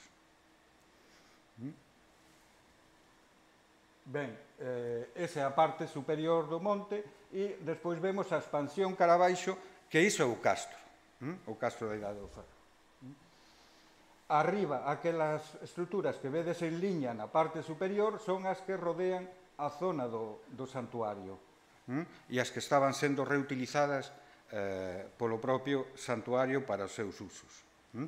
Ben, eh, esa é a parte superior do monte e despois vemos a expansión cara abaixo, que iso é o castro, o castro da Idade do Ferro. arriba, aquelas estruturas que vedes en liña na parte superior son as que rodean a zona do, do santuario, ¿m? E as que estaban sendo reutilizadas eh, polo propio santuario para os seus usos. ¿M?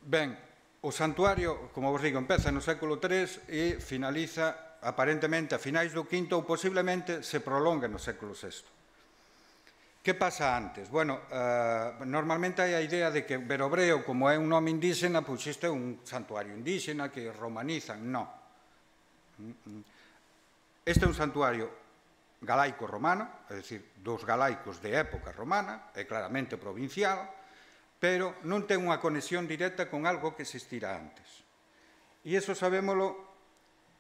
Ben, o santuario, como vos digo, empeza no século tres e finaliza aparentemente a finais do quinto ou posiblemente se prolonga no século sexto. Que pasa antes? Bueno, eh, normalmente hai a idea de que Berobreo, como é un nome indígena, pois isto é un santuario indígena que romanizan. Non. Este é un santuario galaico-romano, é dicir, dos galaicos de época romana, é claramente provincial, pero non ten unha conexión directa con algo que existira antes. E iso sabémolo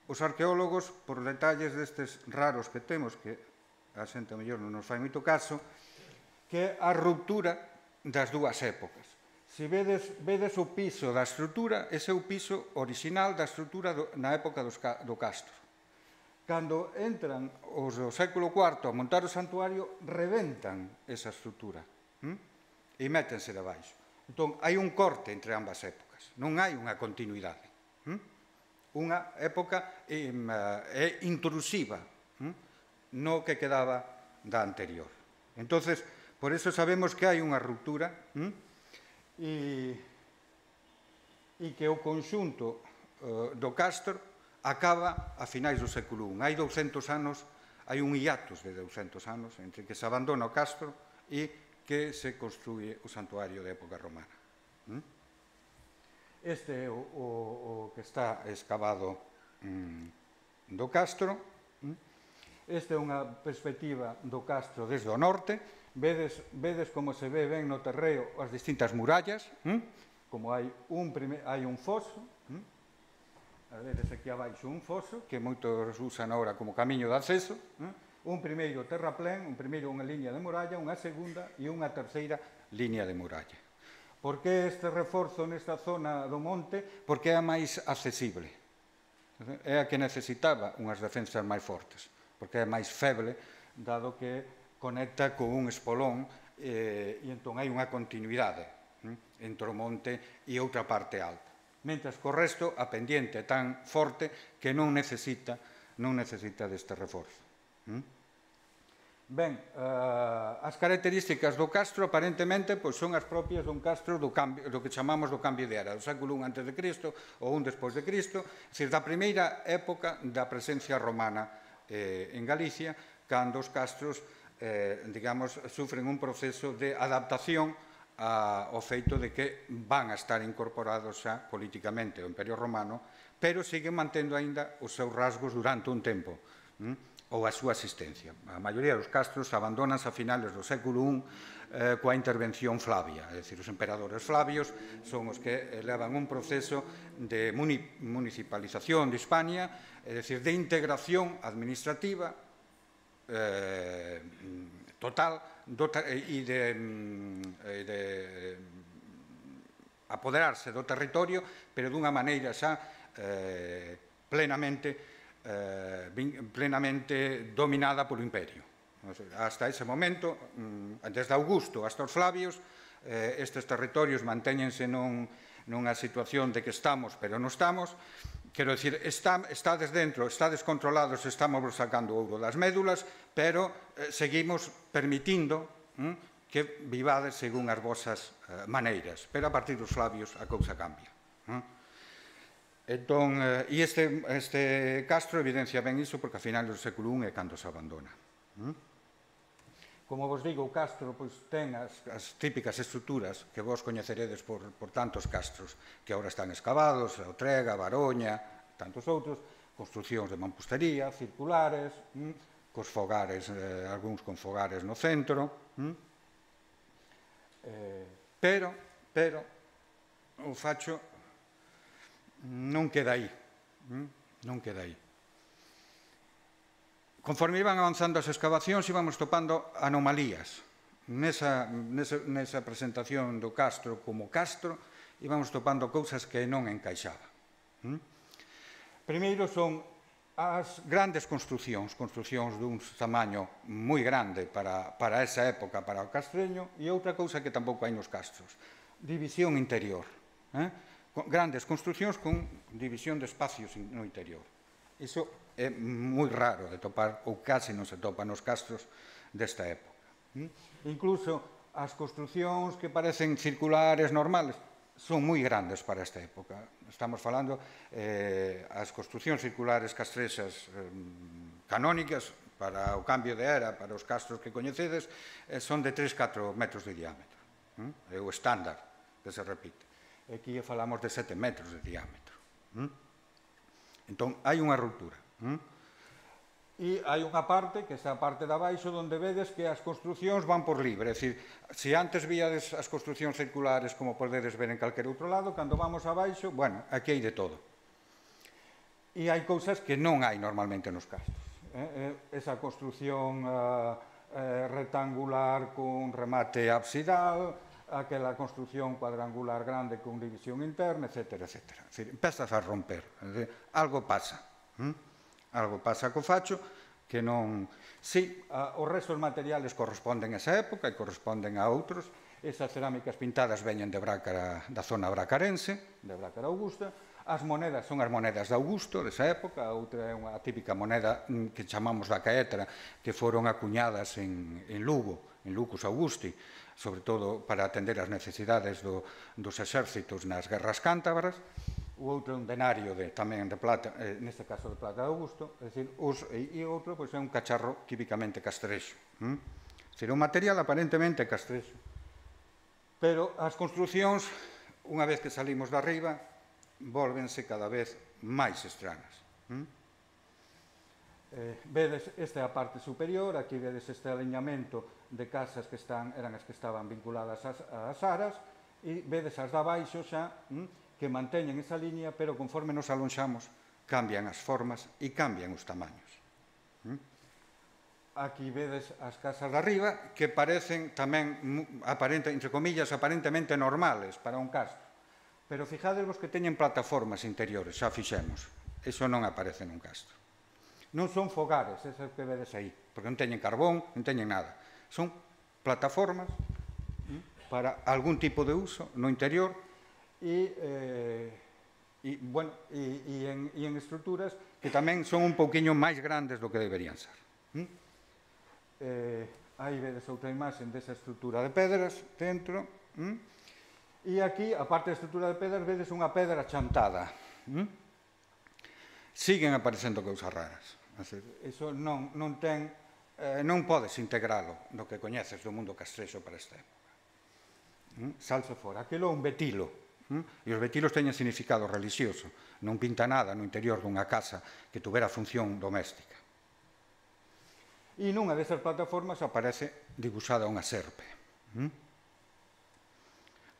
os arqueólogos por detalles destes raros que temos, que a xente mellor non nos fai moito caso, que é a ruptura das dúas épocas. Se vedes, vedes o piso da estrutura, ese é o piso original da estrutura do, na época dos, do castro. Cando entran os do século cuarto a montar o santuario, reventan esa estrutura, hm? E métense de baixo. Entón, hai un corte entre ambas épocas, non hai unha continuidade. Hm? Unha época eh, é intrusiva hm? no que quedaba da anterior. Entonces, por eso sabemos que hai unha ruptura hm? e, e que o conxunto uh, do castro acaba a finais do século I. Hai douscentos anos, hai un hiatus de douscentos anos entre que se abandona o castro e que se construye o santuario de época romana. hm? Este é o, o, o que está excavado mm, do castro. hm? Esta é unha perspectiva do castro desde o norte. Vedes, vedes como se ve ben no terreo as distintas murallas, hm? Como hai un, prime, hai un foso, hm? A vedes aquí abaixo un foso, que moitos usan ahora como camiño de acceso, hm? Un primeiro terraplén, un primeiro unha liña de muralla, unha segunda e unha terceira liña de muralla. Por que este reforzo nesta zona do monte? Porque é a máis accesible. É a que necesitaba unhas defensas máis fortes, porque é máis feble, dado que conecta con un espolón eh, e entón hai unha continuidade hm, entre o monte e outra parte alta. Mentras que o resto, a pendiente é tan forte que non necesita, non necesita deste reforzo. Hm? Ben, uh, as características do castro aparentemente pois, son as propias dun castro do, cambio, do que chamamos do cambio de era, do século I antes de Cristo ou un despois de Cristo, é dicir, da primeira época da presencia romana eh, en Galicia, cando os castros Eh, digamos, sufren un proceso de adaptación a, ao feito de que van a estar incorporados xa políticamente ao Imperio Romano, pero siguen mantendo aínda os seus rasgos durante un tempo, hm? ou a súa existencia. A maioría dos castros abandonanse a finales do século I eh, coa intervención Flavia, é dicir, os emperadores Flavios son os que levan un proceso de muni municipalización de Hispania, é dicir, de integración administrativa Eh, total e de, de apoderarse do territorio, pero dunha maneira xa eh, plenamente, eh, plenamente dominada polo imperio. Hasta ese momento, desde Augusto hasta os Flavios, eh, estes territorios mantéñense nun, nunha situación de que estamos, pero non estamos. Quero dicir, está, estades dentro, estades controlados, estamos sacando ouro das médulas, pero eh, seguimos permitindo hm, que vivades según as vosas eh, maneiras. Pero a partir dos Flavios a cousa cambia. Hm? Entón, eh, e este, este castro evidencia ben iso porque a final do século I é cando se abandona. Hm? Como vos digo, o castro pois, ten as, as típicas estruturas que vos coñeceredes por, por tantos castros que agora están excavados, a Otrega, a Baroña, tantos outros, construcións de mampostería, circulares, hm, cos fogares, eh, algúns con fogares no centro. Hm? Eh, pero, pero, o facho non queda aí. Hm? Non queda aí. Conforme iban avanzando as excavacións, íbamos topando anomalías. Nesa, nesa, nesa presentación do castro como castro, íbamos topando cousas que non encaixaban. ¿Mm? Primeiro son as grandes construcións, construcións dun tamaño moi grande para, para esa época, para o castreño, e outra cousa que tampouco hai nos castros, división interior. Grandes construcións con división de espacios no interior. Iso é moi raro de topar, ou case non se topa nos castros desta época. Incluso as construcións que parecen circulares normales son moi grandes para esta época. Estamos falando eh, as construcións circulares castrexas eh, canónicas para o cambio de era, para os castros que coñecedes, eh, son de tres a catro metros de diámetro. É o estándar que se repite. Aquí falamos de sete metros de diámetro. Entón, hai unha ruptura. E hai unha parte, que é a parte de abaixo, onde vedes que as construcións van por libre. É dicir, se antes víades as construcións circulares como podedes ver en calquer outro lado, cando vamos abaixo, bueno, aquí hai de todo. E hai cousas que non hai normalmente nos castros. Esa construción rectangular con remate absidal, aquela construción cuadrangular grande con división interna, etcétera, etcétera. É dicir, empezas a romper. Algo pasa. Algo pasa co facho que non... Si, os restos materiales corresponden a esa época e corresponden a outros. Esas cerámicas pintadas veñen de Brácara, da zona bracarense, de Brácara Augusta. As monedas son as monedas de Augusto, desa época. A outra é unha típica moneda que chamamos da caetra, que foron acuñadas en, en Lugo, en Lucus Augusti, sobre todo para atender as necesidades do, dos exércitos nas guerras cántabras. O outro é un denario de, tamén de plata, eh, neste caso de plata de Augusto, é dicir, os, e, e outro pois, é un cacharro típicamente castrexo. Hm? É dicir, un material aparentemente castrexo. Pero as construcións, unha vez que salimos de arriba, volvense cada vez máis estranas. Hm? Eh, vedes, esta é a parte superior, aquí vedes este aliñamento de casas que están, eran as que estaban vinculadas ás, ás aras, e vedes as de abaixo xa, hm? que manteñen esa línea, pero conforme nos alonxamos, cambian as formas e cambian os tamaños. Aquí vedes as casas de arriba, que parecen tamén, entre comillas, aparentemente normales para un castro. Pero fijadevos que teñen plataformas interiores, xa fixemos. Iso non aparece nun castro. Non son fogares, esas que vedes aí, porque non teñen carbón, non teñen nada. Son plataformas para algún tipo de uso no interior, E, eh, e, bueno, e, e, en, e en estruturas que tamén son un pouquiño máis grandes do que deberían ser. ¿Mm? Eh, aí vedes outra imaxe desa estrutura de pedras dentro. ¿Mm? E aquí, a parte da estrutura de pedras, vedes unha pedra chantada. ¿Mm? Siguen aparecendo cousas raras. Iso non, non ten, eh, non podes integralo no que coñeces do mundo castrexo para esta época. ¿Mm? Salse fora. Aquilo é un betilo. E os betilos teñen significado religioso. Non pinta nada no interior dunha casa que tuvera función doméstica. E nunha desas plataformas aparece dibuixada unha serpe.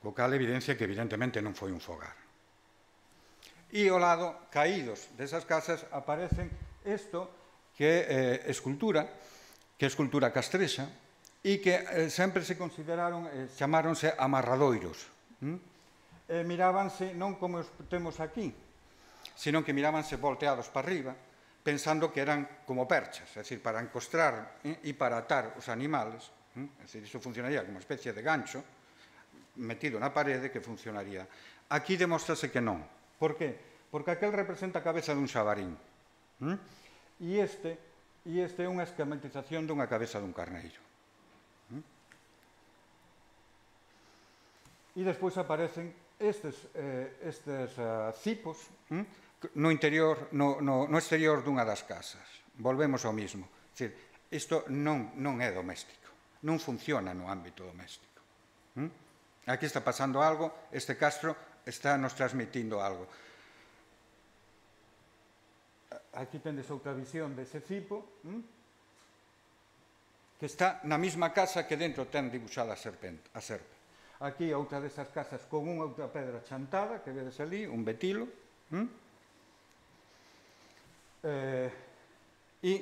Co cal evidencia que evidentemente non foi un fogar. E ao lado, caídos desas casas, aparecen isto que é escultura, que é escultura castrexa, e que sempre se consideraron, chamáronse amarradoiros. Eh, mirábanse non como os temos aquí, sino que mirábanse volteados para arriba, pensando que eran como perchas, é dicir, para encostrar eh, e para atar os animales, eh, é dicir, iso funcionaría como uma especie de gancho metido na parede que funcionaría. Aquí demostrase que non. Por que? Porque aquel representa a cabeza dun xabarín. Eh? E este, e este é unha esquematización dunha cabeza dun carneiro. E despois aparecen estes, eh, estes uh, cipos hm? no interior, no, no, no exterior dunha das casas. Volvemos ao mismo. É dicir, isto non, non é doméstico, non funciona no ámbito doméstico. Hm? Aquí está pasando algo, este castro está nos transmitindo algo. Aquí tendes outra visión dese cipo, hm? que está na mesma casa que dentro ten dibuixada a serpente. A serpe. Aquí outra desas casas con unha outra pedra chantada, que vedes ali, un betilo. ¿Mm? Eh, e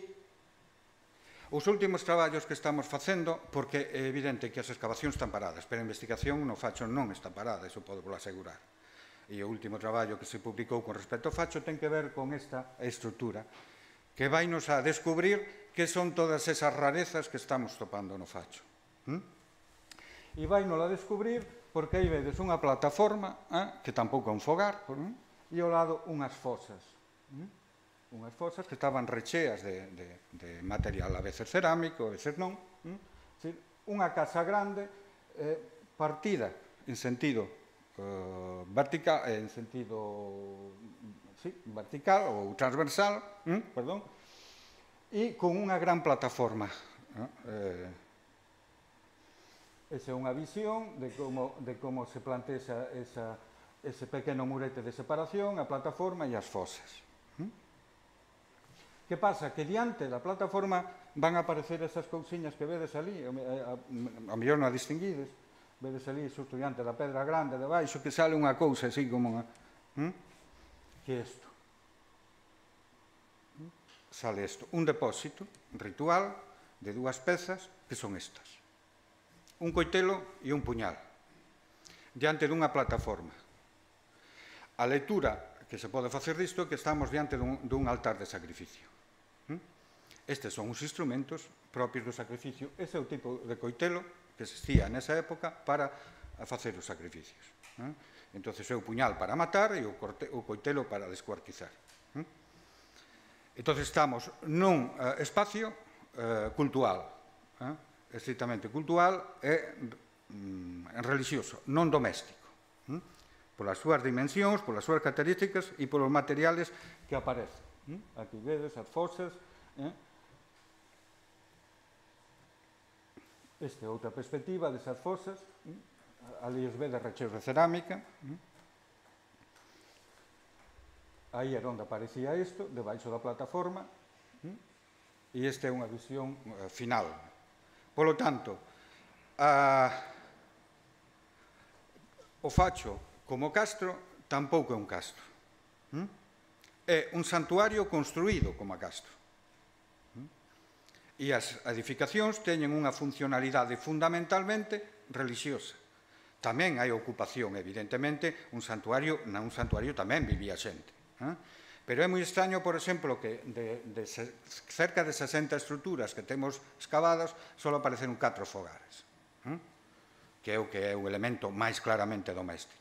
os últimos traballos que estamos facendo, porque é evidente que as excavacións están paradas, pero a investigación no Facho non está parada, iso podo vos asegurar. E o último traballo que se publicou con respecto ao Facho ten que ver con esta estrutura, que vainos a descubrir que son todas esas rarezas que estamos topando no Facho. ¿Mm? E vai nos a descubrir porque aí vedes unha plataforma, eh, que tampouco é un fogar, eh, e ao lado unhas fosas. Eh, unhas fosas que estaban recheas de, de, de material, a veces cerámico, a veces non. Eh, decir, unha casa grande eh, partida en sentido eh, vertical, en sentido sí, vertical ou transversal, eh, perdón, e con unha gran plataforma. Eh, Esa é unha visión de como, de como se plantea esa, esa, ese pequeno murete de separación, a plataforma e as fosas. ¿Mm? Que pasa? Que diante da plataforma van a aparecer esas cousiñas que vedes ali, a, a, a, a mellor non a distinguides, vedes ali xusto diante da pedra grande de baixo, que sale unha cousa así como unha... ¿Mm? Que é isto? ¿Mm? Sale isto, un depósito ritual de dúas pezas que son estas. Un coitelo e un puñal, diante dunha plataforma. A lectura que se pode facer disto é que estamos diante dun, dun altar de sacrificio. Estes son os instrumentos propios do sacrificio. Ese é o tipo de coitelo que existía nesa época para facer os sacrificios. Entón, é o puñal para matar e o, corte, o coitelo para descuartizar. Entón, estamos nun uh, espacio uh, cultural, uh, estrictamente cultural e mm, religioso, non doméstico, hm? polas súas dimensións, polas súas características e polos materiales que aparecen. Hm? Aquí vedes as fosas. Eh? Esta é outra perspectiva desas fosas. Hm? Ali os vedes recheos de cerámica. Hm? Aí era onde aparecía isto, debaixo da plataforma. Hm? E esta é unha visión uh, final. Polo tanto, a, o Facho como castro tampouco é un castro. ¿Mm? É un santuario construído como a castro. ¿Mm? E as edificacións teñen unha funcionalidade fundamentalmente religiosa. Tamén hai ocupación, evidentemente, un santuario, nun santuario tamén vivía xente. ¿Eh? Pero é moi extraño, por exemplo, que de, de cerca de sesenta estruturas que temos excavadas, só apareceron catro fogares, ¿eh? Que é o que é o elemento máis claramente doméstico.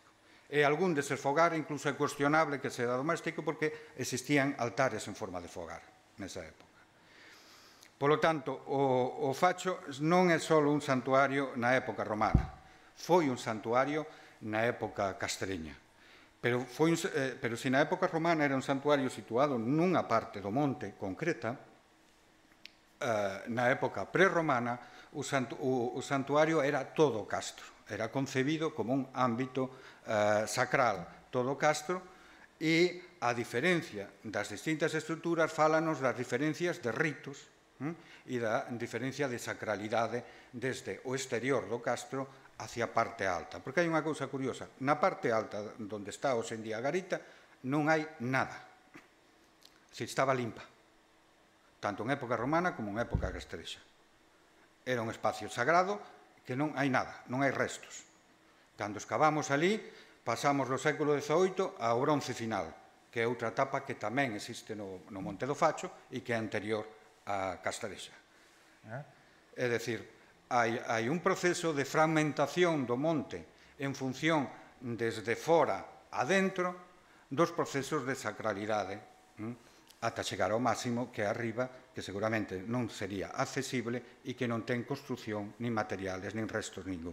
E algún deses fogares incluso é cuestionable que sea doméstico porque existían altares en forma de fogar nesa época. Polo tanto, o, o Facho non é só un santuario na época romana, foi un santuario na época castreña. Pero, foi, eh, pero se na época romana era un santuario situado nunha parte do monte concreta, eh, na época prerromana o, santu, o, o santuario era todo castro, era concebido como un ámbito eh, sacral, todo castro, e a diferencia das distintas estruturas fálanos das diferencias de ritos hm? e da diferencia de sacralidade desde o exterior do castro hacia a parte alta. Porque hai unha cousa curiosa. Na parte alta, onde está hoxe en día a garita, non hai nada. Se estaba limpa. Tanto en época romana como en época castrexa. Era un espacio sagrado que non hai nada, non hai restos. Cando excavamos ali, pasamos do século dezaoito ao bronce final, que é outra etapa que tamén existe no, no Monte do Facho e que é anterior á castrexa. É dicir, Hai, hai un proceso de fragmentación do monte en función desde fora a dentro dos procesos de sacralidade hm? ata chegar ao máximo que é arriba, que seguramente non sería accesible e que non ten construción, nin materiales, nin restos ningún.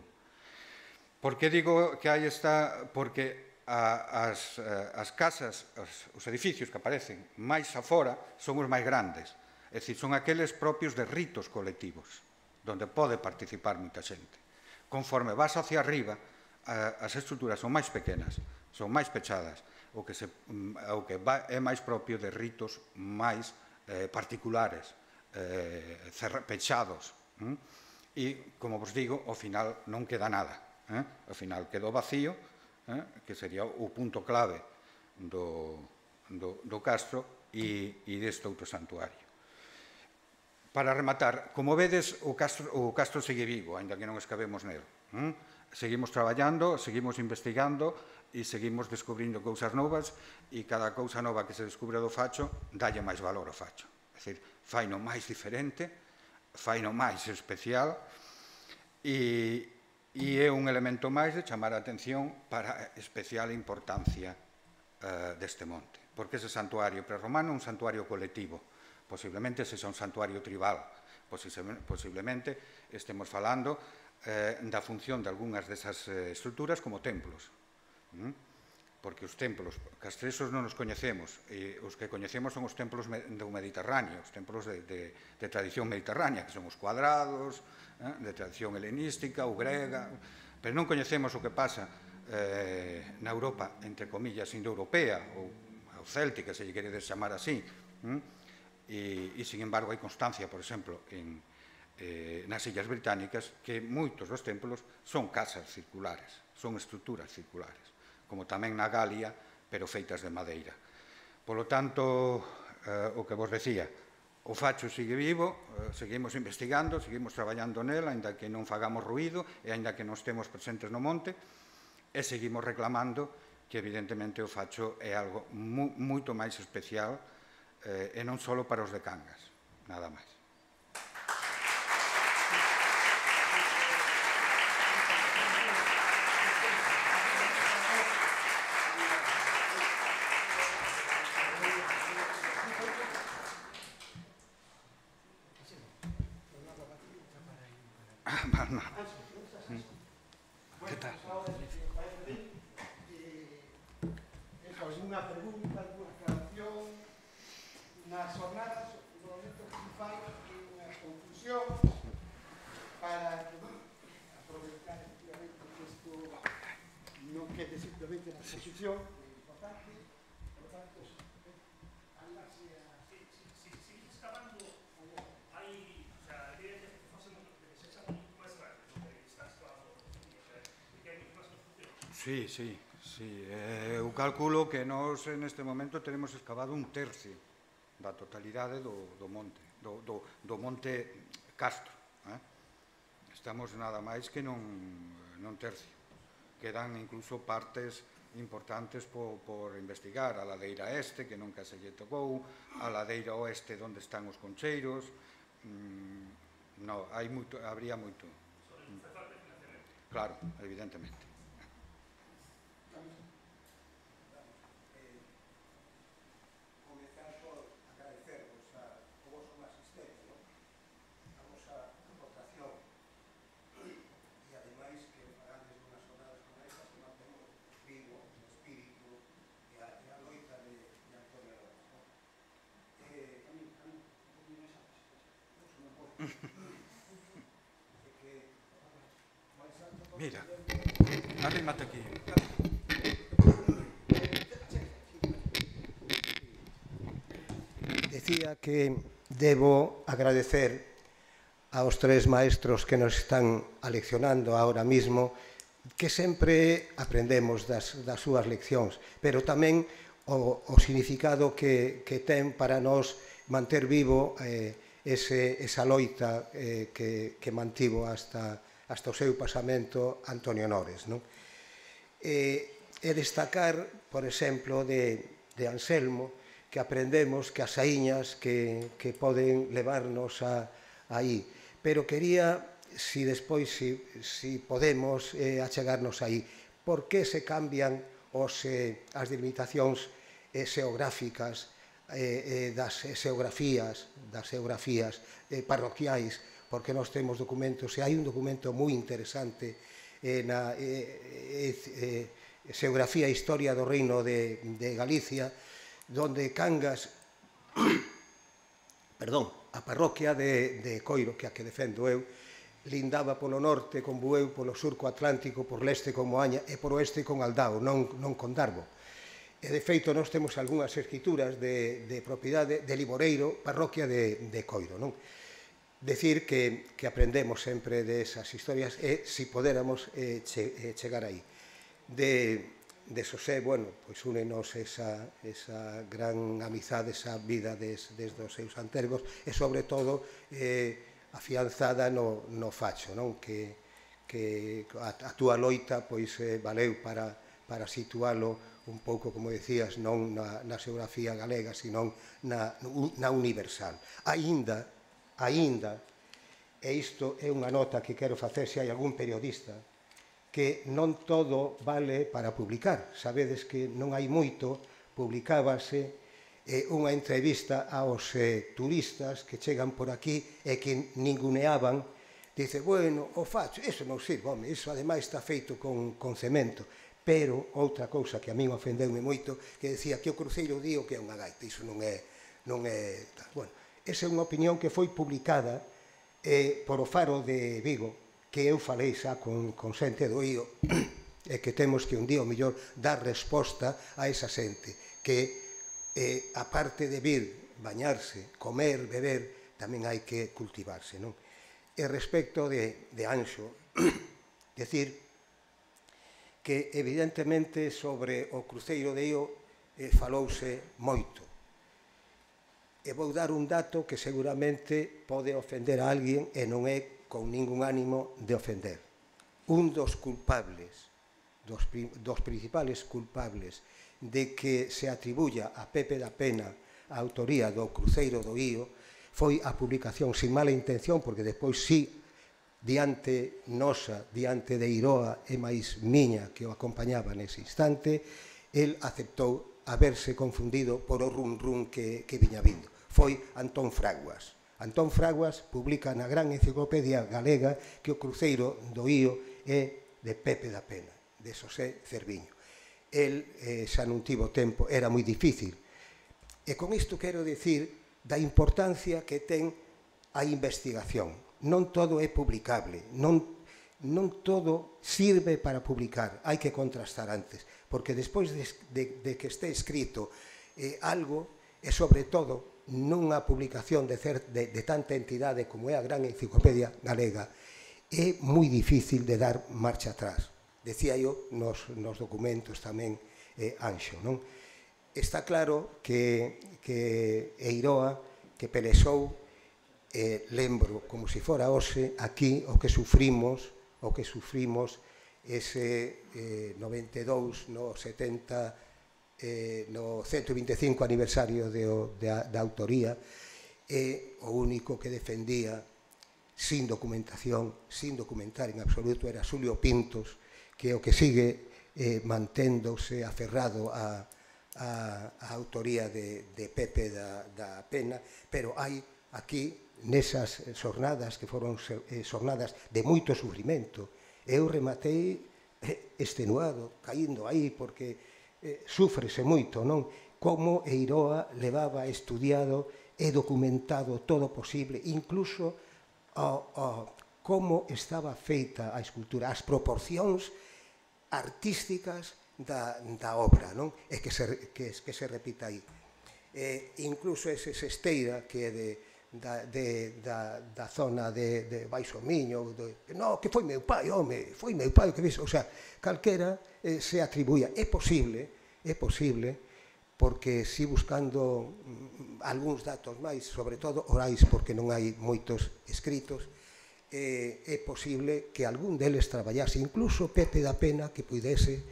Por que digo que hai esta? Porque a, as, as casas, os, os edificios que aparecen máis afora son os máis grandes, é dicir, son aqueles propios de ritos colectivos, onde pode participar moita xente. Conforme vas hacia arriba, as estruturas son máis pequenas, son máis pechadas, o que, se, o que va, é máis propio de ritos máis eh, particulares, eh, pechados. Hm? E, como vos digo, ao final non queda nada. Eh? Ao final quedou vacío, eh? que sería o punto clave do, do, do castro e, e deste outro santuario. Para rematar, como vedes, o castro, o castro segue vivo, ainda que non escavemos nel. ¿Mm? Seguimos traballando, seguimos investigando e seguimos descubrindo cousas novas e cada cousa nova que se descubre do Facho dalle máis valor ao Facho. É dicir, faino máis diferente, faino máis especial e, e é un elemento máis de chamar a atención para a especial importancia uh, deste monte, porque ese santuario prerromano é un santuario colectivo, posiblemente ese é un santuario tribal, posiblemente estemos falando eh, da función de algunhas desas eh, estruturas como templos, ¿Mm? Porque os templos castresos non os coñecemos, e os que coñecemos son os templos do Mediterráneo, os templos de, de, de tradición mediterránea, que son os cuadrados, eh, de tradición helenística ou grega, pero non coñecemos o que pasa eh, na Europa, entre comillas, indoeuropea, ou, ou céltica, se lle queredes chamar así, hm? e, e, sin embargo, hai constancia, por exemplo, en, eh, nas Illas Británicas, que moitos dos templos son casas circulares, son estruturas circulares, como tamén na Galia, pero feitas de madeira. Polo tanto, eh, o que vos decía, o facho sigue vivo, eh, seguimos investigando, seguimos traballando nela, aínda que non fagamos ruído e aínda que non estemos presentes no monte, e seguimos reclamando que, evidentemente, o facho é algo mu moito máis especial eh, e non só para os de Cangas, nada máis. ¿Qué tal? ¿Alguna pregunta, alguna aclaración? Nas jornadas, no momento que se fai unha conclusión para aproveitar efectivamente que isto non quede simplemente na exposición, é importante, por tanto, andarse a... Si sigues acabando, hai, o sea, a idea é que fósemos que se echa moito máis rápido, que estás clavando, que hai moito máis construcción. Sí, sí, sí. Eh, eu calculo que nós neste momento teremos excavado un tercio da totalidade do, do monte, do, do, do monte Castro. Eh? Estamos nada máis que non, non tercio. Quedan incluso partes importantes por, por investigar, a ladeira este, que nunca se lle tocou, a ladeira oeste, onde están os concheiros. Mm, no, hai moito, habría moito. Claro, evidentemente. Mira, arrímate aquí. Decía que debo agradecer aos tres maestros que nos están aleccionando ahora mismo, que sempre aprendemos das, das súas leccións, pero tamén o, o significado que, que ten para nós manter vivo eh, ese, esa loita eh, que, que mantivo hasta, hasta o seu pasamento Antonio Nores. Non? E, e destacar, por exemplo, de, de Anselmo, que aprendemos que as saíñas que, que poden levarnos a, aí. Pero quería, si despois, si, si podemos eh, achegarnos aí, por que se cambian os, eh, as delimitacións eh, xeográficas eh, eh, das xeografías, das xeografías eh, parroquiais, porque nós temos documentos, e hai un documento moi interesante eh, na eh, eh, xeografía e historia do Reino de, de Galicia, donde Cangas, perdón, a parroquia de, de Coiro, que a que defendo eu, lindaba polo norte con Bueu, polo surco atlántico, por leste con Moaña e por oeste con Aldao, non, non con Darbo. E, de feito, nós temos algunhas escrituras de, de propiedade de Liboreiro, parroquia de, de Coiro, non? Decir que, que aprendemos sempre desas historias e, se si podéramos, eh, che, eh, chegar aí. De, de Xosé, bueno, pois únenos esa, esa gran amizade, esa vida des, desde os seus antergos e, sobre todo, eh, afianzada no, no facho, non? Que, que a, a túa loita pois eh, valeu para, para situalo un pouco, como decías, non na, na xeografía galega, sino na, na universal. Aínda, aínda, e isto é unha nota que quero facer se hai algún periodista que non todo vale para publicar. Sabedes que non hai moito, publicábase eh, unha entrevista aos eh, turistas que chegan por aquí e que ninguneaban. Dice, bueno, o facho, iso non sirve, home, iso ademais está feito con, con cemento. Pero outra cousa que a min ofendeume moito, que decía que o cruceiro dio que é unha gaita, iso non é... Non é tal. Bueno, esa é unha opinión que foi publicada eh, por o Faro de Vigo, que eu falei xa con, con xente do I O, e que temos que un día o mellor dar resposta a esa xente, que eh, a parte de vir, bañarse, comer, beber, tamén hai que cultivarse, non? E respecto de, de Anxo, decir que evidentemente sobre o cruceiro de Io eh, falouse moito. E vou dar un dato que seguramente pode ofender a alguén e non é con ningún ánimo de ofender. Un dos culpables, dos, dos principales culpables de que se atribuya a Pepe da Pena a autoría do cruceiro do Io foi a publicación sin mala intención, porque despois sí, diante nosa, diante de Iroa e máis miña que o acompañaba nese instante, el aceptou haberse confundido por o run run que, que viña vindo. Foi Antón Fraguas. Antón Fraguas publica na gran enciclopedia galega que o cruceiro do Io é de Pepe da Pena, de Xosé Cerviño. El eh, xa non tivo tempo, era moi difícil. E con isto quero dicir da importancia que ten a investigación. Non todo é publicable, non, non todo sirve para publicar, hai que contrastar antes, porque despois de, de, de que este escrito eh, algo, e sobre todo nunha publicación de, cer, de, de tanta entidade como é a gran enciclopedia galega, é moi difícil de dar marcha atrás. Decía eu nos, nos documentos tamén eh, Anxo, non? Está claro que, que Eiroa, que pelexou, eh, lembro como se fora hoxe aquí o que sufrimos, o que sufrimos ese eh, noventa e dous, no setenta, eh, no ciento vinte e cinco aniversario de, de, da autoría, e o único que defendía sin documentación, sin documentar en absoluto, era Xulio Pintos, que é o que sigue eh, manténdose aferrado a, a, a autoría de, de Pepe da, da Pena, pero hai aquí, nesas xornadas que foron eh, xornadas de moito sufrimento, eu rematei eh, extenuado, caindo aí, porque eh, sufrese moito, non? Como Eiroa levaba estudiado e documentado todo posible, incluso o, o, como estaba feita a escultura, as proporcións artísticas da, da obra, non? E que se, que, que se repita aí. Eh, incluso ese Sesteira, que é de, da, de, da, da zona de, de Baixo Miño, de, no, que foi meu pai, home, foi meu pai, que ves, o sea, calquera eh, se atribuía. É posible, é posible, porque si buscando mm, algúns datos máis, sobre todo orais, porque non hai moitos escritos, eh, é posible que algún deles traballase, incluso Pepe da Pena, que pudese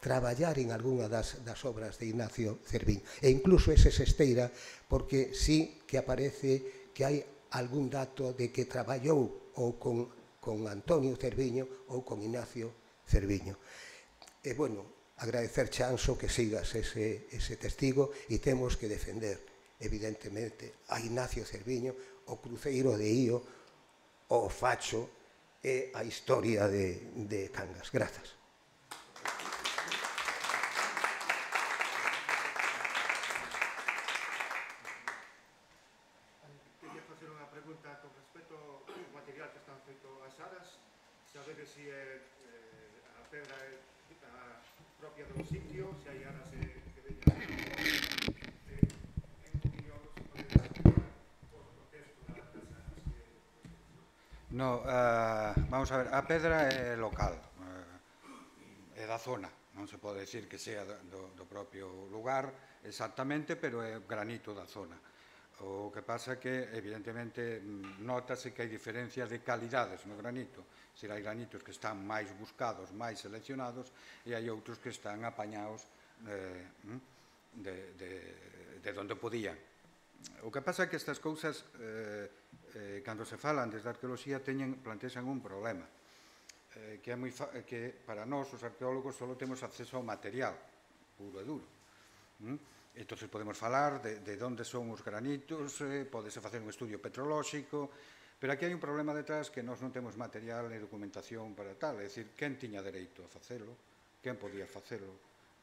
traballar en algunha das, das obras de Ignacio Cerviño, e incluso ese Sesteira, porque sí que aparece que hai algún dato de que traballou ou con, con Antonio Cerviño ou con Ignacio Cerviño. E, bueno, agradecerche, Anxo, que sigas ese, ese testigo, e temos que defender, evidentemente, a Ignacio Cerviño, o cruceiro de Io, o facho e a historia de, de Cangas. Grazas. Quería facer unha pregunta con respecto ao material que están feito as aras, saber se é eh, a pedra é a propia do sitio, se hai aras eh, que veñan eh, en opinión, se pode explicar o contexto das aras que... No, uh, vamos a ver, a pedra é local, uh, é da zona, non se pode decir que sea do, do propio lugar exactamente, pero é granito da zona. O que pasa é que, evidentemente, notase que hai diferencias de calidades no granito. Se hai granitos que están máis buscados, máis seleccionados, e hai outros que están apañados eh, de, de, de onde podían. O que pasa é que estas cousas, eh, eh, cando se falan desde a arqueoloxía, teñen, plantexan un problema. eh, que, é moi fa que para nós, os arqueólogos, só temos acceso ao material puro e duro. Mm? Entón, podemos falar de, de onde son os granitos, eh, podese facer un estudio petrolóxico, pero aquí hai un problema detrás que nós non temos material e documentación para tal, é dicir, quen tiña dereito a facelo, quen podía facelo,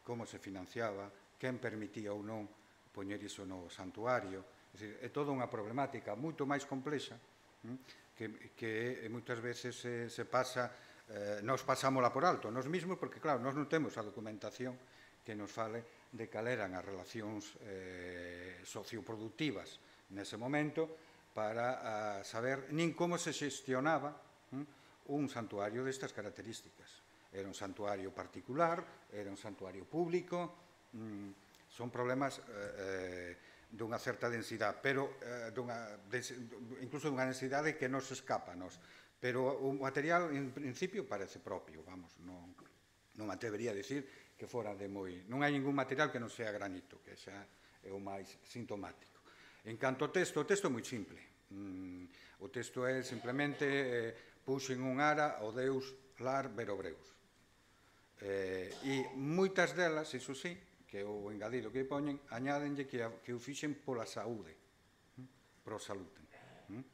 como se financiaba, quen permitía ou non poñer iso no santuario. É dicir, é toda unha problemática moito máis complexa que, que moitas veces se, se pasa, eh, nos pasámola por alto, nos mismos, porque claro, nós non temos a documentación que nos fale de cal eran as relacións eh, socioproductivas nese momento, para uh, saber nin como se xestionaba um, un santuario destas características. Era un santuario particular, era un santuario público, um, son problemas eh, dunha certa densidade, pero eh, dunha, des, incluso dunha densidade que nos escapa, nos. Pero o material, en principio, parece propio, vamos, non, non me atrevería a dicir que fora de moi... Non hai ningún material que non sea granito, que xa é o máis sintomático. En canto ao texto, o texto é moi simple. Mm, o texto é simplemente eh, puxen un ara ao deus Lar Berobreus. Eh, e moitas delas, iso sí, que é o engadido que poñen, añádenlle que, a, que o fixen pola saúde, mm, pro salute. Mm.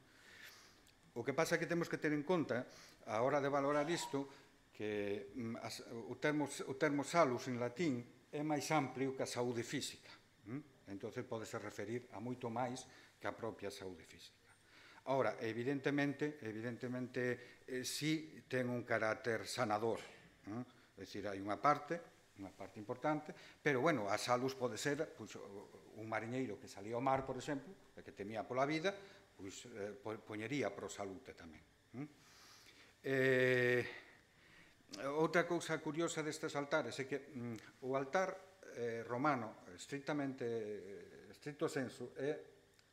O que pasa é que temos que ter en conta, a hora de valorar isto, que mm, as, o, termo, o termo salus en latín é máis amplio que a saúde física. Mm. Entón, podese referir a moito máis que a propia saúde física. Ahora, evidentemente, evidentemente eh, sí ten un carácter sanador. Eh? É dicir, hai unha parte, unha parte importante, pero, bueno, a salus pode ser pues, un mariñeiro que salía ao mar, por exemplo, e que temía pola vida, pues, eh, poñería pro salute tamén. Eh, outra cousa curiosa destes altares é que mm, o altar Eh, romano, estrictamente, estricto senso, é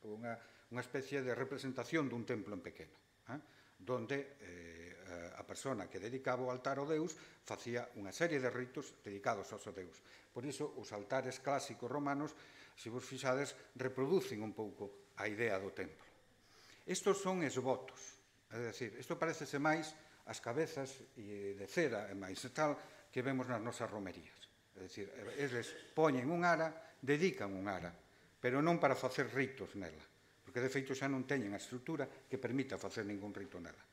unha, unha especie de representación dun templo en pequeno, eh? donde eh, a persona que dedicaba o altar ao deus facía unha serie de ritos dedicados ao seu deus. Por iso, os altares clásicos romanos, se vos fixades, reproducen un pouco a idea do templo. Estos son esvotos, é dicir, isto parecese máis as cabezas de cera e máis tal que vemos nas nosas romerías. É dicir, eles poñen un ara, dedican un ara, pero non para facer ritos nela, porque de feito xa non teñen a estrutura que permita facer ningún rito nela.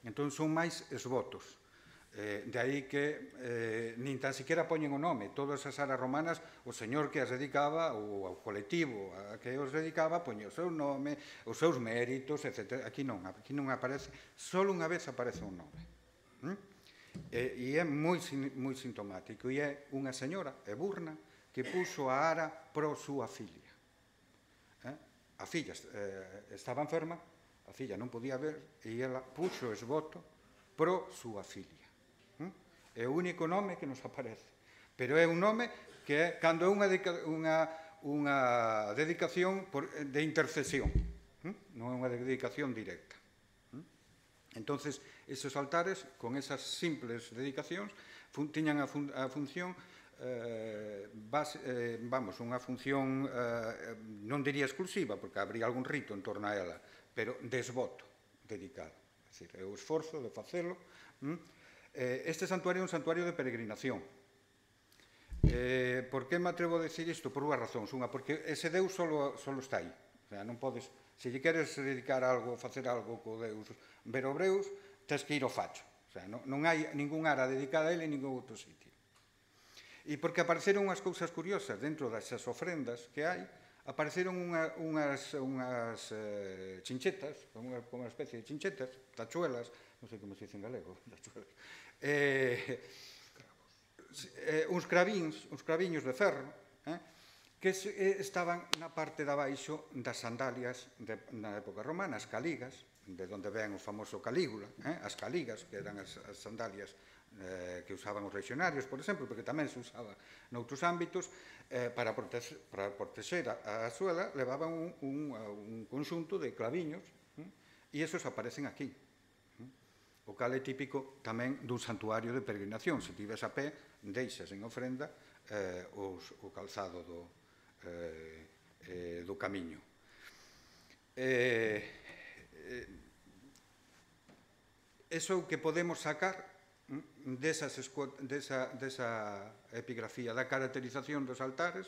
Entón son máis esvotos. Eh, de aí que eh, nin tan siquiera poñen o nome. Todas as aras romanas, o señor que as dedicaba, ou o colectivo a que os dedicaba, poñía o seu nome, os seus méritos, etcétera. Aquí non, aquí non aparece, só unha vez aparece un nome. ¿Mm? E, e é moi, moi sintomático, e é unha señora, Eburna, que puxo a ara pro súa filla. Eh? A filla eh, estaba enferma, a filla non podía ver, e ela puxo esvoto pro súa filla. Eh? É o único nome que nos aparece, pero é un nome que é cando é unha, unha, unha dedicación por, de intercesión, eh? Non é unha dedicación directa. Entonces, esos altares, con esas simples dedicacións, fun, tiñan a, fun, a función, eh, base, eh, vamos, unha función, eh, non diría exclusiva, porque habría algún rito en torno a ela, pero desvoto dedicado. É dicir, é o esforzo de facelo. Mm? Eh, este santuario é un santuario de peregrinación. Eh, por que me atrevo a decir isto? Por unha razón. Unha, porque ese Deus solo, solo está aí. O sea, non podes... Se lle queres dedicar algo, facer algo co Deus Berobreus, tens que ir ao facho. O sea, non, non hai ningún ara dedicada a ele en ningún outro sitio. E porque apareceron unhas cousas curiosas dentro desas ofrendas que hai, apareceron unha, unhas, unhas eh, chinchetas, unha, unha especie de chinchetas, tachuelas, non sei como se dice en galego, tachuelas, eh, eh, uns cravíns, uns craviños de ferro, eh, que estaban na parte de abaixo das sandalias de, na época romana, as caligas, de onde ven o famoso Calígula, eh? as caligas, que eran as, as sandalias eh, que usaban os legionarios, por exemplo, porque tamén se usaba noutros ámbitos, eh, para, proteger, para proteger a, a suela, levaban un, un, un conxunto de claviños, eh? e esos aparecen aquí. Eh? O cal é típico tamén dun santuario de peregrinación. Se tives a pé, deixas en ofrenda eh, os, o calzado do Eh, eh, do camiño. Eh, eh, eso que podemos sacar desa, desa epigrafía, da caracterización dos altares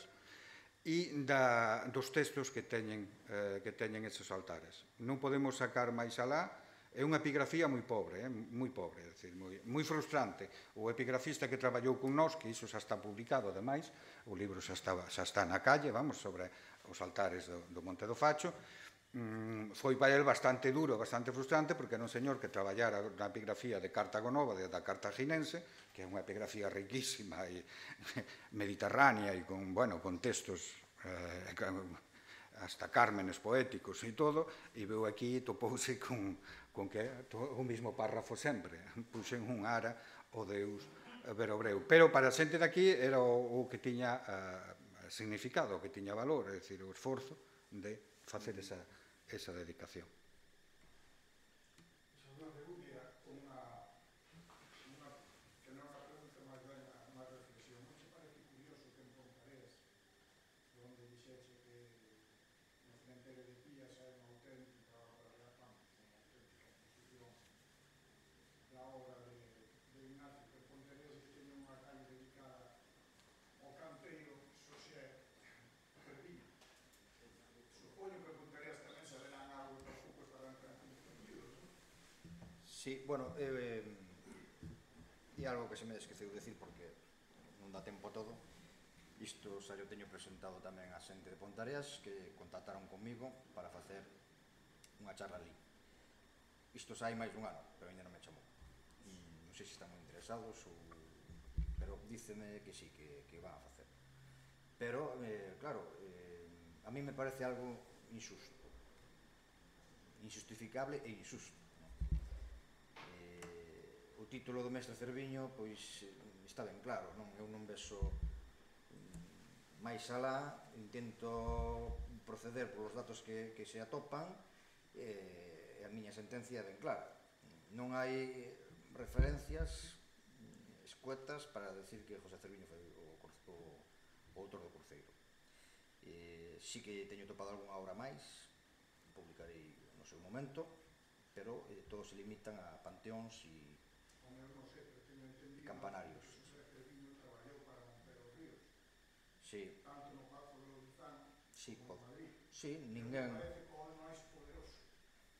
e da, dos textos que teñen, eh, que teñen esos altares. Non podemos sacar máis alá. É unha epigrafía moi pobre, eh, moi pobre, é dicir, moi, moi frustrante. O epigrafista que traballou con nós, que iso xa está publicado, ademais, o libro xa está, xa está na calle, vamos, sobre os altares do, do Monte do Facho, mm, foi para el bastante duro, bastante frustrante, porque era un señor que traballara na epigrafía de Cartago Nova, de, da cartaginense, que é unha epigrafía riquísima e mediterránea e con, bueno, con textos eh, hasta cármenes poéticos e todo, e veu aquí e topouse con, con que o mismo párrafo sempre, puxen un ara o Deus verobreu. Pero para a xente daqui era o, o que tiña uh, significado, o que tiña valor, é dicir, o esforzo de facer esa, esa dedicación. Sí, bueno, eh, e algo que se me esqueceu decir porque non dá tempo a todo. Isto xa yo teño presentado tamén a xente de Pontareas que contactaron comigo para facer unha charla ali. Isto xa hai máis dun ano, pero ainda non me chamou. Non sei se están moi interesados ou... pero díceme que sí, que, que van a facer. Pero, eh, claro, eh, a mí me parece algo injusto, injustificable e injusto. O título do mestre Cerviño, pois, está ben claro, non? Eu non vexo máis alá, intento proceder polos datos que, que se atopan, e a miña sentencia é ben clara. Non hai referencias escuetas para decir que José Cerviño foi o, o, o autor do Cruceiro. E, sí que teño topado algunha obra máis, publicarei no seu momento, pero eh, todos se limitan a panteóns e campanarios. Sí. Tanto no Pazo de Louzán sí, como en Madrid. Sí, ninguén... Me parece que o máis poderoso,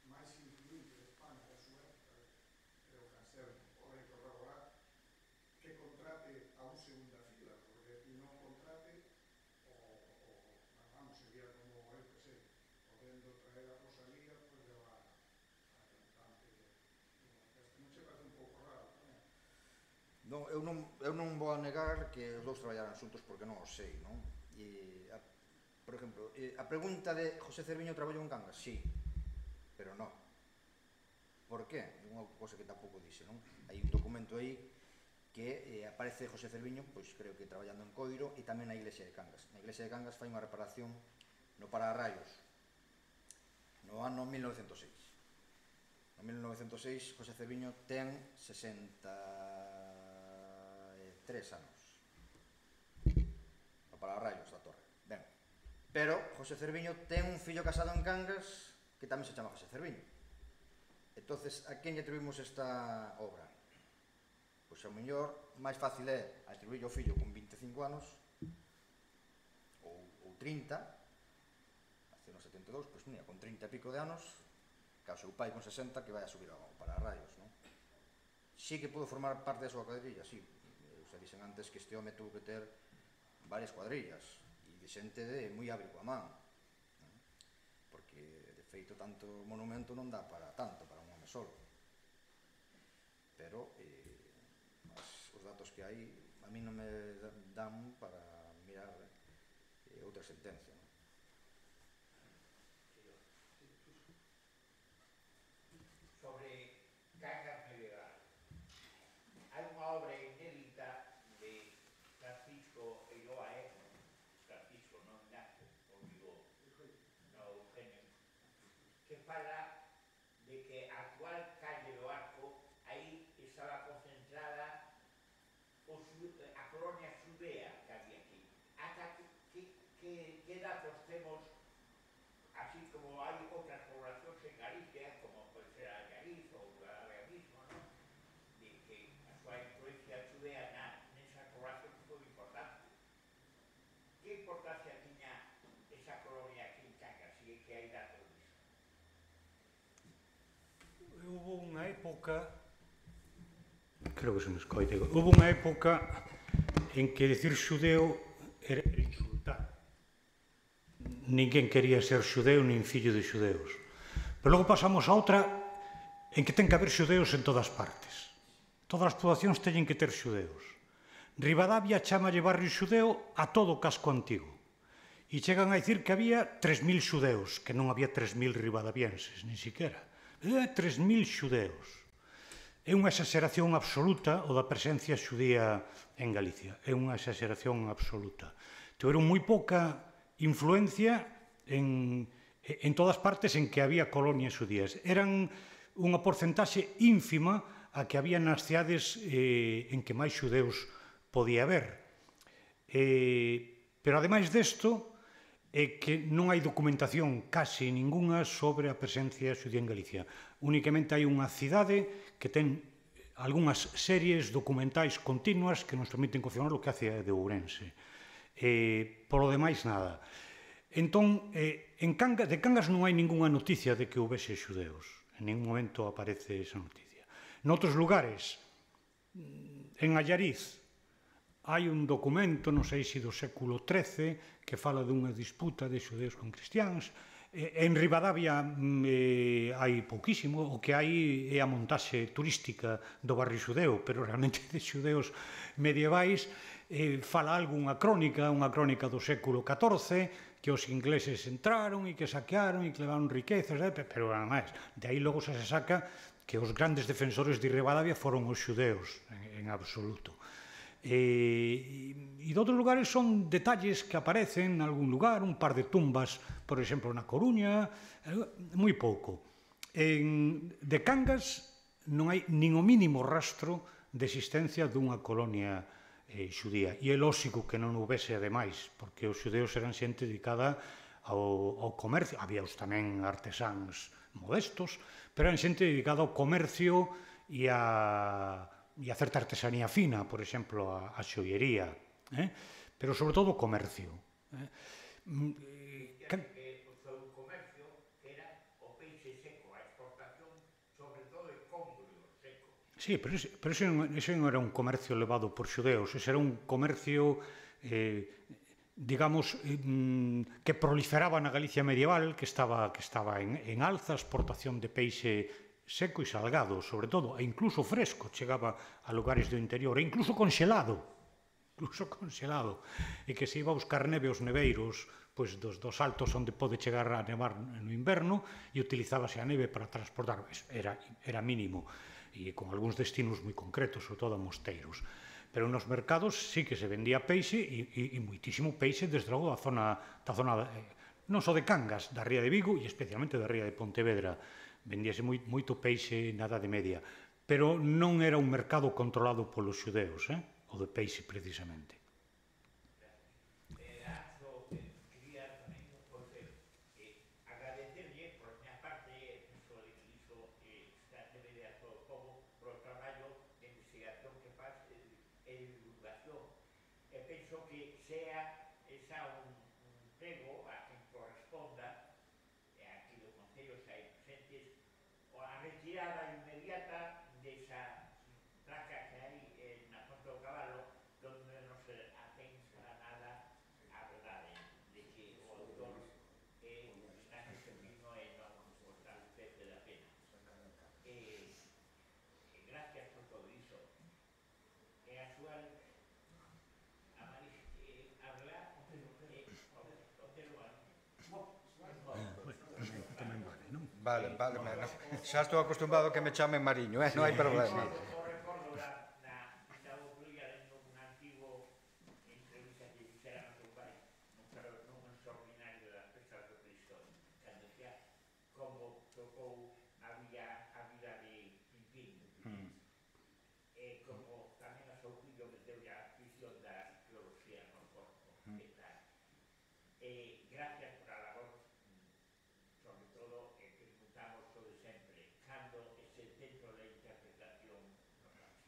máis influente de España da súa época é o Anselmo, o rei Torragorá, que contrate a un segunda fila, porque non contrate o, o vamos, sería como, eu que sei, podendo traer a Rosalía, pois pues, levar a cantante de orquesta. Non se parece un pouco raro tamén? Non, eu non, eu non vou a negar que os dous traballaran xuntos porque non o sei, non? E, a, por exemplo, a pregunta de José Cerviño traballou en Cangas, sí, pero non. Por qué? Unha cosa que tampouco dixe, non? Hai un documento aí que eh, aparece José Cerviño, pois creo que traballando en Coiro e tamén na iglesia de Cangas. Na iglesia de Cangas fai unha reparación no Pararraios no ano mil novecentos e seis. No mil novecentos e seis, José Cerviño ten sesenta e tres anos. No Pararraios da Torre. Ben. Pero José Cerviño ten un fillo casado en Cangas que tamén se chama José Cerviño. Entonces, a quen lle atribuimos esta obra? Pois ao mellor, máis fácil é atribuir ao fillo con vinte e cinco anos ou, ou trinta, hace unos setenta e dous, pois mira, con trinta e pico de anos, que o seu pai con sesenta que vai a subir ao Pararraios, non? Sí que pudo formar parte da súa cuadrilla, sí. Eu xa dixen antes que este home tuvo que ter varias cuadrillas e de xente de moi hábil coa man, non? Porque de feito tanto monumento non dá para tanto, para un home solo. Pero eh, as, os datos que hai a mí non me dan para mirar eh, outra sentencia, non? Sobre Cangas medieval. Hai unha obra inédita de Francisco Eiroa, Francisco, non Ignacio, ou digo, no Eugenio, que fala de que a actual calle do Arco aí estaba concentrada o, a colonia xudea que había aquí. Ata que, que, que, que datos temos, así como hai outras poblacións en Galicia, como pode ser a Galiza ou a Galicia mismo, ¿no? súa influencia xudea na, nesa coloración que foi importante. Que importancia tiña esa colonia aquí en Cangas, e que hai datos disso? Hubo unha época, creo que se me escoita, hubo unha época en que decir xudeu era insultar. Ninguén quería ser xudeu nin fillo de xudeus. Pero logo pasamos a outra en que ten que haber xudeus en todas partes. Todas as poboacións teñen que ter xudeus. Ribadavia chámalle barrio xudeo a todo o casco antigo. E chegan a dicir que había tres mil xudeus, que non había tres mil ribadavienses, nin siquiera. Había tres mil xudeus. É unha exageración absoluta o da presencia xudía en Galicia. É unha exageración absoluta. Tiveron moi pouca influencia en, en todas partes en que había colonias xudías. Eran unha porcentaxe ínfima a que había nas cidades eh, en que máis xudeus podía haber. Eh, pero, ademais desto, é que non hai documentación casi ningunha sobre a presencia xudía en Galicia. Únicamente hai unha cidade que ten algunhas series documentais continuas que nos permiten confirmar o que hace de Ourense. Eh, polo demais, nada. Entón, eh, en Cangas, de Cangas non hai ningunha noticia de que houvese xudeus. En ningún momento aparece esa noticia. Noutros lugares, en Allariz, hai un documento, non sei se do século trece, que fala dunha disputa de xudeus con cristiáns. En Ribadavia eh, hai pouquísimo, o que hai é a montaxe turística do barrio xudeu, pero realmente de xudeus medievais. Eh, fala algo unha crónica, unha crónica do século catorce, que os ingleses entraron e que saquearon e que levaron riquezas, eh, pero nada máis. De aí logo se saca que os grandes defensores de Ribadavia foron os xudeus, en, en absoluto. E, e de outros lugares son detalles que aparecen en algún lugar, un par de tumbas, por exemplo, na Coruña, moi pouco. En, de Cangas non hai nin o mínimo rastro de existencia dunha colonia eh, xudía. E é lóxico que non houvese ademais, porque os xudeus eran xente dedicada ao, ao comercio. Había os tamén artesáns modestos, pero eran xente dedicada ao comercio e a, e a certa artesanía fina, por exemplo, a, a xoiería, eh? Pero sobre todo o comercio. Eh? Can... O seu comercio era o peixe seco, a exportación, sobre todo de congrio seco. Sí, pero ese, pero ese, non, ese non era un comercio levado por xudeus, ese era un comercio, eh, digamos, eh, que proliferaba na Galicia medieval, que estaba, que estaba en, en alza, exportación de peixe seco e salgado, sobre todo, e incluso fresco, chegaba a lugares do interior, e incluso conxelado, incluso conxelado, e que se iba a buscar neve aos neveiros, pois dos, dos altos onde pode chegar a nevar no inverno, e utilizábase a neve para transportar, era, era mínimo, e con algúns destinos moi concretos, sobre todo a mosteiros. Pero nos mercados sí que se vendía peixe, e, e, e moitísimo peixe, desde logo, da zona, da zona eh, non só de Cangas, da ría de Vigo, e especialmente da ría de Pontevedra. Vendíase moi, moito peixe na Idade Media, pero non era un mercado controlado polos xudeus, eh? O de peixe precisamente. Retirada inmediata desa placa que hai eh, na Ponte do Caballo, donde non se atén para nada a verdade de que o autor eh, está en ese vino e non está usted da pena. Eh, eh, gracias por todo iso. E a súa a Maris eh, hablar eh, o tema. Vale, vale, vale. Xa estou acostumado a que me chamen Mariño, eh? Non hai problema. O recordo na, na, na Ucluia de un antigo entrevista que fixera no teu pai, nun extraordinario das pesas do Cristo, cando decía como tocou a vida, a vida de Pimpín. Mm. E como tamén a seu fillo meteu a afición da arqueoloxía no corpo. Mm. E tal. E gracias por a labor, sobre todo, que preguntamos sobre sempre, cando ese centro de interpretación nos hace.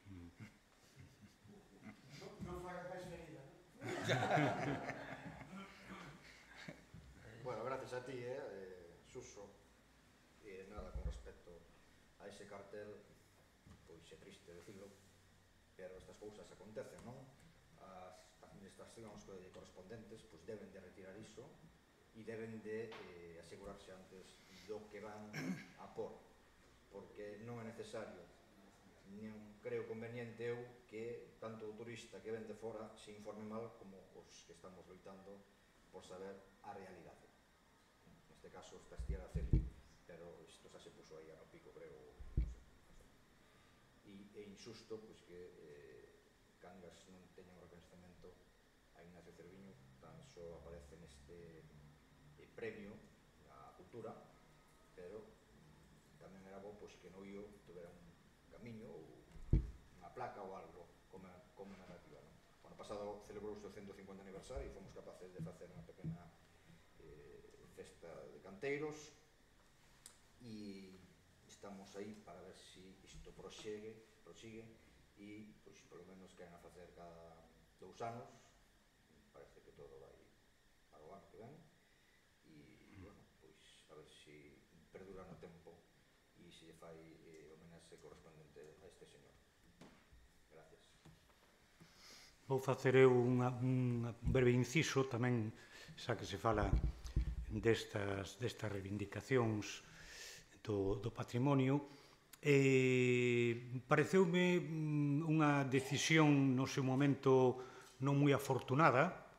Bueno, gracias a ti, eh, eh, Suso. E nada, con respecto a ese cartel, pois é triste decirlo, pero estas cousas acontecen, non? As administracións correspondentes pois deben de retirar iso e deben de eh, asegurarse antes do que van a por, porque non é necesario, non creo conveniente eu que tanto o turista que ven de fora se informe mal como os que estamos loitando por saber a realidade. Neste caso está Estiera Celi, pero isto xa se puso aí a no pico, creo, non sei, e é injusto pois, que eh, Cangas non teña un reconhecimento a Ignacio Cerviño, tan só aparece neste eh, premio á cultura, pero tamén era bo pois, que no I O tuvera un camiño ou unha placa ou algo como, como narrativa. Non? O ano pasado celebrouse o ciento cincuenta aniversario e fomos capaces de facer unha pequena eh, festa de canteiros e estamos aí para ver se si isto prosegue, prosigue e, pois, polo menos queren a facer cada dous anos, parece que todo vai para o ano que ven e, bueno, pois, a ver se si perdura no tempo e se lle fai eh, homenaxe correspondente a este señor. Gracias. Vou facer eu unha, un breve inciso tamén, xa que se fala destas, destas reivindicacións do, do patrimonio. Eh, pareceume unha decisión no seu momento non moi afortunada,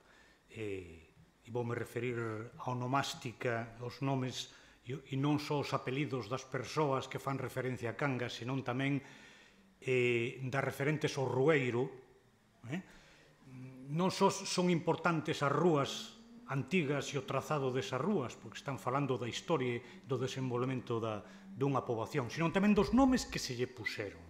eh, e voume referir á onomástica, aos nomes e non só os apelidos das persoas que fan referencia a Cangas, senón tamén eh, das referentes ao Rueiro. Eh? Non só son importantes as rúas antigas e o trazado desas rúas, porque están falando da historia e do desenvolvemento da, dunha poboación, senón tamén dos nomes que se lle puseron.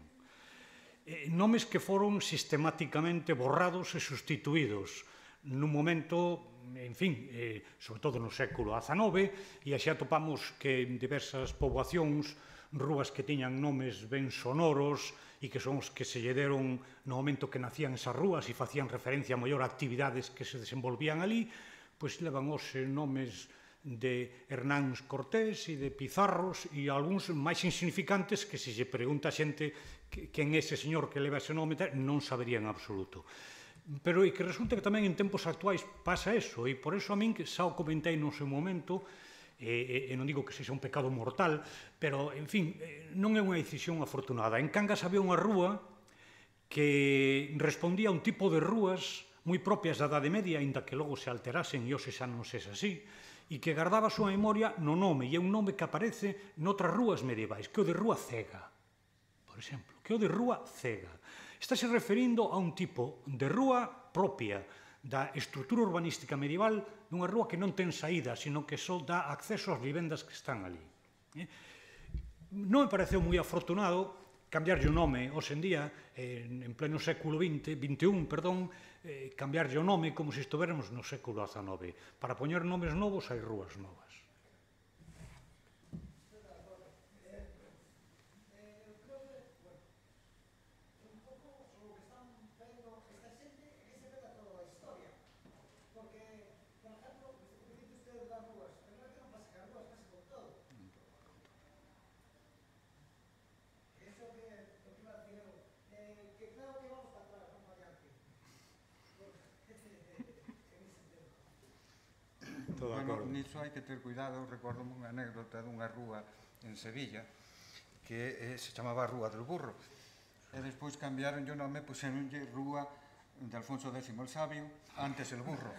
Eh, nomes que foron sistemáticamente borrados e sustituídos nun momento, en fin, eh, sobre todo no século dezanove, e xa atopamos que en diversas poboacións, rúas que tiñan nomes ben sonoros e que son os que se lle deron no momento que nacían esas rúas e facían referencia a maior actividades que se desenvolvían ali, pois levan os nomes de Hernán Cortés e de Pizarros e algúns máis insignificantes que se lle pregunta a xente quen é ese señor que leva ese nome non sabería en absoluto. Pero e que resulta que tamén en tempos actuais pasa eso, e por eso a min que xa o comentei no seu momento, e, e non digo que sexa un pecado mortal, pero, en fin, non é unha decisión afortunada. En Cangas había unha rúa que respondía a un tipo de rúas moi propias da Idade Media, aínda que logo se alterasen e hoxe xa non sexa así, e que guardaba a súa memoria no nome, e é un nome que aparece noutras rúas medievais, que é o de Rúa Cega, por exemplo, que é o de Rúa Cega. Estáse referindo a un tipo de rúa propia da estrutura urbanística medieval dunha rúa que non ten saída, sino que só dá acceso ás vivendas que están ali. Non me pareceu moi afortunado cambiarlle o nome, hoxe en día, en pleno século vinte, vinte e un, perdón, cambiarlle o nome como se estuveramos no século dezanove. Para poñer nomes novos hai rúas novas. Bueno, niso hai que ter cuidado. Recordo unha anécdota dunha rúa en Sevilla que eh, se chamaba Rúa del Burro e despois cambiaron o nome, puseronlle Rúa de Alfonso décimo el Sabio, antes el burro.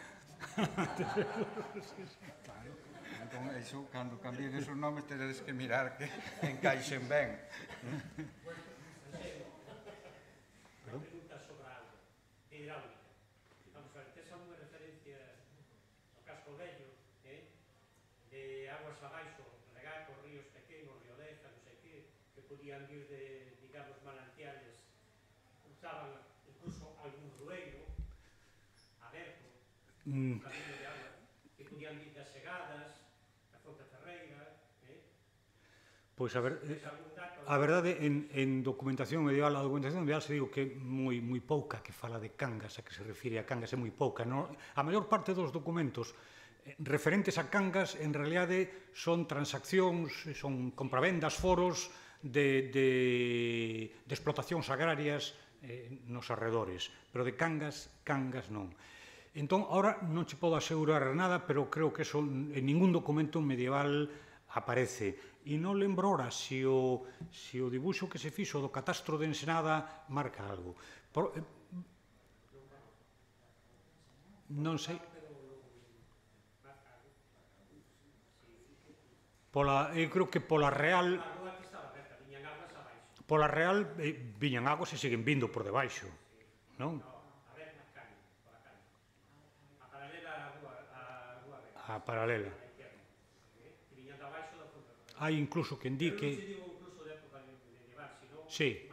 Claro. Entón, iso, cando cambien esos nomes, teredes que mirar que encaixen ben. Unha pregunta sobre a auga hidráulica. Vamos a ver, tes alguna referencia ao casco vello, eh? de aguas abaixo, regatos, ríos pequenos, río Deja, non sei que, que podían vir de, digamos, manantiales, usaban incluso algún rueiro aberto, un camino de agua, que podían vir das segadas, da Fonte Ferreira, eh? Pois a ver... Tes algún dato a verdade, en, en documentación medieval, a documentación medieval se digo que é moi, moi pouca que fala de Cangas, a que se refire a Cangas é moi pouca. No? A maior parte dos documentos eh, referentes a Cangas, en realidade, son transaccións, son compravendas, foros de, de, de explotacións agrarias eh, nos arredores, pero de Cangas, Cangas non. Entón, ahora non che podo asegurar nada, pero creo que eso en ningún documento medieval aparece. E non lembro ora se o, se o dibuixo que se fixo do catastro de Ensenada marca algo. Por, eh, non sei. Pola, eu creo que pola Real... Pola Real eh, viñan aguas e siguen vindo por debaixo, non? A paralela. Hai incluso quen di que... Sí.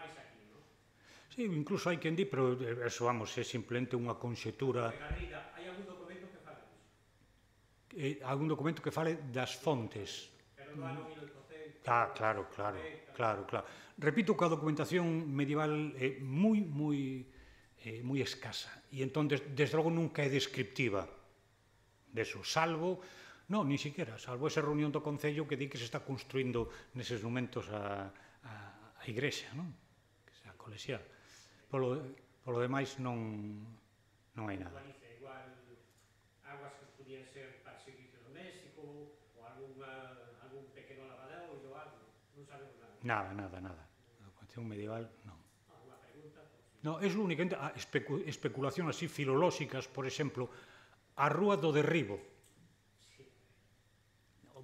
Sí, incluso hai quen di, pero eso, vamos, é simplemente unha conxetura... Hai algún documento que fale disso? Eh, algún documento que fale das fontes. Pero do ano mil oitocentos... Ah, claro, claro, claro, claro. Repito que a documentación medieval é moi, moi, eh, moi escasa. E entón, des, desde logo, nunca é descriptiva deso, salvo... Non, ni siquiera, salvo esa reunión do Concello que di que se está construindo neses momentos a, a, a igrexa, non? Que sea colexial. Polo, polo demais non, non hai nada. Igual, aguas que podían ser para servicio doméstico ou alguna, algún pequeno lavadero ou algo, non sabemos nada. Nada, nada, nada. A documentación medieval, non. Alguna pregunta? Non, é únicamente a especu especulación así filolóxicas, por exemplo, a rúa do derribo.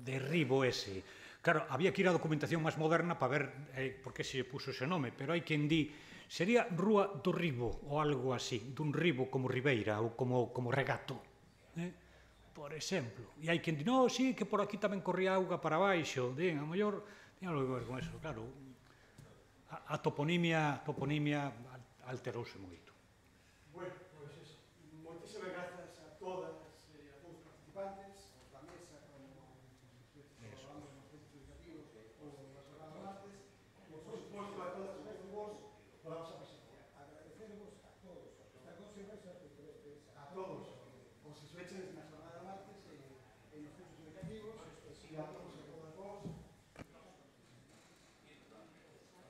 Derribo ese. Claro, había que ir á documentación máis moderna para ver eh, por que se puso ese nome, pero hai quen di sería Rúa do Ribo ou algo así, dun ribo como Ribeira ou como, como Regato, eh? Por exemplo. E hai quen di, no, sí, que por aquí tamén corría auga para baixo, den, a mellor ten algo que ver con eso, claro. A, a toponimia, toponimia alterouse moito. Bueno, pois pues eso. Moitísimas grazas a todas e a todos os participantes, aos da mesa, como falamos nos centros educativos ou na jornada martes, e por suposto a todas as vos pola vosa presencia. Agradecervos a todos, esta conservación a todos os que sueches na jornada martes e, e nos centros educativos, e a todos e todas vos.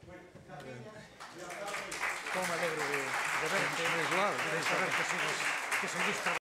Bueno, gracias. Como me alegro de, de verte, de saber que sigues, que seguís trabajando.